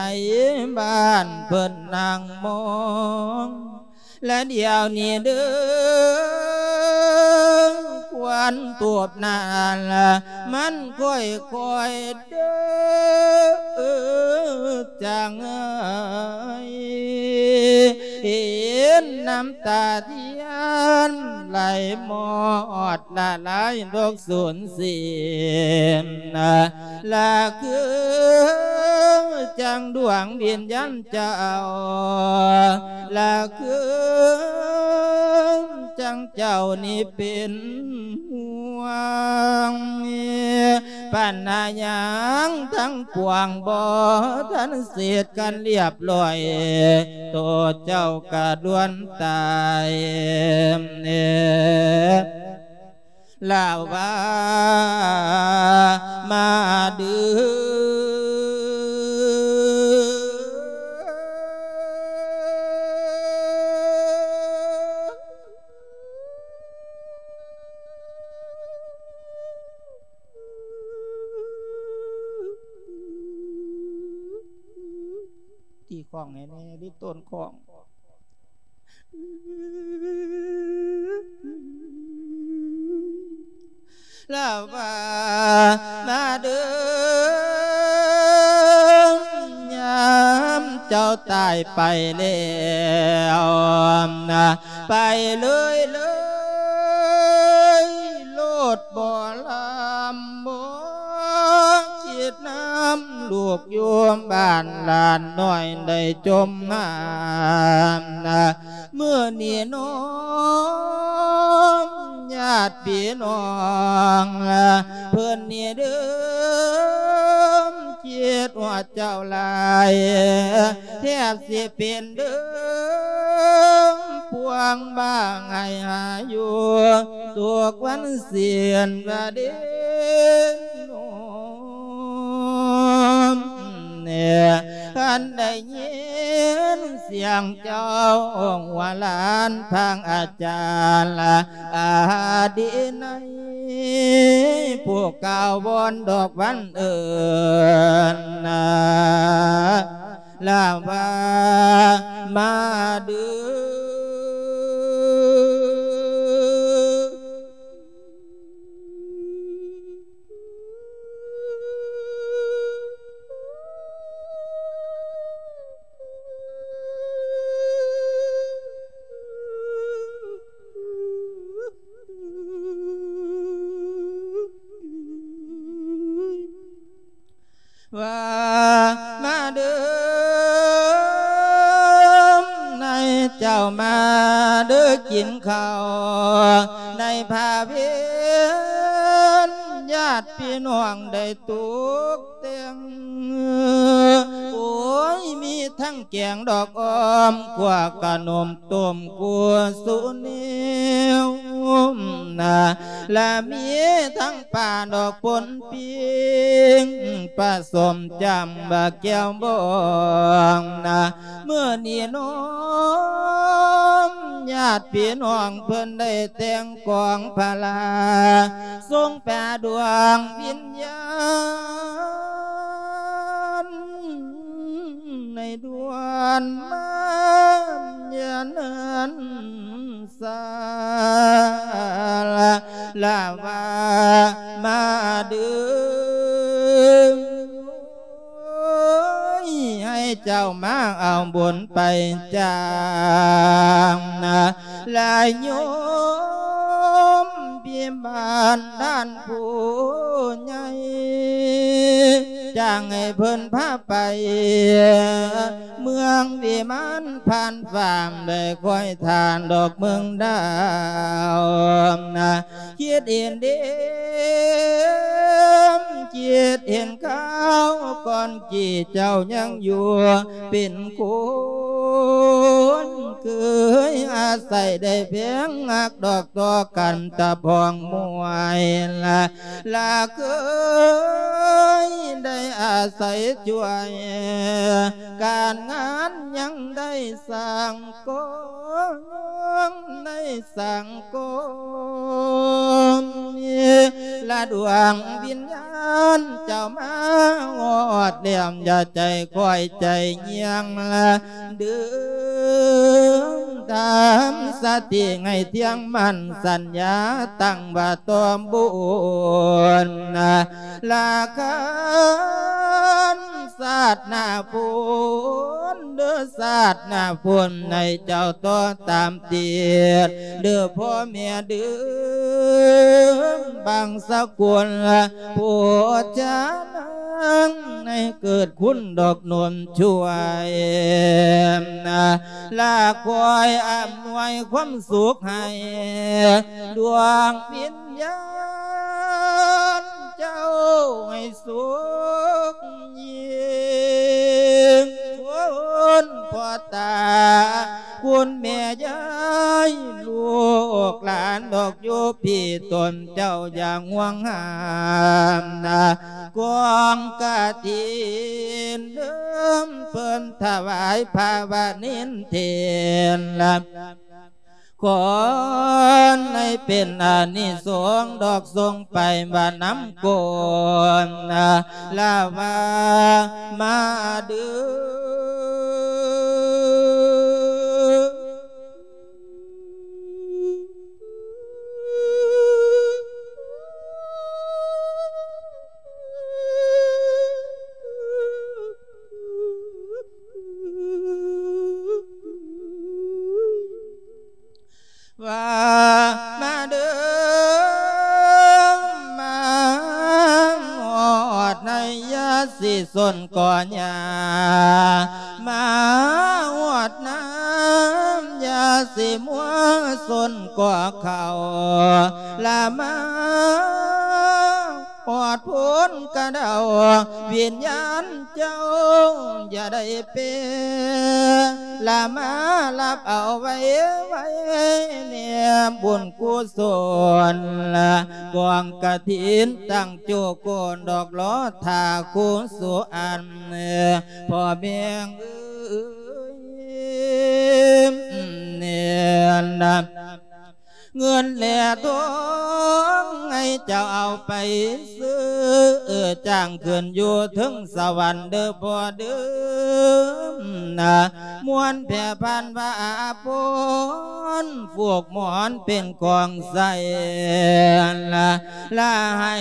ບ້ານເພິ່ນນັ່ງມອງ ລະດຽວນີ້ເດີ ຄວັນທູບນັ້ນ ມັນຄ່ອຍໆເດີ ຈາງເອີຍ ເຫັນນ້ຳຕາທຽນໄຫຼໝົດ ລະລາຍໂລກສູນສິ້ນ ລະຄືຈັ່ງດວງວິນຍານເຈົ້າ ລະຄືຈັ່ງເຈົ້ານີ້ເປັນຫ່ວງ ປັນຫາຫຍັງທັງປວງບໍ່ທັນເສດກັນລຽບລ້ອຍ ໂຕເຈົ້າກະດ່ວນຕາຍ ລາວວ່າມາເດີ ຕີຂ້ອງໃຫ້ແດ່ ລິດໂຕນຂ້ອງ ລາວວ່າມາເດີ ຍາມເຈົ້າຕາຍໄປແລ້ວ ໄປເລີຍເລີຍໂລດ ບໍ່ລຳບໍ່ຄິດນຳລູກຢູ່ບ້ານ ຫຼານນ້ອຍໄດ້ຈົມຫາ ມື້ນີ້ນ້ອງຍາດພີ່ນ້ອງ ເພິ່ນນີ້ເດີ ຄິດຮອດເຈົ້າຫຼາຍ ແທບຊິເປັນເດີ ພວງບ້າງໄຫ້ຫາຢູ່ ທຸກວັນເສຍນວ່າເດນອມ ຄັນໄດ້ຍິນສຽງເຈົ້າຫົວຫຼານທາງອາຈານອາດີໄນ ຜູ້ກ່າວວອນດອກວັນເອີ້ນນາ ລາວວ່າມາເດີ. ວ່າມາເດີ ນາຍເຈົ້າມາເດີ ກິນເຂົ້າໃນພາເວັນ ຍາດພີ່ນ້ອງໄດ້ຕົກແຕ່ງ ໂອ້ຍ ມີ ທັງແກງດອກອ້ອມ ຂົ້ວຂະໜົມຕົ້ມກູສຸເນວນະ ລະມີທັງປາດອກປົນປີ້ງ ປະສົມຈ້ຳບາແກ້ວບອງນະ. ມື້ນີ້ນ້ອມຍາດພີ່ນ້ອງເພິ່ນໄດ້ແຕ່ງກອງພະລາ ສົ່ງປາດວງວິນຍານ ໃນດວນມາຍາເນີນສາລາ ລາວາມາເດີ ໃຫ້ເຈົ້າມາເອົາບຸນໄປຈ້າງນະ ລະໂຍມພິບານທ່ານຜູ້ໃຫຍ່ ຈ້າງໃຫ້ເພິ່ນພາໄປ ເມືອງວິມານຜ່ານຟ້າ ໄດ້ຄອຍທ່ານດອກເມືອງດາວນະ ຄິດເຫັນເດ ຄິດເຫັນຄາວກ່ອນ ທີ່ເຈົ້າຍັງຢູ່ເປັນຄົນ ເຄີຍອາໄສໄດ້ແພງຮັກດອກຕໍ່ກັນຕະພ້ອງມວຍລະ ລະເຄີຍໄດ້ອາໄສຊ່ວຍ ການງານຍັງໄດ້ສ້າງກອງ ໄດ້ສ້າງກອງ ລະດວງວິນຍານເຈົ້າມາຮອດແລ້ວ ຢ່າໃຈຄ່ອຍໃຈຍ່ຽງລະເດີ ທຳສະຕິໃຫ້ທ່ຽງໝັ້ນ ສັນຍາຕັ້ງວ່າຕໍ່ບຸນນະ ລະຄັນຊາດໜ້າພຸ້ນເດີ ຊາດໜ້າພຸ້ນໃຫ້ເຈົ້າຕໍ່ຕາມຕິດເດີ ພໍ່ແມ່ເດີ ບັງສະກຸນຜູ້ຈານາງ ໃຫ້ເກີດຄຸນດອກໜູນຊ່ວຍນະ ລະຄອຍອຳນວຍຄວາມສຸກໃຫ້ ດວງວິນຍານເຈົ້າໃຫ້ສຸກຍິ່ງ ຄຸນພໍ່ຕາ ຄຸນແມ່ຍາຍ ລູກຫຼານດອກຢູ່ພີ້ ຕົນເຈົ້າຢ່າຫ່ວງຫ້າມນະ ກອງກະຖິນເດີມເພິ່ນຖວາຍພະວະນິນເທນລະ ຂໍໃຫ້ເປັນອານິສົງດອກ ສົ່ງໄປວ່ານຳກົນລາວາມາເດີ. ວ່າມາເດີ ມາຮອດໃນ ຢ່າຊິຊົນກໍຢ່າ ມາຮອດນ້ຳ ຢ່າຊິມົວຊົນກໍເຂົ້າ ລະມາ ຮອດໂພນກະເດົາ ວິນຍານເຈົ້າຢ່າໄດ້ເປ ລະມາຮັບເອົາໄວ້ ໄວ້ແນມບຸນກຸສົນ ລະກອງກະຖິນຕັ້ງໂຈໂກນດອກ ລໍຖ້າຄູສຸອັນ ພໍ່ແມ່ເອີຍ ເງິນແລທອງໃຫ້ເຈົ້າເອົາໄປຊື້ຈ້າງຂຶ້ນຢູ່ເທິງສະຫວັນເດີພໍ່ເດີ ນະ ມ່ວນແຜ່ພັນວາອາພອນ ຜູກໝອນເປັນຂອງໃຊ້ ລະ ລະໃຫ້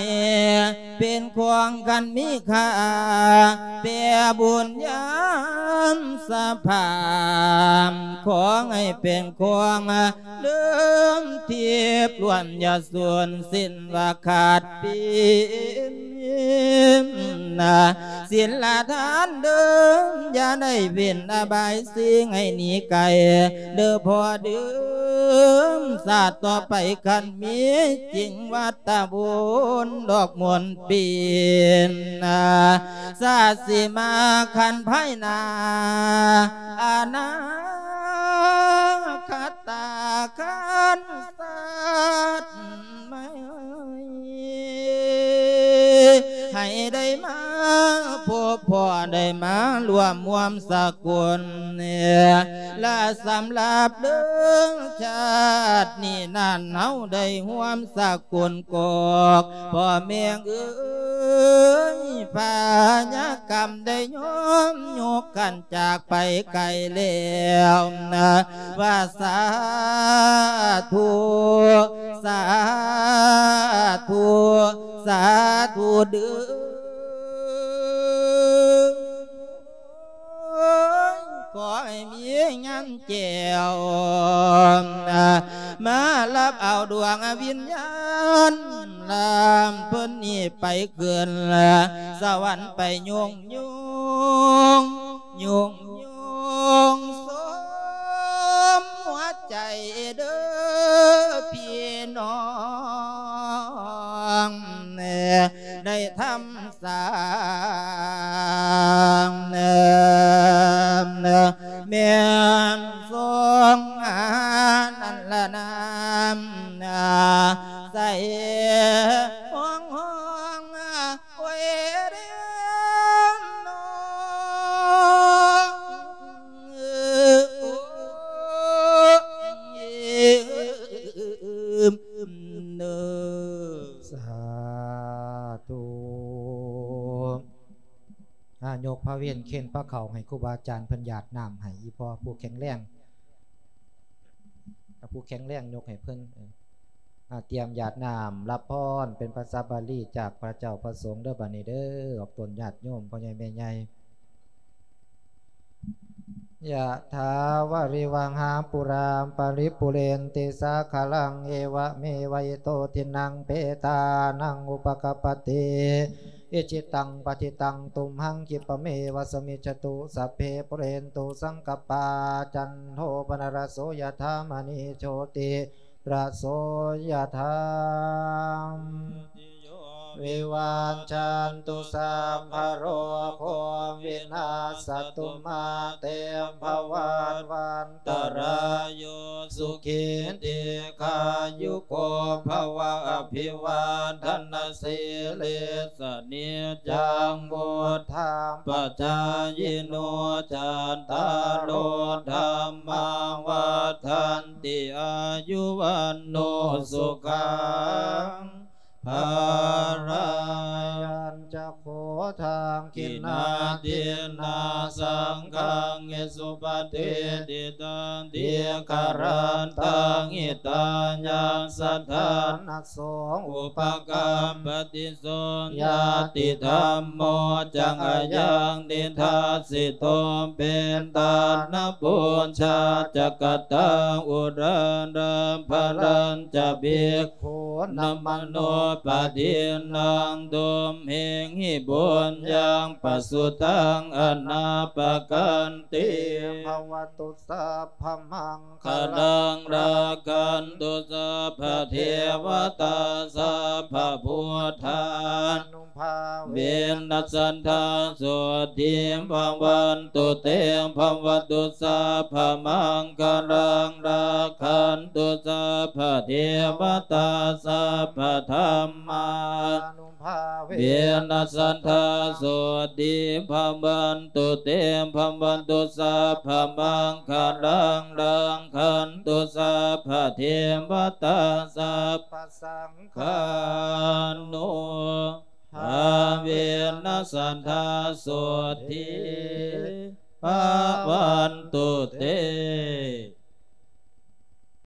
ເປັນຂອງຄັນມີຄ່າ ແປບຸນຍາມສະພາບ ຂໍໃຫ້ເປັນຂອງ ເດີມທິບລ້ວນ ຢ່າສູນສິ້ນວ່າຂາດປີ້ນ ສິນລະທານເດີມ ຢ່າໄດ້ເວັ້ນອະບາຍສີ່ ໃຫ້ໜີໄກເດີພໍ່ເດີມ ຊາດຕໍ່ໄປຄັນມີຈິງ ວັດຕະບຸນດອກມ່ວນປີນ ຊາດຊິມາຄັນພາຍໜ້າ ອະນາຄະຕາຄັນຊາດ ໄໝ ໃຫ້ໄດ້ມາພົບພໍ້ ໄດ້ມາຮ່ວມຮ່ວມສະກຸນ ແລະສຳລັບເດີມຊາດນີ້ນັ້ນ ເຮົາໄດ້ຮ່ວມສະກຸນກອກ ພໍ່ແມ່ເອີຍ ພະຍາກຳໄດ້ຍອມຍົກກັນ ຈາກໄປໄກແລ້ວນະ ວ່າສາທຸ ສາທຸ ສາທຸເດີ ຂໍໃຫ້ມີຍາມແຈ້ວນະ ມາຮັບເອົາດວງວິນຍານ ລຳເພິ່ນນີ້ໄປຂຶ້ນສະຫວັນ ໄປຍົງ ຍຸງ ຍຸງ ຍຸງສົມຫົວໃຈເດີພີ່ນ້ອງ ໄດ້ທຳສ້າງ ແມ່ນຊົງອານັນລະນາ ໃສ່ຫ້ອງ ຫ້ອງ ໂອ້ຍເດ້ ສາທຸ ອາ ຍົກພະເວນເຄນພະເຂົ້າໃຫ້ຄູບາອາຈານເພິ່ນຢາດນ້ຳໃຫ້ ອີ່ພໍ່ຜູ້ແຂງແຮງ ກັບຜູ້ແຂງແຮງຍົກໃຫ້ເພິ່ນ ເອີ ອາ ຕຽມຢາດນ້ຳ ຮັບພອນເປັນພາສາບາລີຈາກພະເຈົ້າພະສົງເດີ ບາດນີ້ເດີ ອອກຕົນຍາດໂຍມ ພໍ່ໃຫຍ່ແມ່ໃຫຍ່ ຍະຖາວາລິວະຫາປູຣາປະລິປູເຣນຕິສາຄາລັງ ເອວະເມວະອິໂຕທິນນັງເປຕານັງອຸປະກະປະຕິ ອິຊິຕັງປັດຖິຕັງ ຕຸມຫັງຂິບປະເມວະສະມິດຈະຕຸ ສັບເພ ປູເຣນຕຸ ສັງກະປາ ຈັນໂທ ປະນະລະໂສ ຍະຖາ ມະນີ ໂຊຕິລະໂສ ຍະຖາ ຕິໂຍ ວິວັດຊັນຕຸ ສັບພະໂລໂຄ ວິນາສະຕຸ ມາເຕ ພະວັດວັນຕະລາໂຍ ສຸຂີ ດີຄາຍຸໂກ ພະວະ ອະພິວາທະນະສີລິສ ສະນິດຈັງ ວຸດທະປະຈາຍິໂນ ຈັດຕາໂລ ທຳມາ ວັດທັນຕິ ອາຍຸ ວັນໂນ ສຸຂັງ ພະລັງ ຍັນຈະໂຄ ທັກຂິນາທິນນາ ສັງຄັງ ເອສຸປະຕິດທິຕັງ ທິກຂະຣັນຕັງ ຫິຕາຍັງ ສະຖານະ ໂສ ອຸປະກັບປະຕິໂສ ຍາຕິທຳໂມ ຈັງອາຍັງ ນິທັດສິໂຕ ເປຕານະ ປຸນຊາ ຈັກກະຕັງ ອຸຣານາ ພະລັນຈະ ພິກຂຸນະ ມະໂນປະທິນນັງ ຕຸມຫິງຫິ ບຸນຍັງ ປະສຸຕັງ ອະນາປະກັນຕິ ພະວະຕຸ ສັບພະມັງຄະລັງ ລັກຂັນຕຸ ສັບພະເທວະຕາ ສັບພະພຸດທານຸພາເວນະ ສັດທາໂສດຖີພະວັນຕຸເຕ ພະວະຕຸ ສັບພະມັງຄະລັງ ລັກຂັນຕຸ ສັບພະເທວະຕາ ສັບພະທຳມານຸ ພາເວນະ ສັດທາໂສດຖີພະວັນຕຸເຕ ພະວະຕຸ ສັບພະມັງຄະລັງ ລັກຂັນຕຸ ສັບພະເທວະຕາ ສັບພະສັງຄານຸພາເວນະ ສັດທາໂສດຖີພະວັນຕຸເຕ